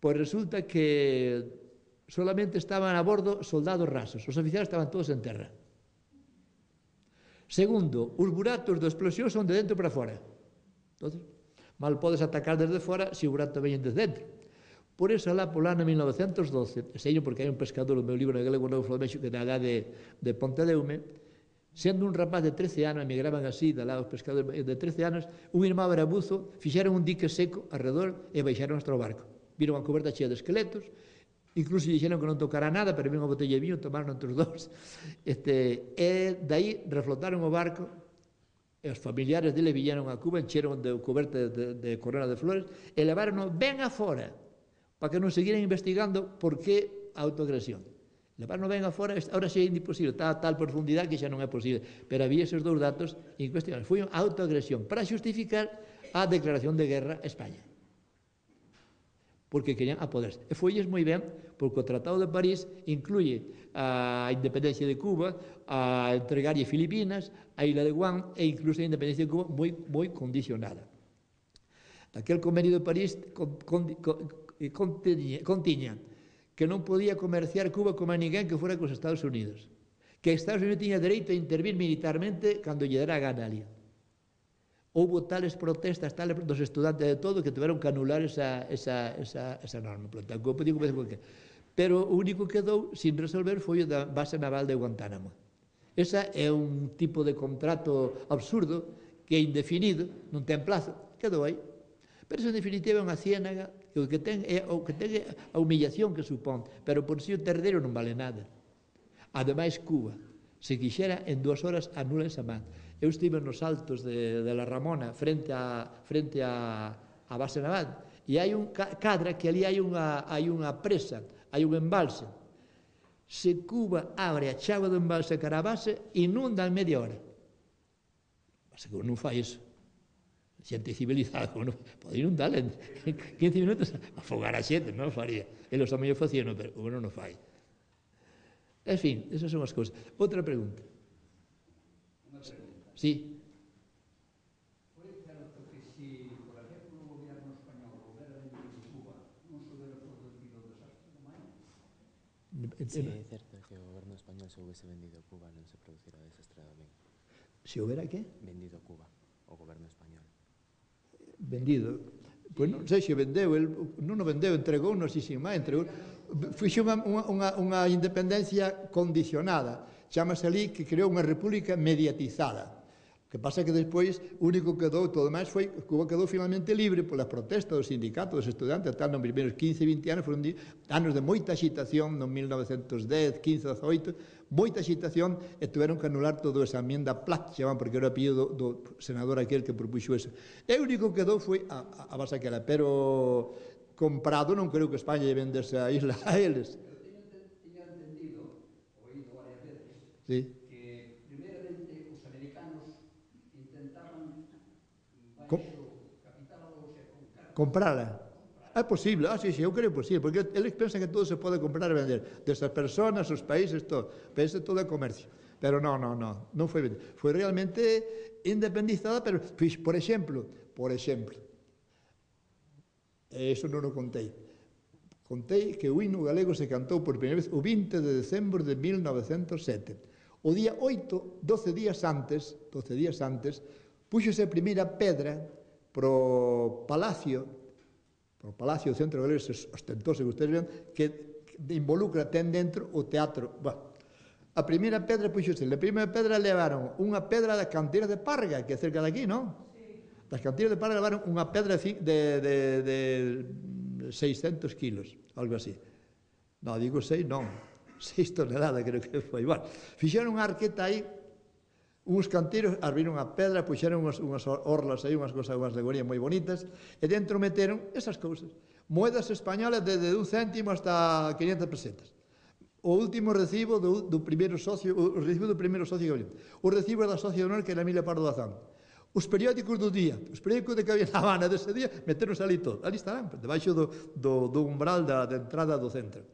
pois resulta que solamente estaban a bordo soldados rasos, os oficiales estaban todos en terra. Segundo, os buratos da explosión son de dentro para fora. Entonces, mal podes atacar desde fora se o burato veñen desde dentro. Por eso, alá polo ano mil novecentos doce, sei porque hai un pescador, o meu libro en galego novo Flamenxo, que na edad de, de Pontedeume, Sendo un rapaz de trece anos, emigraban así, de lá os pescadores de trece anos, un irmão era buzo, fixeron un dique seco alrededor e baixaron hasta o barco. Viron a coberta chea de esqueletos, incluso dixeron que non tocara nada, pero vin unha botella de viño, tomaron entre os dous. Este, e daí reflotaron o barco, e os familiares dele viñeron a Cuba, encheron de coberta de, de corona de flores, e levaron ben afora, para que non seguiran investigando por que a autoagresión. Levaron ben afora, ahora xa é imposible, está a tal profundidade que xa non é posible, pero había esos dous datos incuestionables. Foi unha autoagresión para justificar a declaración de guerra a España, porque querían apoderarse. E foilles moi ben, porque o Tratado de París incluye a independencia de Cuba, a entregarlle Filipinas, a Isla de Guam e incluso a independencia de Cuba moi, moi condicionada. Aquel convenio de París con, con, con, contiña, contiña que non podía comerciar Cuba como a ninguén que fora cos Estados Unidos, que Estados Unidos tiña dereito a intervir militarmente cando lle dera a gana ali. Houbo tales protestas, tales dos estudantes de todo, que tiveron que anular esa, esa, esa, esa norma. Pero o único que quedou sin resolver foi o da base naval de Guantánamo. Esa é un tipo de contrato absurdo que é indefinido, non ten plazo, quedou aí. Pero eso en definitiva é unha ciénaga que o que ten é o que ten a humillación que supón, pero por si o terdeiro non vale nada. Ademais, Cuba, se quixera, en dúas horas anula esa man. Eu estive nos altos de, de la Ramona, frente a, frente a, a base naval, e hai un cadra que ali hai unha, hai unha presa, hai un embalse. Se Cuba abre a chave do embalse cara a base, inunda en media hora. Mas que non fai iso. Xente civilizada, bueno, pode inundar en quince minutos, afogar a xente, non faría. Eles tamén o facían, pero bueno, non fai. En fin, esas son as cousas. Outra pregunta.
Unha pregunta.
Sí.
Foi certo que si, por exemplo, o goberno español houbera vendido Cuba, non se houbera producido o desastre do Maine?
Sí, é certo que o goberno español se houvese vendido Cuba non se producirá o desastre do Maine.
Se houbera que?
Vendido Cuba, o goberno español.
Vendido. Pois non sei se vendeu, el non o vendeu, entregou, non sei se máis, entregou. Fixe unha, unha, unha independencia condicionada, chamase ali que creou unha república mediatizada. O que pasa é que despois, o único que quedou, todo máis foi, Cuba quedou finalmente libre polas protestas dos sindicatos, dos estudantes, tal, nos primeiros quince, vinte anos, foron anos de moita agitación, no mil novecentos dez, quince, dezoito, moita agitación, e tuveron que anular toda esa enmienda Platt, chaman, porque era o apellido do, do senador aquel que propuxo eso. E o único que quedou foi a, a, a base aquela, pero comprado non creo que España lle vendese a isla a eles.
Eu tiña entendido, oído varias veces,
Sí.
que primeiramente os americanos intentaban
Com
baixo capital, ou sea, con cartas.
comprala. É posible, ah, sí, sí, eu creo posible, porque eles pensan que todo se pode comprar e vender, desas personas, os países, todo, pensa todo é comercio. Pero non, non, non, non foi vendido. Foi realmente independizada, pero, por exemplo, por exemplo, eso non o contei, contei que o himno galego se cantou por primeira vez o vinte de decembro de mil novecentos sete. O día oito, doce días antes, doce días antes, puxose a primeira pedra pro palacio, pro palacio do centro galego, ostentoso que ustedes vean, que involucra, ten dentro o teatro. Bueno, a primeira pedra puxose, a primeira pedra levaron unha pedra da canteira de Parga, que é cerca de aquí, non? Das canteiras de Parga levaron unha pedra de, de, de seiscentos kilos, algo así. Non, digo seis, non, seis toneladas creo que foi. Bueno, fixeron unha arqueta aí, uns canteiros, abriron a pedra, puxeron unhas, unhas orlas aí, unhas cosas, unhas alegorías moi bonitas, e dentro meteron esas cousas. Moedas españolas desde un céntimo hasta quinientas pesetas. O último recibo do, do primeiro socio, o recibo do primeiro socio que o recibo da socia de honor que era Emilia Pardo Bazán. Os periódicos do día, os periódicos de que había na Habana dese día, meteros ali todo. Ali estarán, debaixo do, do, do umbral da, da entrada do centro.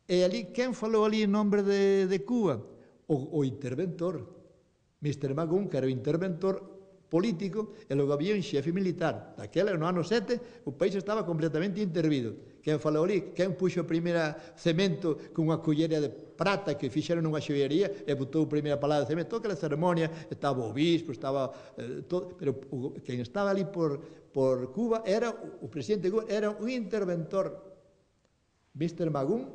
E ali, quen falou ali en nombre de, de Cuba? O, o interventor, mister Magún, que era o interventor político, e logo había un xefe militar. Daquela, no ano sete, o país estaba completamente intervido. Quen falou ali, quen puxo a primeira cemento con unha cullera de prata que fixeron unha xoiería e botou a primeira palada de cemento. Toda aquela ceremonia, estaba o obispo, estaba eh, todo, pero o, quen estaba ali por, por Cuba era o presidente de Cuba, era un interventor, mister Magún,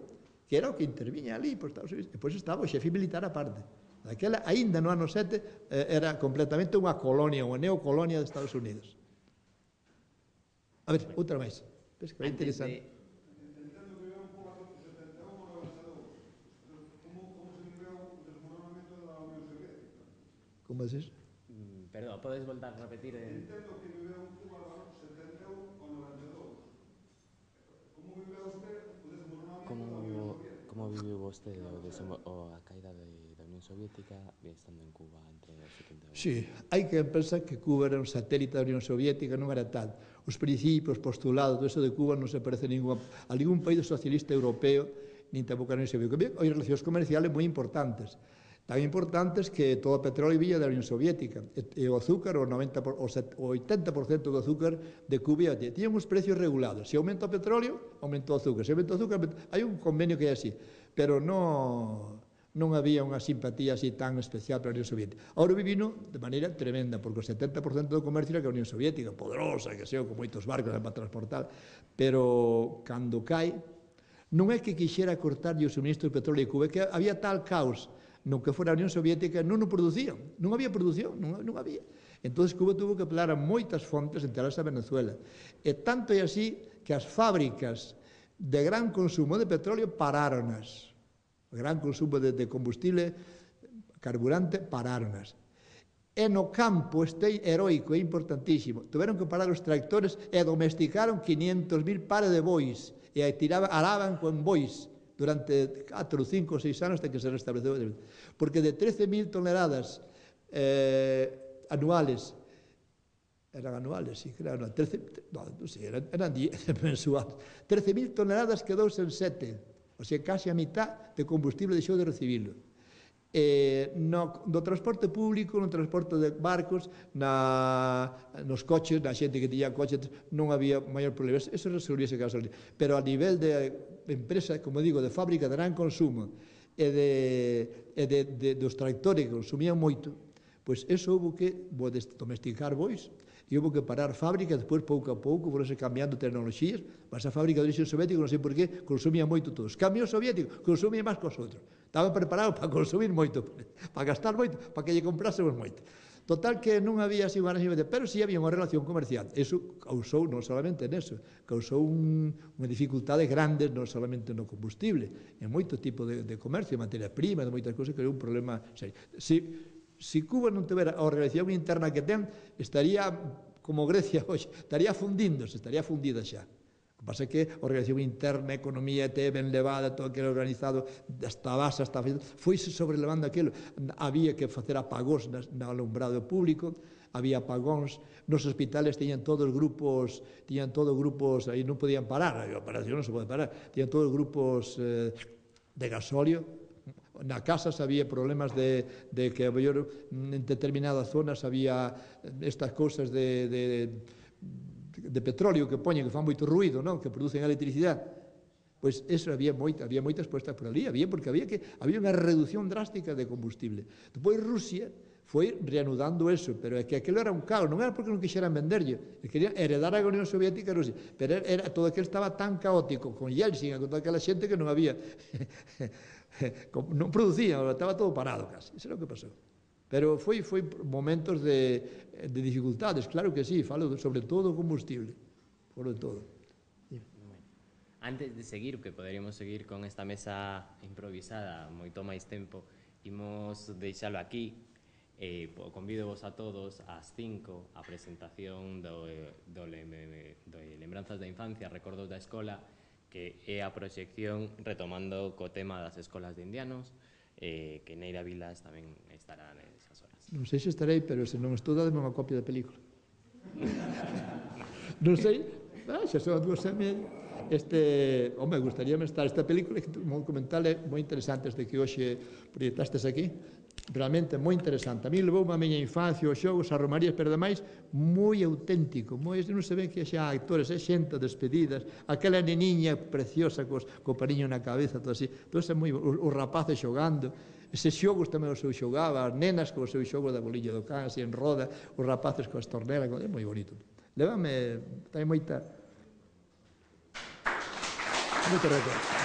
que era o que interviña ali por Estados Unidos. E depois estaba o xefe militar aparte. Daquela, aínda no ano sete, era completamente unha colonia, unha neocolonia de Estados Unidos. A ver, outra máis. Ves que é interesante.
Entendo que é un pouco a setenta e un ou noventa e dous. Como se viveu o desmoronamento da Unión Soviética?
Como dices?
Perdón, podes voltar a repetir?
Entendo que viveu en Cuba setenta e un ou noventa e dous. Como viveu usted o desmoronamento da Unión Soviética?
Como viviu vostede o a caída da Unión Soviética estando en Cuba entre os setenta e un?
Sí, hai que pensar que Cuba era un satélite da Unión Soviética, non era tal. Os principios, postulados, todo eso de Cuba non se parece a ningún, a ningún país socialista europeo, nin tampouco a Unión Soviética. Hai relacións comerciales moi importantes, tan importantes que todo o petróleo vía da Unión Soviética, e o azúcar, o, noventa por, o oitenta por cento do azúcar de Cuba tiñan uns precios regulados. Se aumenta o petróleo, aumenta o azúcar. Se aumenta o azúcar, hai un convenio que é así, pero non... non había unha simpatía así tan especial para a Unión Soviética. Ahora vivino de maneira tremenda, porque o setenta por cento do comercio era que a Unión Soviética, poderosa, que sei, con moitos barcos para transportar, pero cando cae, non é que quixera cortarlle o suministro de petróleo de Cuba, é que había tal caos no que fora a Unión Soviética, non o producían, non había produción, non, non había. Entón, Cuba tuvo que apelar a moitas fontes, entre elas a Venezuela. E tanto é así que as fábricas de gran consumo de petróleo paráronas. O gran consumo de, de combustible, carburante, paráronas. E no campo este heroico e importantísimo, tuveron que parar os tractores e domesticaron quinientos mil pares de bois e tiraban, araban con bois durante catro, cinco, seis anos hasta que se restableceu. Porque de trece mil toneladas eh, anuales, eran anuales, sí, claro, trece, no, non sei, eran, eran mensuales, trece mil toneladas quedouse en sete. O sea, casi a mitad de combustible deixou de recibilo. Eh, no, no transporte público, no transporte de barcos, na, nos coches, na xente que tiña coches, non había maior problema. Eso resolvíase caso. Pero a nivel de empresa, como digo, de fábrica de gran consumo e de, e de, de, dos tractores que consumían moito, pois eso houve que domesticar bois, e houve que parar fábrica, despois pouco a pouco foronse cambiando tecnoloxías, mas a fábrica de origen soviético non sei por qué, consumía moito todos. Cambio soviético, consumía máis que os outros. Estaban preparados para consumir moito, para gastar moito, para que lle comprásemos moito. Total que non había así unha relación, pero sí había unha relación comercial. Eso causou non solamente neso, causou un, unha dificultade grande non solamente no combustible, en moito tipo de, de comercio, de materia prima, de moitas cousas, que era un problema serio. Si, Si Cuba non tivera a organización interna que ten, estaría como Grecia hoxe, estaría fundíndose, estaría fundida xa. O que pasa é que a organización interna, a economía te ben levada, todo aquilo organizado, hasta a base, hasta a... foise sobrelevando aquilo. Había que facer apagóns no alumbrado público, había apagóns, nos hospitales tiñan todos grupos, tiñan todos grupos, aí non podían parar, a operación non se pode parar, tiñan todos grupos eh, de gasóleo. Na casa había problemas de, de que en determinadas zonas había estas cousas de, de, de petróleo que poñen, que fan moito ruído, non? Que producen electricidade. Pois eso había moita, había moitas puestas por ali, había porque había que había unha reducción drástica de combustible. Depois Rusia foi reanudando eso, pero é que aquilo era un caos, non era porque non quixeran venderlle, querían heredar a Unión Soviética e Rusia, pero era, todo aquilo estaba tan caótico, con Yeltsin, con toda aquela xente que non había, non producían, estaba todo parado casi, isso é o que pasou. Pero foi, foi momentos de, de dificultades, claro que sí, falo sobre todo o combustible, sobre todo.
Antes de seguir, que poderíamos seguir con esta mesa improvisada moito máis tempo, imos deixalo aquí. Eh, convido vos a todos ás cinco a presentación do, do, do Lembranzas da Infancia, Recordos da Escola, que é a proxección retomando co tema das escolas de indianos, eh, que Neira Vilas tamén estará nesas horas.
Non sei se estarei, pero se non estou, dademe unha copia da película. Non sei, ah, xa son dúas e media. Este, home, gustaríame estar esta película, que un documental é moi interesante este que hoxe proyectastes aquí, realmente moi interesante. A mí levou a miña infancia, os xogos, as romarías, pero ademais moi auténtico, moi, non se ven que xa actores, é xente despedidas, aquela neniña preciosa cos, co pariño na cabeza, todo así, todo é moi, os, os rapaces xogando, eses xogos tamén os eu xogaba, as nenas co seu xogo da bolilla do can, así en roda, os rapaces coas tornelas, é moi bonito. Levame, ten moita... moito recordo.